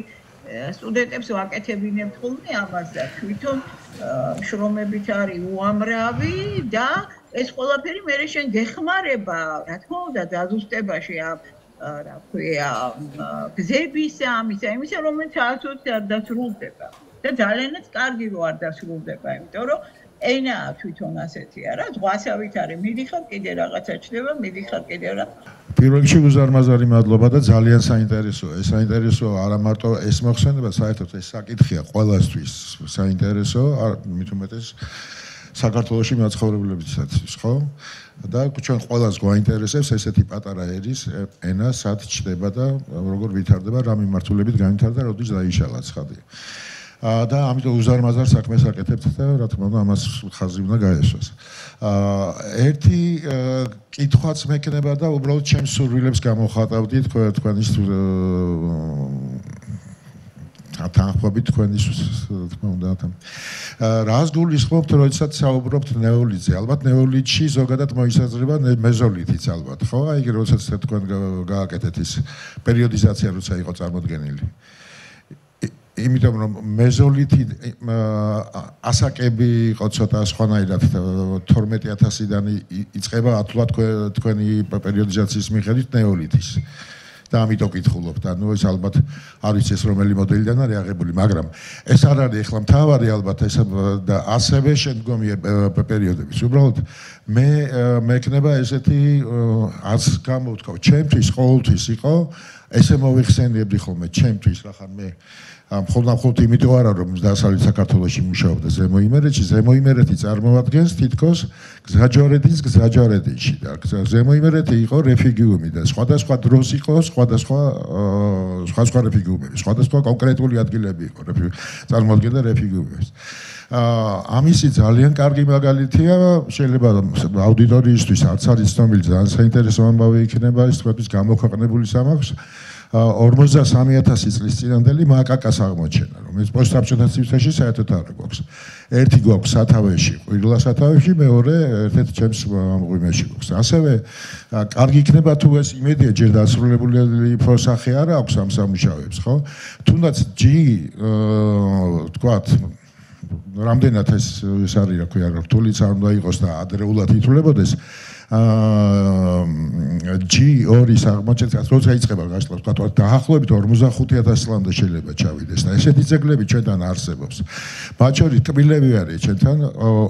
სტუდენტებს ვაკეთებინებთ ხოლმე ამას და თვითონ შრომებით არის უამრავი და ეს ყველაფერი მე შენ გეხმარება, რა თქმა უნდა, დაზუსტებაში რა ქვია, გზების იმისა, რომელიც არასოდეს არ დასრულდება. და ძალიანაც კარგი რო არ დასრულდება, იმიტომ რომ ენა თვითონ ასეთია რა, ზღვასავით არის, მიდიხარ კიდე რაღაცა ჩდება, მიდიხარ კიდე რა. პირველ რიგში უზარმაზარი მადლობა და ძალიან საინტერესოა. ეს საინტერესო არა მარტო ეს მოხსენება, საერთოდ ეს საკითხია ყველასთვის საინტერესო, მით უმეტეს საქართველოში მაცხოვრებლებისათვის, ხო? და ჩვენ ყველას გვაინტერესებს ესეთი პატარა ერის ენა სად ჩდება და როგორ ვითარდება, რა მიმართულებით გამვითარდა, როდის დაიშალა ცხადია. და ამიტომ უზარმაზარ საქმეს აკეთებთ და რა თქმა უნდა ამას ხაზი უნდა გაესვას. ერთი კითხვაც მექნება და უბრალოდ ჩემს სურვილებს გამოხატავდი თქვენის თანხმობით თქვენის თქმა უნდა რას გულისხმობთ როდესაც საუბრობთ ნეოლითზე ალბათ ნეოლითში ზოგადად მოისაზრება მეზოლითიც ალბათ ხო აი როდესაც თქვენ გააკეთეთ ის პერიოდიზაცია როცა იყო წარმოდგენილი იმიტომ რომ მეზოლითი ასაკები იყო ცოტა სხვანაირად 12000-დან იწყება ათულად თქვენი პერიოდიზაციის მიხედვით ნეოლითის და ამიტომ კითხულობთ ანუ ეს ალბათ არ ვიცი ეს რომელი მოდელიდან არის აღებული მაგრამ ეს არ არის ახლა მთავარი ალბათ ეს და ასევე შემდგომი პერიოდების უბრალოდ მე მექნება ესეთი არც გამოვთქვა ჩემთვის ყოველთვის იყო ესე მოვიხსენიებდი ხოლმე ჩემთვის რახან მე მხოლოდ იმიტომ არა რომ დასავლეთ საქართველოში მუშაობდა ზემოიმერეთში წარმოადგენს თითქოს გზაჯვარედის გზაჯვარედინში და ზემოიმერეთი იყო რეფიგიუმი და სხვადასხვა დროს იყო სხვა რეფიგიუმები სხვადასხვა კონკრეტული ადგილები იყო წარმოადგენდა რეფიგიუმებს ამისი ძალიან კარგი მაგალითია შეიძლება აუდიტორიისთვის არც არის ცნობილი ძალიან საინტერესო ამბავი იქნება ეს თქვენთვის გამოქვეყნებული სამახს 43000 წლის წინანდელი მაკაკას აღმოჩენა, რომელიც პოსტსაბჭოთა ცივთაში საერთოდ არ გვაქვს. ერთი გვაქვს სათავეში, ყვირილა სათავეში, მეორე ერთ-ერთ ჩემს მღვიმეში გვაქვს. ასევე კარგი იქნება თუ ეს იმედია ჯერ დასრულებული პროსახე არ აქვს ამ სამუშაოებს, ხო? თუნდაც თქვათ რამდენად ეს არის, რა ქვია, რთულიც არ უნდა იყოს და ადრეულად ითვლებოდეს. G2-ის აღმოჩენას როცა იწყება გაშლა თქვა დაახლოებით 45000 წლამდე შეიძლება ჩავიდეს და ესეთი ძეგლები ჩვენთან არსებობს. მათ შორის კბილები არის ჩვენთან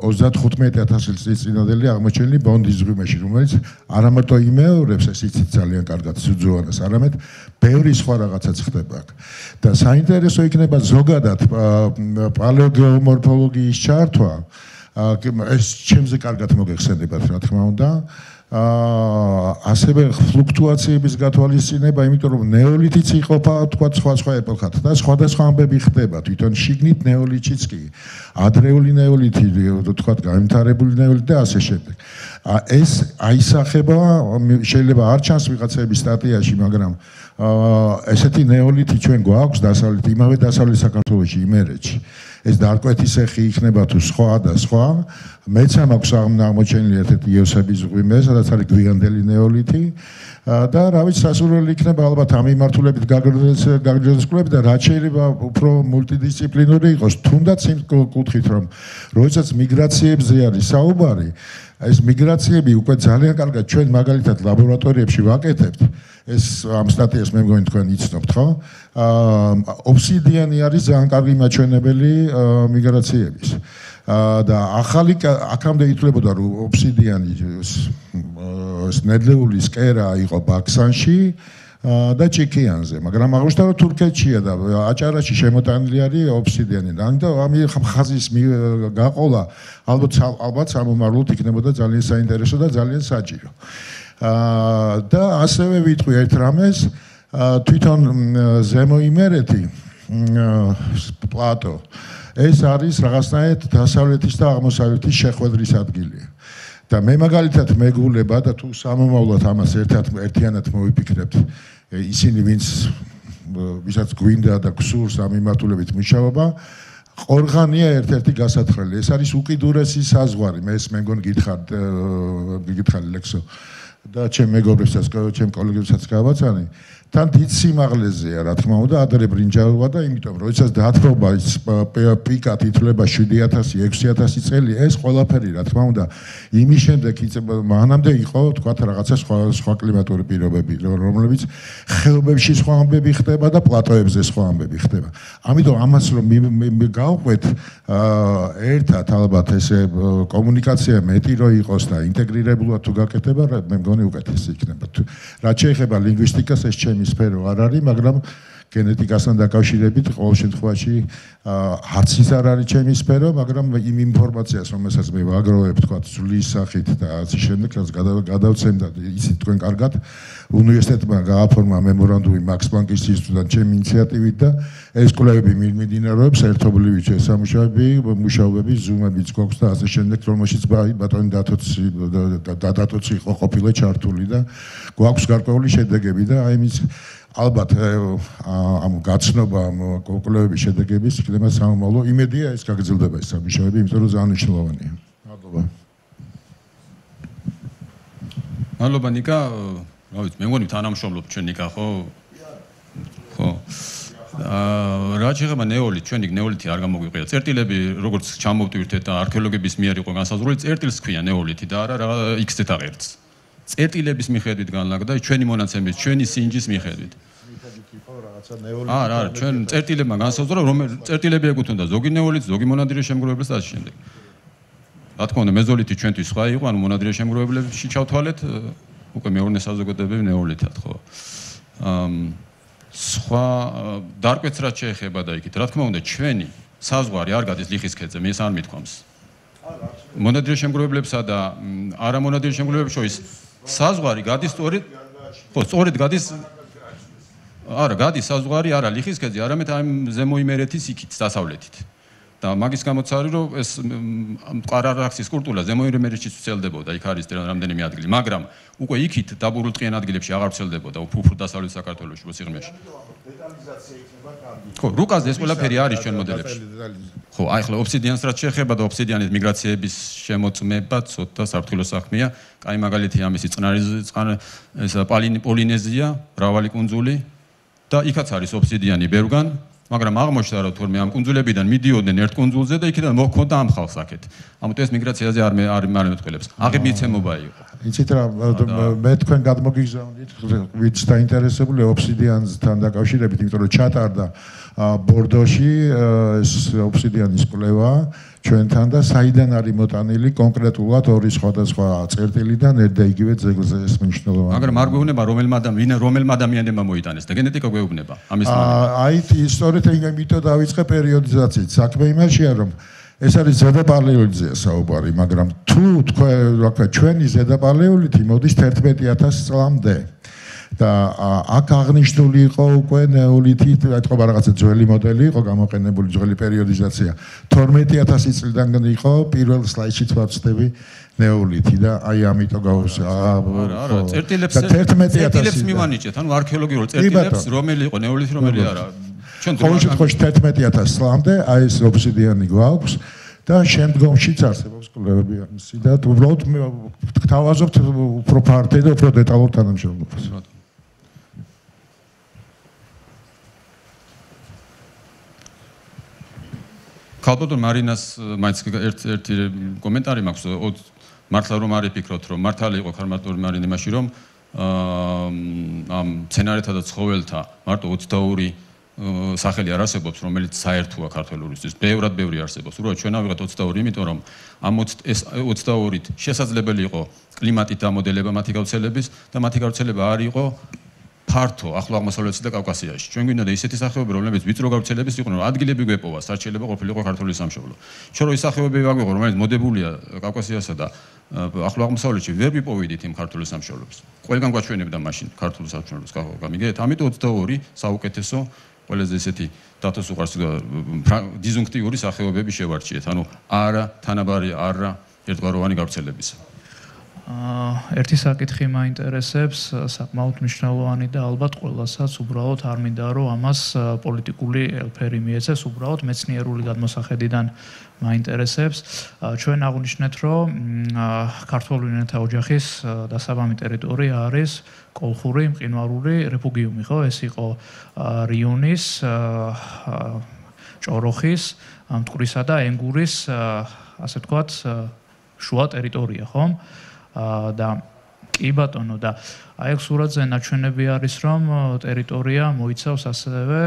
35000 წლის წინანდელი აღმოჩენილი ბონდის ზღვიმეში, რომელიც არა მარტო იმეორებს ეს იცით ძალიან კარგად სუძუანას, არამედ ბევრი სხვა რაღაცაც ხდება აქ. და საინტერესო იქნება ზოგადად პალეოგეომორფოლოგიის ჩართვა ეს ჩემზე კარგად მოგეხსენებათ რა თქმა უნდა ასევე ფლუქტუაციების გათვალისწინება იმიტომ რომ ნეოლითიც იყოფა თქვა სხვა ეპოქად და სხვადასხვა ამბები ხდება თვითონ შიგნით ნეოლითიც კი ადრეული ნეოლითი თქვა განვითარებული ნეოლითი და ასე შემდეგ ეს აისახება შეიძლება არ ჩანს ვიღაცების სტატიაში მაგრამ ესეთი ნეოლითი ჩვენ გვაქვს დასავლეთ იმავე დასავლეთ საქართველოში იმერეთში ეს დარკვეთის ეხი იქნება თუ სხვა და სხვა მეც მაქვს აღმოჩენილი ერთ-ერთი იოსების ზღვიმე სადაც არის გვიანდელი ნეოლითი და რა ვიცი სასურველი იქნება ალბათ ამ მიმართულებით გაგრძელებული და რაც შეიძლება უფრო მულტიდისციპლინური იყოს თუნდაც იმ კუთხით რომ როდესაც მიგრაციებზე არის საუბარი ეს მიგრაციები უკვე ძალიან კარგად ჩვენ მაგალითად ლაბორატორიებში ვაკეთებთ ეს ამ სტატიას მე მგონი თქვენ იცნობთ ხო? ობსიდიანი არის ძალიან კარგი მაჩვენებელი მიგრაციების. და ახალი აქამდე ითვლებოდა რომ ობსიდიანი ნედლეული სკერა იყო ბაქსანში და ჩიკიანზე, მაგრამ აღმოჩნდა რომ თურქეთშია და აჭარაში შემოტანილი არის ობსიდიანი. ამიტომ ამ ხაზის გაყოლა ალბათ სამომავლოდ იქნებოდა ძალიან საინტერესო და ძალიან საჭირო. და ასევე ვიტყვი ერთ რამეს თვითონ ზემოიმერეთი პლატო ეს არის რაღაცნაირად დასავლეთის და აღმოსავლეთის შეხვედრის ადგილია. და მე მაგალითად მეგულება და თუ სამომავლოდ ამას ერთიანად მოვიფიქრებთ ისინი ვისაც გვინდა და გსურს ამ მიმართულებით მუშაობა ყორღანია ერთ-ერთი გასათხრელი ეს არის უკიდურესი საზღვარი მე მგონი გითხარ ლექსო და ჩემ მეგობრებსაც, ჩემ კოლეგებსაც გავაცანი. თან დიდ სიმაღლეზეა, რა თქმა უნდა, ადრე ბრინჯაოა და იმიტომ, როდესაც დაათრობა ის პიკად ითვლება 7000, 6000 წელი, ეს ყველაფერი, რა თქმა უნდა, იმის შემდეგ მანამდე იყო, თქვათ, რაღაცა სხვა კლიმატური პირობები, რომლებიც ხეობებში სხვა ამბები ხდება და პლატოებზე სხვა ამბები ხდება. ამიტომ ამას რომ გავყვეთ ერთად ალბათ ესე კომუნიკაცია მეტი რო იყოს და ინტეგრირებულად თუ გაკეთება, მე მგონი უკეთესი იქნება. რაც შეეხება ლინგვისტიკას, ეს ჩემი სფერო არ არის, მაგრამ გენეტიკასთან დაკავშირებით ყოველ შემთხვევაში არც ის არ არის ჩემი სფერო, მაგრამ იმ ინფორმაციას, რომელსაც მე ვაგროვებ, თქვა ძვლის სახით და ასე შემდეგ, რაც გადავცემ და ისიც თქვენ კარგად უნივერსიტეტმა გააფორმა მემორანდუმი მაქს პლანკის ინსტიტუტთან ჩემი ინიციატივით და ეს კვლევები მიმდინარეობს ერთობლივი მუშაობები, ზუმებიც გვაქვს და ასე შემდეგ, რომელშიც ბატონი დათოცი იყო ყოფილა ჩართული და გვაქვს გარკვეული შედეგები და აი იმის ალბათ ამ გაცნობა კვლევების შედეგების იქნება სამომავლო იმედია ეს გაგრძელდება ეს სამუშაოები, იმიტომ რომ ძალიან მნიშვნელოვანია. მადლობა. მადლობა ნიკა, რა ვიცი, მე მგონი თანამშრომლობ ჩვენ ნიკა ხო? ხო. რა შეიძლება ნეოლით, ჩვენ იქ ნეოლითი არ გამოგვიყია. წერტილები როგორც ჩამოვტვირთეთ და არქეოლოგების მიერ იყო განსაზღვრული, წერტილს ქვია ნეოლითი და არა X ზეტაღერც. წერტილების მიხედვით განლაგდა ჩვენი მონაცემის, ჩვენი სინჯის მიხედვით. არა, ჩვენ წერტილებმა განსაზღვრა, რომ წერტილები ეკუთვნოდა ზოგი ნეოლითს, ზოგი მონადირე შემგროვებლებს და ასე შემდეგ. რა თქმა უნდა, მეზოლითი ჩვენთვის სხვა იყო, ანუ მონადირე შემგროვებლებში ჩავთვალეთ, უკვე მეორე საზოგადოებები ნეოლითად, ხო. სხვა დარკვეთს რაც შეეხება და იქით, რა თქმა უნდა, ჩვენი საზღვარი არ გადის ლიხის ქედზე, მე ეს არ მithქვამს. მონადირე შემგროვებლებსა და არა მონადირე შემგროვებლებს შორის საზღვარი გადის სწორედ ხო, სწორედ გადის არა, გადის საზღვარი არა ლიხის ქედზე, არამედ ამ ზემო იმერეთის იქით, დასავლეთით. და მაგის გამოც არის, რომ ეს ყარარაქსის კულტურა ზემო იმერეთში ვრცელდებოდა, იქ არის რამდენიმე ადგილი, მაგრამ უკვე იქით დაბურულ ტყიან ადგილებში აღარ ვრცელდებოდა, უფრო დასავლეთ საქართველოში, მოსიღრმეში. დეტალიზაცია იქნება კარგი. ხო, რუკაზე ეს ყველაფერი არის ჩვენ მოდელებში. ხო, აი ახლა ობსიდიანს რაც შეეხება და ობსიდიანის მიგრაციების შემოწმება ცოტა საფრთხილო საქმეა. კაი მაგალითი ამისი წყნარი ეს პოლინეზია, მრავალი კუნძული და იქაც არის ობსიდიანი ბევრგან, მაგრამ აღმოჩნდა რომ თორმე ამ კუნძულებიდან მიდიოდნენ ერთ კუნძულზე და იქიდან მოჰქონდა ამ ხალხს აქეთ. ამიტომ ეს მიგრაციაზე არ მეთქველებს. აღებიცემობა იყო. იცით რა, მე თქვენ გადმოგიგზავნით, ვინც დაინტერესებული ობსიდიანთან დაკავშირებით, იმიტომ რომ ჩატარდა ბორდოში ეს ობსიდიანის კვლევა ჩვენთან და საიდან არის მოტანილი კონკრეტულად ორი სხვადასხვა წერტილიდან ერთ და იგივე ძეგლზე ეს მნიშვნელოვანია. მაგრამ არ გვეუბნება რომელმა ადამიანებმა მოიტანეს და გენეტიკა გვეუბნება ამის მაგალითად. აი ისტორიით იმიტომ დავიწყე პერიოდიზაციით. საქმე იმაშია რომ ეს არის ზედაპალეოლითია საუბარი, მაგრამ თუ თქვენ ჩვენი ზედაპალეოლითი მოდის 11000 წლამდე. და აქ აღნიშნული იყო უკვე ნეოლითი, ეთქობა რაღაცა ძველი მოდელი იყო გამოყენებული, ძველი პერიოდიზაცია. 12000 წლიდან იყო პირველ სლაიდში ვაცდები ნეოლითი და აი ამიტომ არა, წერტილებს მივანიჭეთ, ანუ არქეოლოგიურ წერტილებს, რომელი იყო ნეოლითი, რომელი არა. ჩვენ ყოველ შემთხვევაში 11000 წლამდე აი ეს ობსიდიანი გვაქვს და შემდგომშიც არსებობს კვლევები ამისი და უბრალოდ გთავაზობთ უფრო ფართედ და უფრო დეტალურ თანამშრომლობას. ქალბატონ მარინას მაინც ერთი კომენტარი მაქვს, მართლა რომ არ იფიქროთ, რომ მართალი იყო ქალბატონ მარინი მაშინ რომ ამ სცენარეთა და ცხოველთა მარტო 22 სახელი არ არსებობს, რომელიც საერთოა ქართველურისთვის. ბევრი არსებობს. უბრალოდ ჩვენ ავიღეთ 22, იმიტომ რომ ამ 22-ით შესაძლებელი იყო კლიმატით დამოდელება მათი გავრცელების და მათი გავრცელება არ იყო ფართო ახლო აღმოსავლეთში და კავკასიაში. ჩვენ გვინდა და ისეთი სახეობები, რომლებიც ვიწრო გავრცელების იყვნენ, რომ ადგილები გვეპოვა, სარჩელება ყოფილიყო ქართული სამშობლო. ჩვენ რო ის სახეობები ვაგვიღო, რომელიც მოდებულია კავკასიასა და ახლო აღმოსავლეთში, ვერ ვიპოვიდით იმ ქართული სამშობლოს. ყველგან გვაჩვენებდა მაშინ ქართული სამშობლოს გამიგეთ. ამიტომ 22 საუკეთესო ყველაზე ესეთი დათოს უყარს დიზუნქტიური სახეობები შევარჩიეთ. ანუ არა თანაბარი არა ერთგვაროვანი გავრცელებისა. ერთი საკითხი მაინტერესებს, საკმაოდ მნიშვნელოვანი და ალბათ ყველასაც უბრალოდ არ მინდა რომ ამას პოლიტიკური ელფერი მიეცეს, უბრალოდ მეცნიერული გადმოსახედიდან მაინტერესებს. ჩვენ აღნიშნეთ, რომ ქართული ენათა ოჯახის დასაბამი ტერიტორია არის კოლხური მყინვარული რეფუგიუმი, ხო? ეს იყო რიონის, ჭოროხის, მტკვრისა და ენგურის, ასე ვთქვათ, შუა ტერიტორია, ხო? და კი ბატონო და აი ეს სურათზე ნაჩვენები არის რომ ტერიტორია მოიცავს ასევე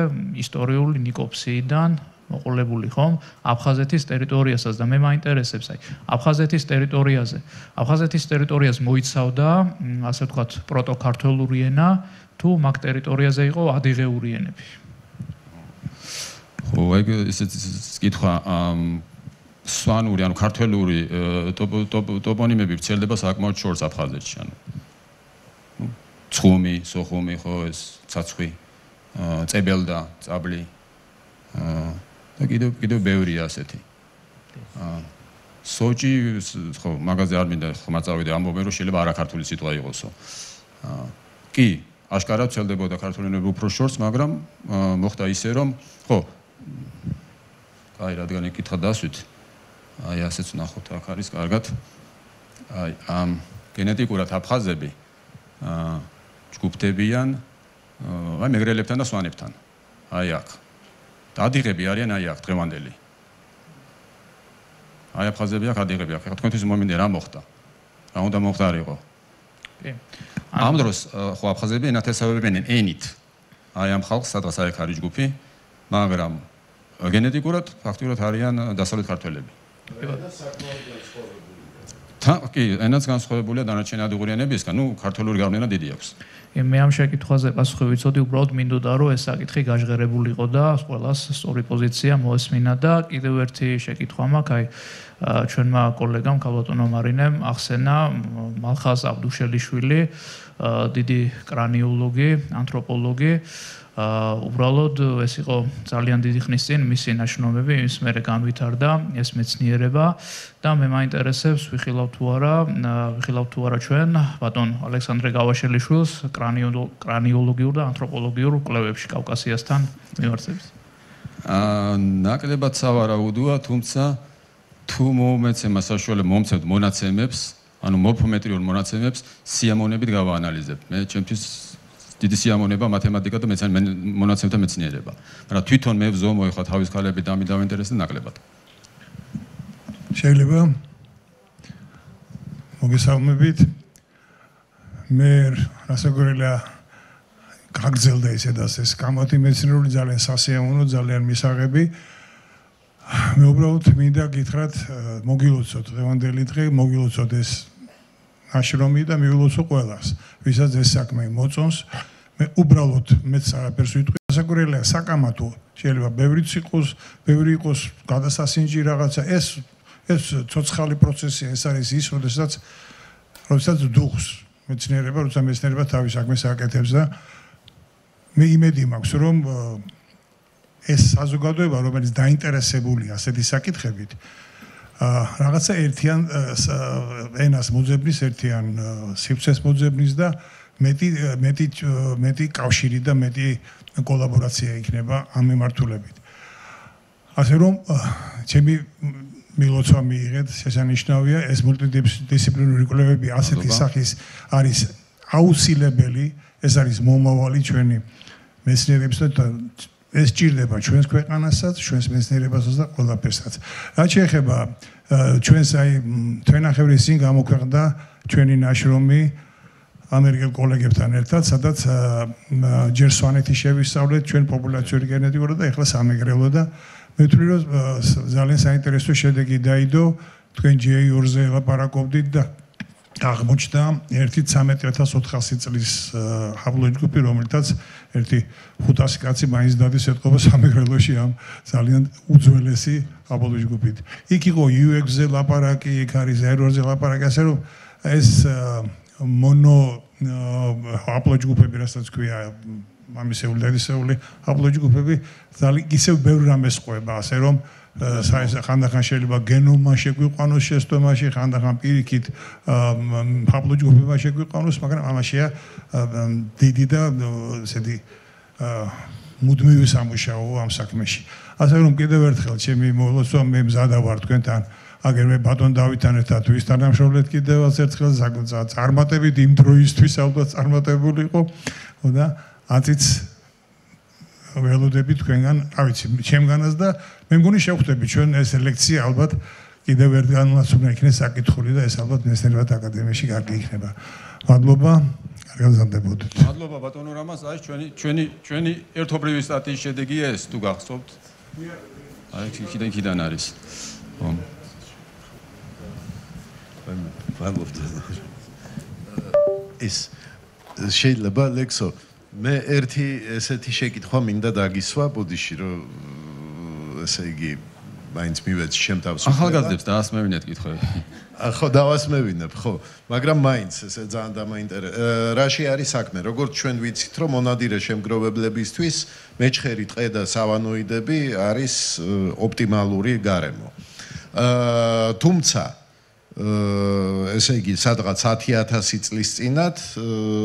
ისტორიული ნიკოფსიიდან მოყოლებული ხომ აფხაზეთის ტერიტორიასაც და მე მაინტერესებს აი აფხაზეთის ტერიტორიას მოიცავდა ასე ვთქვათ პროტოქართოლური ენა თუ მაგ ტერიტორიაზე იყო ადიღეური ენები ხო ეგ ისეთ კითხვა სვანური ანუ ქართლური ტოპონიმები ვრცელდება საკმაოდ შორს აფხაზეთში ანუ ცხუმი, სოხუმი ხო ეს ცაცხვი, წებელდა, წაბლი და კიდევ ბევრია ასეთი. სოჭი ხო მაგაზე არ მინდა ხმა წავიდე ამბობენ რომ შეიძლება არაქართული სიტყვა იყოსო. კი, აშკარად ვრცელდებოდა ქართული ენები უფრო შორს, მაგრამ მოხდა ისე რომ ხო აი რადგან ეკითხა დასვით აი ასეც ნახოთ აქ არის კარგად აი ამ გენეტიკურად აფხაზები ჯგუფდებიან აი მეგრელებთან და სვანებთან აი აქ და ადიღები არიან აი აქ დღევანდელი აი აფხაზები აქ ადიღები აქ ხა თქვენთვის მომინდა რა მოხდა რა უნდა მოხდარიყო კი ამ დროს ხო აფხაზები ენათესავებენ ენით აი ამ ხალხს სადღაც აი აქ არის ჯგუფი მაგრამ გენეტიკურად ფაქტურად არიან დასავლეთ ქართველები კი, ენაც განსხვავებულია დანარჩენი ადიღური ენებისგან, ნუ ქართული გავლენა დიდი აქვს. მე ამ შეკითხვაზე პასუხი ვიცოდი, უბრალოდ მინდოდა რომ ეს საკითხი გაჟღერებულიყო და ყველას სწორი პოზიცია მოესმინა და კიდევ ერთი შეკითხვა მაქვს, აი ჩვენმა კოლეგამ ქალბატონო მარინემ ახსენა მალხაზ აბდუშელიშვილი, დიდი კრანიოლოგი, ანთროპოლოგი უბრალოდ ეს იყო ძალიან დიდი ხნის წინ მისი ნაშრომები ის მერე განვითარდა ეს მეცნიერება და მე მაინტერესებს ვიხილავ თუ არა ჩვენ ბატონ ალექსანდრე გავაშელიშვილს კრანიოლოგიურ და ანთროპოლოგიურ კვლევებში კავკასიასთან მიმართებით ნაკლებად სავარაუდოა თუმცა თუ მომეცემა საშუალება მომცემთ მონაცემებს ანუ მორფომეტრიულ მონაცემებს სიამონებით გავაანალიზებ მე ჩემთვის დიდი სიამონება მათემატიკა და მონაცემთა მეცნიერება. მაგრამ თვითონ მე ვზომო ეხლა თავის ქალები და დაინტერესდა ნაკლებად. შეიძლება მოგესალმებით. მე რასაკვირველია გაგზელდა ისედაც ეს კამათი მეცნიერული ძალიან სასიამოვნო, ძალიან მისაღები. მე უბრალოდ მინდა გითხრათ, მოგილოცოთ დღევანდელი დღე, მოგილოცოთ ეს ნაშრომი და მივილოცო ყველას, ვისაც ეს საქმე მოწონს. მე უბრალოდ მეც არაფერს ვიტყვი. საკურელია საკამათო, შეიძლება ბევრი იყოს გადასასინჯი რაღაცა. ეს ცოცხალი პროცესია, ეს არის ის, როდესაც დუხს მეცნიერება, როცა მეცნიერება თავის საქმეს აკეთებს და მე იმედი მაქვს, რომ ეს საზოგადოება, რომელიც დაინტერესებულია ასეთი საკითხებით, რაღაცა ერთიან ენას მოძებნის, ერთიან სივრცეს მოძებნის და მეტი კავშირი და მეტი კოლაბორაცია იქნება ამ მიმართულებით. ასე რომ ჩემი მილოცვა მიიღეთ, შესანიშნავია ეს მულტიდისციპლინური კვლევები ასეთი სახის არის აუცილებელი, ეს არის მომავალი ჩვენი მეცნიერების და ეს ჭირდება ჩვენს ქვეყანასაც, ჩვენს მეცნიერებასაც და ყველაფერსაც. რაც შეეხება ჩვენს აი თვენახევრის წინ გამოქვეყნდა ჩვენი ნაშრომი ამერიკელ კოლეგებთან ერთად, სადაც ჯერ სვანეთი შევისწავლეთ ჩვენ პოპულაციური გენეტიკურად და ეხლა სამეგრელო და მე ვთვლი რომ ძალიან საინტერესო შედეგი დაიდო, თქვენ J2-ზე ლაპარაკობდით და აღმოჩნდა 1.13400 წლის ჰაპლოჯგუფი, რომელთაც 500 კაცი მაინც დადის ეთყობა სამეგრელოში ამ ძალიან უძველესი ჰაპლოჯგუფით. იქ იყო UX-ზე ლაპარაკი, იქ არის R2-ზე ლაპარაკი, ასე რომ ეს მონო ჰაპლოჯგუფები, რასაც ქვია მამისეული და დედისეული ჰაპლოჯგუფები, ძალიან ისევ ბევრ რამეს ყვება, ასე რომ ხანდახან შეიძლება გენომმა შეგვიყვანოს შეცდომაში, ხანდახან პირიქით ჰაპლოჯგუფებმა შეგვიყვანოს, მაგრამ ამაშია დიდი და ესეთი მუდმივი სამუშაო ამ საქმეში. ასე რომ კიდევ ერთხელ ჩემი მოლოცვა მე მზადა ვარ თქვენთან აგერმე ბატონ დავითთან ერთად ვის თანამშრომლეთ კიდევაც ერთხელ წარმატებით იმ დროისთვის ალბათ წარმატებული იყო და აწიც ველოდები თქვენგან, რა ვიცი, ჩემგანაც და მე მგონი შევხვდები ჩვენ ეს ლექცია ალბათ კიდევ ერთგანაც უნდა იქნეს საკითხული და ეს ალბათ მეცნიერებათა აკადემიაში კარგი იქნება. მადლობა. გაზრდებოდეთ. მადლობა ბატონო რამას, აი ჩვენი ერთობლივი სტატიის შედეგია ეს თუ გახსოვთ. აი ხიდან არის. მადლობა. ეს შეიძლება ლექსო მე ერთი ესეთი შეკითხვა მინდა დაგისვა ბოდიში რომ ესე იგი მაინც მივეც ჩემ თავს ახალგაზრდებს დაასმევინეთ კითხვები. ხო დავასმევინებ, ხო, მაგრამ მაინც ესე ძალიან დამაინტერესებს. რაში არის საქმე? როგორც ჩვენ ვიცით, რომ მონადირე შემგროვებლებისთვის მეჩხერი ტყე და სავანოიდები არის ოპტიმალური გარემო. თუმცა ესე იგი, სადღაც 10,000 წლის წინათ,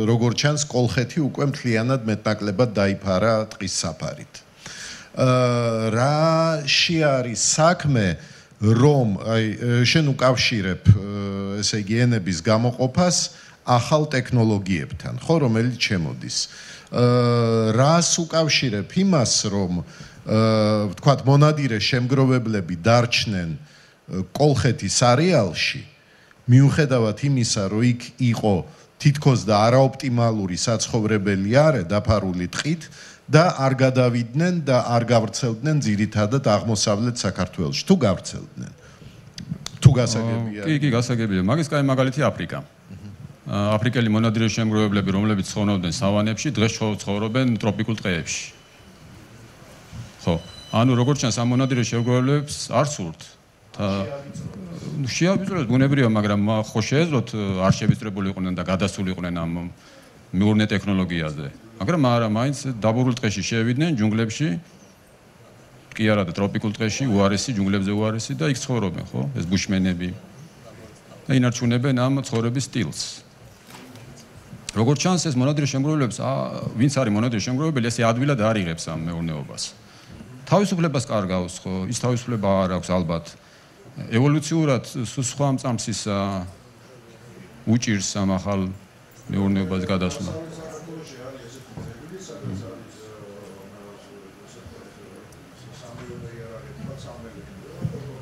როგორც ჩანს, კოლხეთი უკვე მთლიანად მეტნაკლებად დაიფარა ტყის საფარით. რაში არის საქმე, რომ აი შენ უკავშირებ ესე იგი ენების გამოყოფას ახალ ტექნოლოგიებთან, ხო, რომელიც შემოდის. რას უკავშირებ იმას, რომ ვთქვათ, მონადირე შემგროვებლები დარჩნენ კოლხეთის არეალში, მიუხედავად იმისა, რომ იქ იყო თითქოს და არაოპტიმალური საცხოვრებელი არე დაფარული ტყით და არ გადავიდნენ და არ გავრცელდნენ ძირითადად აღმოსავლეთ საქართველოში. თუ გავრცელდნენ. თუ გასაგებია. კი, გასაგებია. მაგის კაი მაგალითი აფრიკა. აფრიკელი მონადირე შემგროვებლები, რომლებიც ცხოვრობდნენ სავანებში, დღეს ცხოვრობენ ტროპიკულ ტყეებში. ხო, ანუ როგორც ჩანს, ამ მონადირე შემგროვებლებს არ სურთ. შეავიწროთ ბუნებრივია, მაგრამ ხო შეეძლოთ არ შევიწრებული იყვნენ და გადასული იყვნენ ამ მეურნე ტექნოლოგიაზე. მაგრამ არა, მაინც დაბურულ ტყეში შევიდნენ ჯუნგლებში. კი არა და ტროპიკულ ტყეში, უარესი ჯუნგლებზე უარესი და იქ ცხოვრობენ, ხო? ეს ბუშმენები. და ინარჩუნებენ ამ ცხოვრების სტილს. როგორც ჩანს, ეს მონადირე შემგროვებლებს, ვინც არის მონადირე შემგროვებელი, ესე ადვილად არ იღებს ამ მეურნეობას. თავისუფლებას კარგავს, ხო? ის თავისუფლება არ აქვს ალბათ. ევოლუციურად სხვა მწამსის უჭირს ამ ახალ მეურნეობას გადასვლა.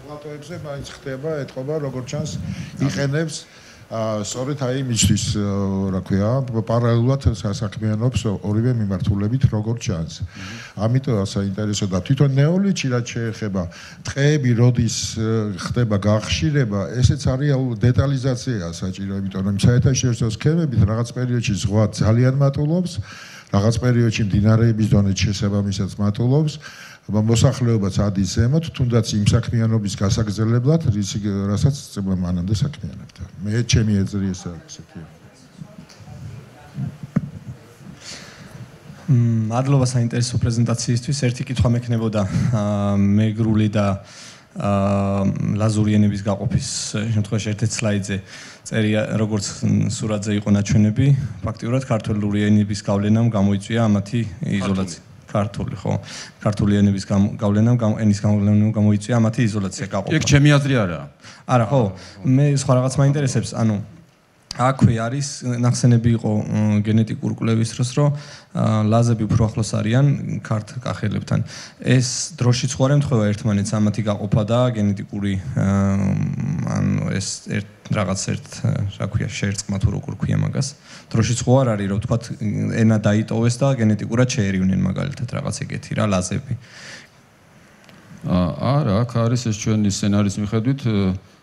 პლატოებზე მაინც ხდება ეთყობა, როგორც ჩანს, იყენებს სწორედ აი იმისთვის, რა ქვია, პარალელურად საქმიანობს ორივე მიმართულებით, როგორც ჩანს. ამიტომ საინტერესო და თვითონ ნეოლითში რაც შეეხება, ტყეები როდის ხდება გახშირება, ესეც არის დეტალიზაცია საჭირო, იმიტომ რომ საერთაშორისო სქემებით რაღაც პერიოდში ზღვა ძალიან მატულობს, რაღაც პერიოდში მდინარეების დონე შესაბამისად მატულობს. მოსახლეობაც ადის ზემოთ, თუნდაც იმ საქმიანობის გასაგრძელებლად, რასაც მანამდე საქმიანობდა. მე ჩემი ეზრი ეს ასეთია. მადლობა საინტერესო პრეზენტაციისთვის. ერთი კითხვა მექნებოდა მეგრული და ლაზური ენების გაყოფის შემთხვევაში ერთ-ერთ სლაიდზე წერია, როგორც სურათზე იყო ნაჩვენები, ფაქტიურად ქართული ენების გავლენამ გამოიწვია ამათი იზოლაცია. ქართული, ხო. ქართული ენების გავლენამ, ენის გავლენამ გამოიწვია ამათი იზოლაცია გაყოფა. ეგ ჩემი აზრი არაა. არა, ხო. მე სხვა რაღაც მაინტერესებს, ანუ აქვე არის ნახსენები იყო გენეტიკურ კვლევის დროს, რომ ლაზები უფრო ახლოს არიან ქართ კახელებთან. ეს დროშიც ხო არ ემთხვევა ერთმანეთს ამათი გაყოფა და გენეტიკური ანუ ეს რაღაც რა ქვია, შერწყმა თუ როგორ ქვია მაგას. დროშიც ხო არ არის, რომ თქვათ ენა დაიტოვეს და გენეტიკურად შეერივნენ მაგალითად რაღაც ეგეთი რა ლაზები. არა, აქ არის ეს ჩვენი სცენარის მიხედვით,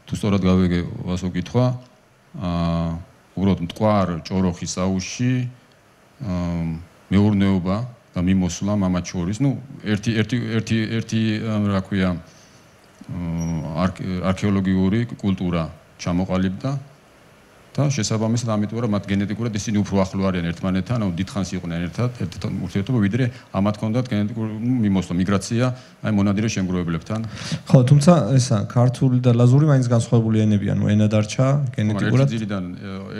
თუ სწორად გავიგე ვასო კითხვა, უბრალოდ მტკვარ ჭოროხის აუზში მეურნეობა და მიმოსვლა მამაც შორის, ну, ერთი რა ქვია, არქეოლოგიური კულტურა ჩამოყალიბდა და შესაბამისად ამიტომ რომ მათ გენეტიკურად ისინი უფრო ახლო არიან ერთმანეთთან, ანუ დიდხანს იყვნენ ერთად ურთიერთობა, ვიდრე ამათ ჰქონდათ გენეტიკური მიმოსვლა, მიგრაცია, აი მონადირე შემგროვებლებთან. ხო, თუმცა ესა ქართული და ლაზური მაინც განსხვავებული ენები, ანუ ენა დარჩა გენეტიკურად.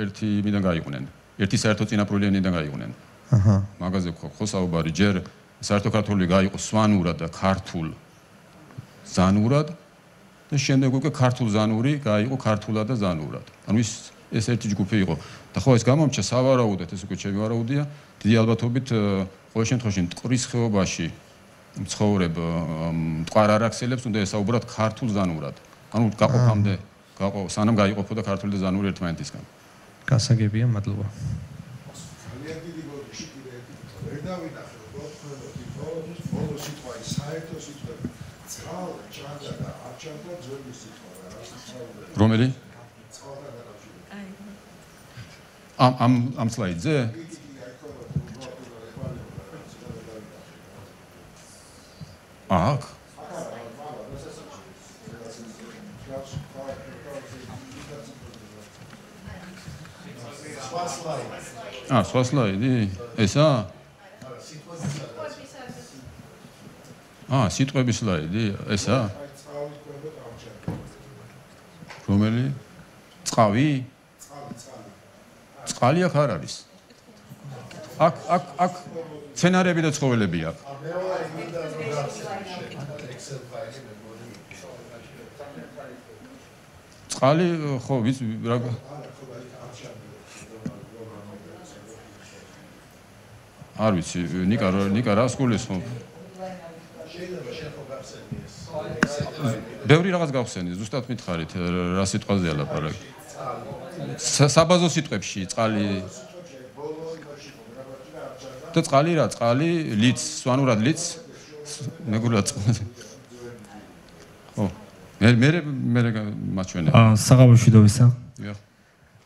ერთი მიდან გაიყვნენ. ერთი საერთო წინაპრული ენიდან გაიყვნენ. აჰა. მაგაზე ხო საუბარი, ჯერ საერთო ქართული გაიყო სვანურად და ქართულ ზანურად და შემდეგ უკვე ქართულ ზანური გაიყო ქართულად და ზანურად. ანუ ეს ერთი ჯგუფი იყო. და ხო ეს გამომჩა სავარაუდოდ, ეს უკვე ჩემი ვარაუდია, დიდი ალბათობით ყოველ შემთხვევაში მტკვრის ხეობაში მცხოვრებ მტკვარ-არაქსელებს უნდა ესაუბრათ ქართულ ზანურად. ანუ გაყოფამდე, სანამ გაიყოფოდა ქართული და ზანური ერთმანეთისგან. გასაგებია, მადლობა. ძალიან დიდი გოლიში კიდე ვერ დავინახე, რომ ბოლო სიტყვა ის საერთო სიტყვები. წყალ, ჭანდა და არჩანდა ძველი სიტყვა რა სიტყვა. რომელი? ამ სლაიდზე? აქ? სხვა სლაიდი? ესა? სიტყვების სლაიდი? ესა? რომელი? წყავი? წყალი აქ არ არის. აქ სცენარები და ცხოველები აქვს. წყალი ხო ვის რა არ ვიცი ნიკა რას გულისხმობ? ბევრი რაღაც გავხსენი, ზუსტად მითხარით რა სიტყვაზეა ლაპარაკი. საბაზო სიტყვებში წყალი და წყალი რა? წყალი ლიც, სვანურად ლიც, მეგრულად წყალი. ხო. მე მაჩვენე. საღამოშვიდობისა.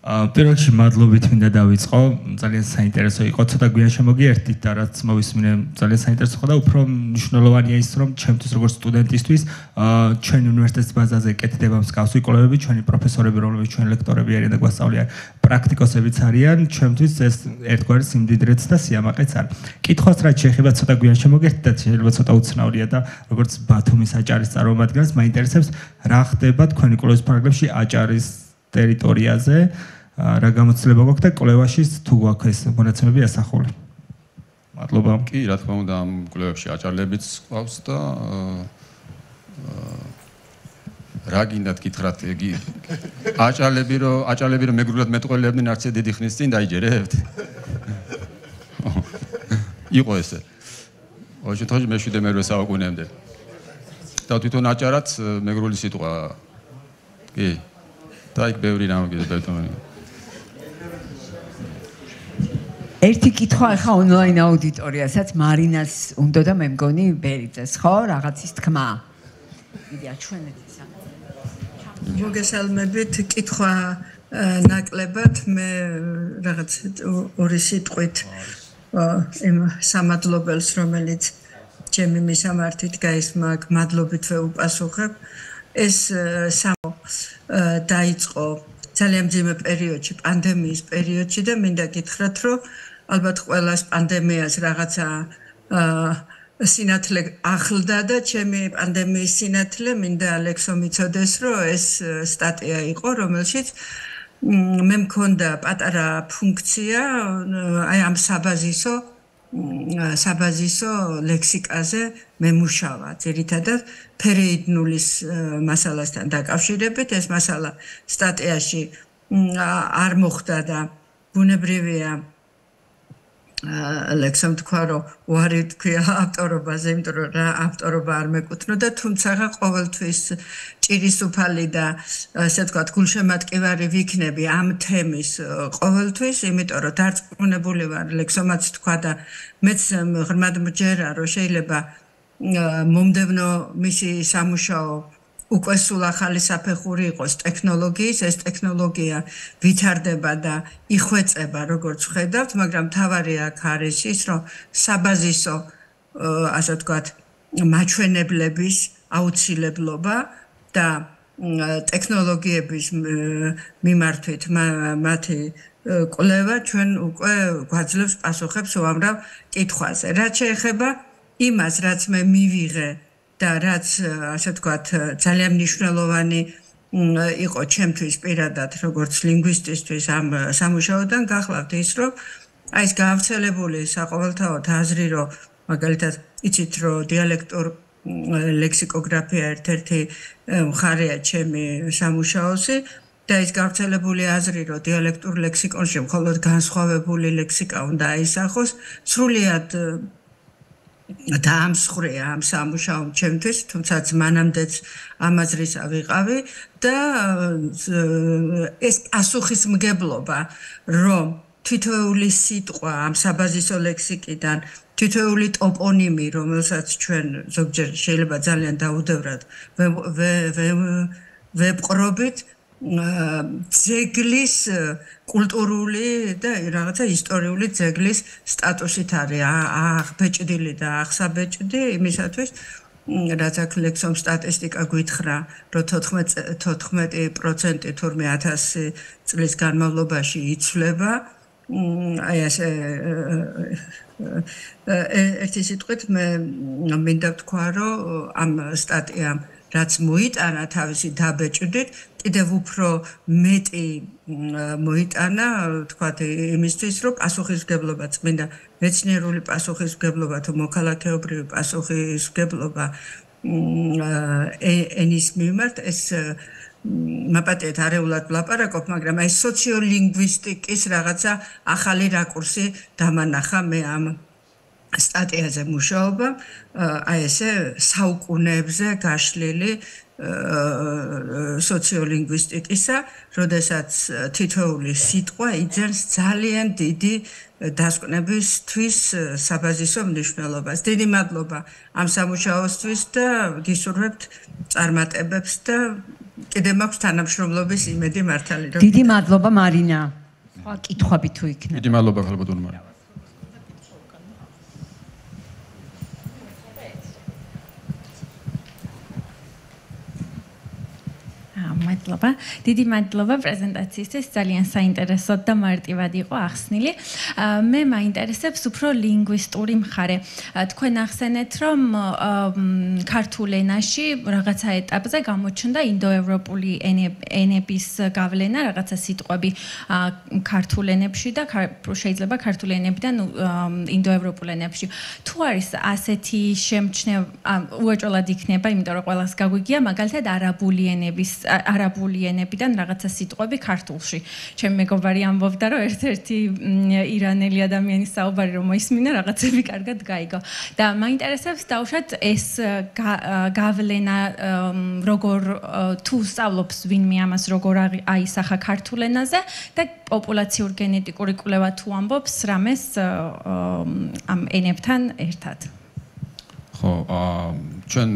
პირველ რიგში მადლობით მინდა დავიწყო, ძალიან საინტერესო იყო, ცოტა გვიან შემოგიერთით და რაც მოვისმინე ძალიან საინტერესო ხო და უფრო მნიშვნელოვანია ის რომ ჩემთვის როგორც სტუდენტისთვის ჩვენი უნივერსიტეტის ბაზაზე კეთდება მსგავსი კვლევები, ჩვენი პროფესორები, რომლებიც ჩვენ ლექტორები არიან და გვასწავლიან, პრაქტიკოსებიც არიან, ჩვენთვის ეს ერთგვარი სიმდიდრეც და სიამაყეც არის. კითხვას რაც შეეხება ცოტა გვიან შემოგიერთით და შეიძლება ცოტა უცნაურია და როგორც ბათუმის აჭარის წარმომადგენელს მაინტერესებს რა ხდება თქვენი კვლევის პარაგრაფში აჭარის ტერიტორიაზე, რა გამოცდილება გვაქვს და კვლევაში თუ გვაქვს ეს მონაცემები ასახული. მადლობა. კი, რა თქმა უნდა, ამ კვლევებში აჭარლებიც ყავს და რა გინდათ გითხრათ, აჭარლები რომ მეგრულად მეტყველებდნენ არც დიდი ხნის წინ დაიჯერებთ. იყო ესე. ოღონდ შემთხვევაში მე-7 საუკუნემდე. და თვითონ აჭარაც მეგრული სიტყვა. კი. და იქ ბევრი რამე ბეთონი. ერთი კითხვა ახლა ონლაინ აუდიტორიასაც მარინას უნდა და მე მგონი ბერიძეს, ხო? რაღაცის თქმა. დიდი აჩვენეთ ისა. მოგესალმებით, კითხვა ნაკლებად მე რაღაც ორი სიტყვით იმ სამადლობელს, რომელიც ჩემი მისამართით გაისმა, მადლობით ვეუპასუხებ. ეს დაიწყო ძალიან მძიმე პერიოდში, პანდემიის პერიოდში და მინდა გითხრათ, რომ ალბათ ყველას პანდემიას რაღაცა სინათლე ახლდა და ჩემი პანდემიის სინათლე მინდა ალექსო მიცოდეს, რომ ეს სტატია იყო, რომელშიც მე მქონდა პატარა ფუნქცია აი ამ საბაზისო ლექსიკაზე მე მუშავა ძირითადად ფერეიდნულის მასალასთან დაკავშირებით. ეს მასალა სტატიაში არ მოხდა და ბუნებრივია ლექსომ თქვა, რომ უარი თქვია ავტორობაზე, იმიტომ რომ რა ავტორობა არ მეკუთვნოდა, თუმცა ყოველთვის ჭირისუფალი და ასე ვთქვათ, გულშემატკივარი ვიქნები ამ თემის ყოველთვის, იმიტომ რომ დარწმუნებული ვარ, ლექსომაც თქვა და მეც ღრმად მჯერა, რომ შეიძლება მომდევნო მისი სამუშაო უკვე სულ ახალი საფეხური იყოს ტექნოლოგიის, ეს ტექნოლოგია ვითარდება და იხვეწება, როგორც ხედავთ, მაგრამ თავარი აქ არის ის, რომ საბაზისო, ასე ვთქვათ, მაჩვენებლების აუცილებლობა და ტექნოლოგიების მიმართვით მათი კვლევა ჩვენ უკვე გვაძლევს პასუხებს უამრავ კითხვაზე. რაც შეეხება იმას, რაც მე მივიღე და რაც ასე ვთქვათ ძალიან მნიშვნელოვანი იყო ჩემთვის პირადად როგორც ლინგვისტისთვის ამ სამუშაოდან გახლავთ ის რომ აი ეს გავრცელებული საყოველთაოდ აზრი რომ მაგალითად იცით რომ დიალექტურ ლექსიკოგრაფია ერთ-ერთი მხარეა ჩემი სამუშაოსი და ეს გავრცელებული აზრი რომ დიალექტურ ლექსიკონში მხოლოდ განსხვავებული ლექსიკა უნდა აისახოს სრულიად დაამსხვრია ამ სამუშაომ ჩემთვის, თუმცა მანამდეც ამ აზრისა ვიყავი და ეს პასუხისმგებლობა, რომ თითოეული სიტყვა ამ საბაზისო ლექსიკიდან, თითოეული ტოპონიმი, რომელსაც ჩვენ ზოგჯერ შეიძლება ძალიან დაუდევრად ვეპყრობით, ძეგლის კულტურული და რაღაცა ისტორიული ძეგლის სტატუსით არის აღბეჭდილი და აღსაბეჭდი იმისათვის რაც აქ ლექსომ სტატისტიკა გვითხრა რომ 14% თურმე 1000 წლის განმავლობაში იცვლება აი ასე ერთი სიტყვით მე მინდა ვთქვა რომ ამ სტატიამ რაც მოიტანა თავისი დაბეჭდით კიდევ უფრო მეტი მოიტანა თქვათ იმისთვის რომ პასუხისმგებლობა წმინდა მეცნიერული პასუხისმგებლობა თუ მოქალაქეობრივი პასუხისმგებლობა ენის მიმართ ეს მაპატიეთ არეულად ვლაპარაკობ მაგრამ აი სოციოლინგვისტიკის რაღაცა ახალი რაკურსი დამანახა მე ამ სტატიაზე მუშაობა აი ესე საუკუნეებზე გაშლილი სოციოლინგვისტიკისა, როდესაც თითოეული სიტყვა იძენს ძალიან დიდი დასკვნებისთვის საბაზისო მნიშვნელობას. დიდი მადლობა ამ სამუშაოსთვის და გისურვებთ წარმატებებს და კიდევ მაქვს თანამშრომლობის იმედი მართალი. დიდი მადლობა მარინა. სხვა კითხვები თუ იქნება. დიდი მადლობა ხალბატონო მარინა. მადლობა. დიდი მადლობა პრეზენტაციისთვის. ძალიან საინტერესო და მარტივად იყო ახსნილი. მე მაინტერესებს უფრო ლინგვისტური მხარე. თქვენ ახსენეთ, რომ ქართულ ენაში რაღაცა ეტაპზე გამოჩნდა ინდოევროპული ენების გავლენა, რაღაცა სიტყვები ქართულ ენებში და შეიძლება ქართულ ენებიდან ინდოევროპულ ენებში. თუ არის ასეთი შემჩნევა, უეჭველად იქნება, იმიტომ რომ ყველას გაგვიგია, მაგალითად არაბული ენებიდან რაღაცა სიტყვები ქართულში. ჩემი მეგობარი ამბობდა, რომ ერთ-ერთი ირანელი ადამიანის საუბარი რომ მოისმინა, რაღაცები კარგად გაიგო. და მაინტერესებს დაუშვათ ეს გავლენა როგორ თუ სწავლობს ვინმე ამას როგორ აისახა ქართულ ენაზე და პოპულაციურ გენეტიკური კვლევა თუ ამბობს რამეს ამ ენებთან ერთად. ხო, ჩვენ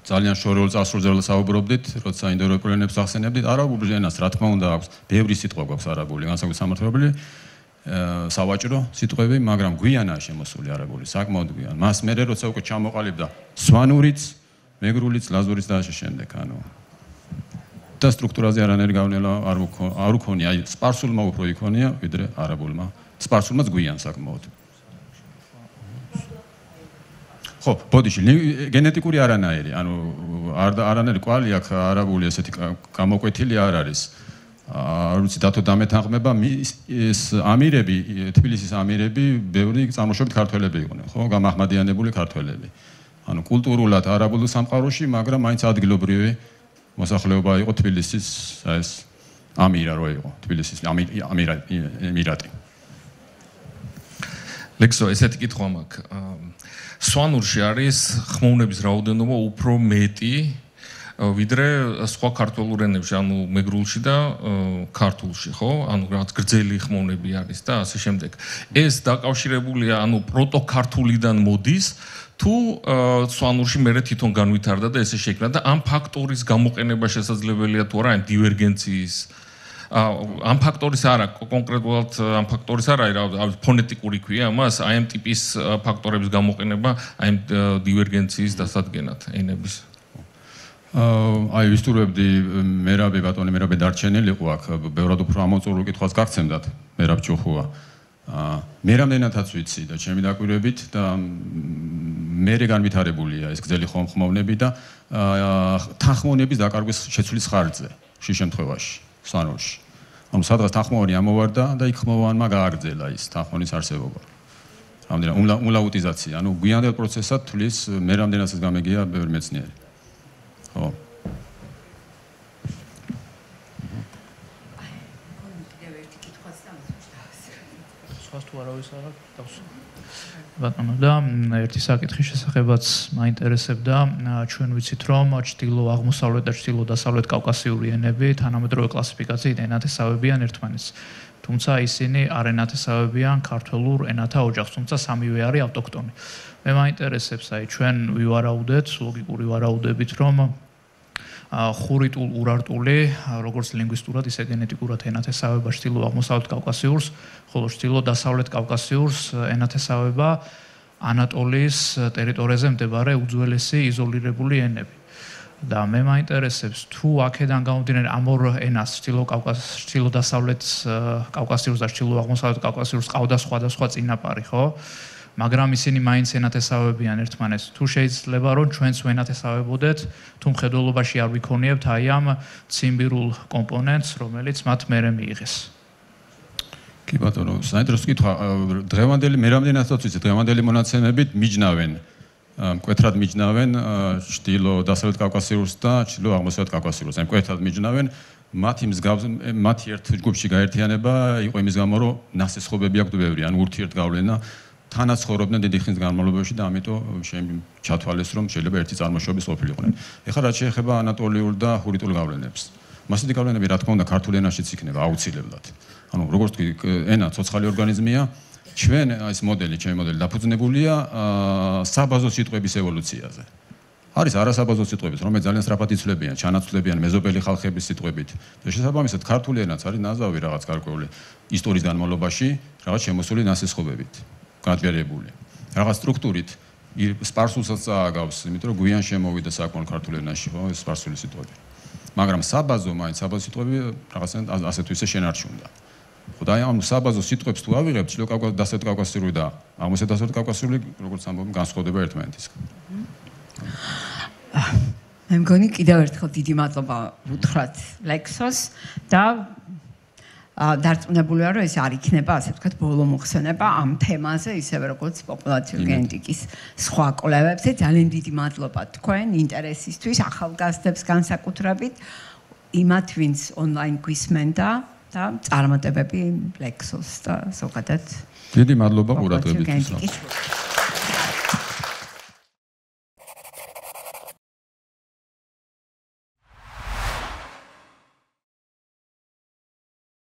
ძალიან შორეულ წარსულზე საუბრობდით, როცა ინდოევროპულ ენებს ახსენებდით, არაბულ ენას რა თქმა უნდა აქვს, ბევრი სიტყვა გვაქვს არაბული, განსაკუთრებით სამართლობრივი, სავაჭრო სიტყვები, მაგრამ გვიანაა შემოსული არაბული, საკმაოდ გვიან. მას მერე როცა უკვე ჩამოყალიბდა სვანურიც, მეგრულიც, ლაზურიც და ასე შემდეგ, ანუ და სტრუქტურაზე არანაირი გავნება არ უქონია, აი სპარსულმა უფრო იქონია, ვიდრე არაბულმა. სპარსულმაც გვიან საკმაოდ. ხო, ბოდიში, გენეტიკური არანაირი, ანუ არანაირი კვალი აქ არაბული ესეთი გამოკვეთილი არ არის. არ ვიცი დათო დამეთანხმება, ეს ამირები, თბილისის ამირები, ბევრი წარმოშობით ქართველები იყვნენ, ხო, გამაჰმადიანებული ქართველები. ანუ კულტურულად არაბულ სამყაროში, მაგრამ მაინც ადგილობრივი მოსახლეობა იყო თბილისის ეს ამირა რო იყო, თბილისის ამირატი. ლექსო, ესეთი კითხვა მაქვს. სვანურში არის ხმოვნების რაოდენობა უფრო მეტი ვიდრე სხვა ქართულ ენებში, ანუ მეგრულში და ქართულში, ხო? ანუ რაღაც გრძელი ხმოვნები არის და ასე შემდეგ. ეს დაკავშირებულია, ანუ პროტოქართულიდან მოდის, თუ სვანურში მერე თვითონ განვითარდა და ესე შეიქმნა და ამ ფაქტორის გამოყენება შესაძლებელია თუ არა, ამ დივერგენციის ამ ფაქტორის არა, კონკრეტულად ამ ფაქტორის არა, ფონეტიკური ქვია ამას, აი ამ ტიპის ფაქტორების გამოყენება, აი ამ დივერგენციის დასადგენად ენების. აი ვისტურებდი მერაბი ბატონი მერაბი დარჩენილიყო აქ ბევრად უფრო ამოწურულ კითხვას გაგცემდათ მერაბ ჭუხუა მე რამდენადაც ვიცი და ჩემი დაკვირვებით და მე განვითარებულია ეს გრძელი ხმოვნები და თანხმოვნების დაკარგვის შეცვლის ხარჯზე შე შემთხვევაში სანურში ანუ სადღაც თანხმოვანი ამოვარდა და იქ ხმოვანმა გააგრძელა ის თანხმოვნის არსებობა რამდენად უმლაუტიზაცია ანუ გვიანდელ პროცესად თulis მე რამდენადაც გამეგია ბევრი მეცნიერი ხო თუ არავის არ აქვს ბატონო და ერთი საკითხის შესახებაც მაინტერესებდა ჩვენ ვიცით რომ ჩრდილო აღმოსავლეთ და ჩრდილო დასავლეთ კავკასიური ენები თანამედროვე კლასიფიკაციით ენათესავებიან ერთმანეთს თუმცა ისინი არ ენათესავებიან ქართულ ენათა ოჯახს თუმცა სამივე არის ავტოქტონი მე მაინტერესებს აი ჩვენ ვივარაუდეთ ლოგიკური ვარაუდებით რომ ხურიტულ ურარტული როგორც ლინგვისტურად ისე გენეტიკურად ენათესავება ჩრდილო აღმოსავლეთ კავკასიურს ხოლო ჩრდილო დასავლეთ კავკასიურს ენათესავება ანატოლიის ტერიტორიაზე მდებარე უძველესი იზოლირებული ენები და მე მაინტერესებს თუ აქედან გამომდინარე ამ ორ ენას ჩრდილო დასავლეთ კავკასიურს და ჩრდილო აღმოსავლეთ კავკასიურს ყავდა სხვადასხვა წინაპარი ხო მაგრამ ისინი მაინც ენათესავებიან ერთმანეთს თუ შეიძლება რომ ჩვენც ვენათესავებოდეთ თუ მხედველობაში არ ვიქონიებთ აი ამ ციმბირულ კომპონენტს რომელიც მათ მერე მიიღეს კი ბატონო საინტერესო კითხვა დღევანდელი მე რამდენადაც ვიცი დღევანდელი მონაცემებით მიჯნავენ მკვეთრად მიჯნავენ ჩრდილო დასავლეთ კავკასიურს და ჩრდილო აღმოსავლეთ კავკასიურს აი მკვეთრად მიჯნავენ მათი ერთ ჯგუფში გაერთიანება იყო იმის გამო რომ ნასესხობები აქვთ ბევრი ან ურთიერთგავლენა თანაც ცხოვრობდნენ დიდი ხნის განმავლობაში და ამიტომ ჩათვალეს რომ შეიძლება ერთი წარმოშობის ყოფილიყვნენ. ეხლა რაც შეეხება ანატოლიურ და ჰურიტულ გავლენებს. მასეთი გავლენები რა თქმა უნდა ქართულ ენაშიც იქნება აუცილებლად. ანუ როგორც თქვი ენა ცოცხალი ორგანიზმია, ჩვენ ეს მოდელი, ჩემი მოდელი დაფუძნებულია საბაზო სიტყვების ევოლუციაზე. არის არასაბაზო სიტყვებით, რომელიც ძალიან სწრაფად იცვლებიან, ჩანაცვლებიან მეზობელი ხალხების სიტყვებით. და შესაბამისად ქართული ენაც არის ნაზავი რაღაც გარკვეული ისტორიის განმავლობაში, რაღაც შემოსული ნასესხობებით. გადაერებული. რაღაც სტრუქტურით სპარსულსაც წააგავს, იმიტომ რომ გვიან შემოვიდა საკმაოდ ქართულ ენაში, ხო, ეს სპარსული სიტყვები. მაგრამ საბაზო სიტყვები რაღაცნაირად ასე თუ ისე შენარჩუნდა. ხო და აი ამ საბაზო სიტყვებს თუ ავიღებთ, ჩრდილო დასავლეთ კავკასიური და აღმოსავლეთ დასავლეთ კავკასიური, როგორც ამბობენ, განსხვავდება ერთმანეთისგან. მე მგონი კიდევ ერთხელ დიდი მადლობა უთხრათ ლექსოს და დარწმუნებულია რომ ეს არ იქნება ასე ვთქვათ ბოლო მოხსენება ამ თემაზე ისევე როგორც პოპულაციური გენეტიკის სხვა კვლევებზე ძალიან დიდი მადლობა თქვენ ინტერესისთვის ახალგაზრდებს განსაკუთრებით იმათ ვინც ონლაინ გვისმენდა და წარმატებები ლექსოს და ზოგადად დიდი მადლობა ყურადღებისთვის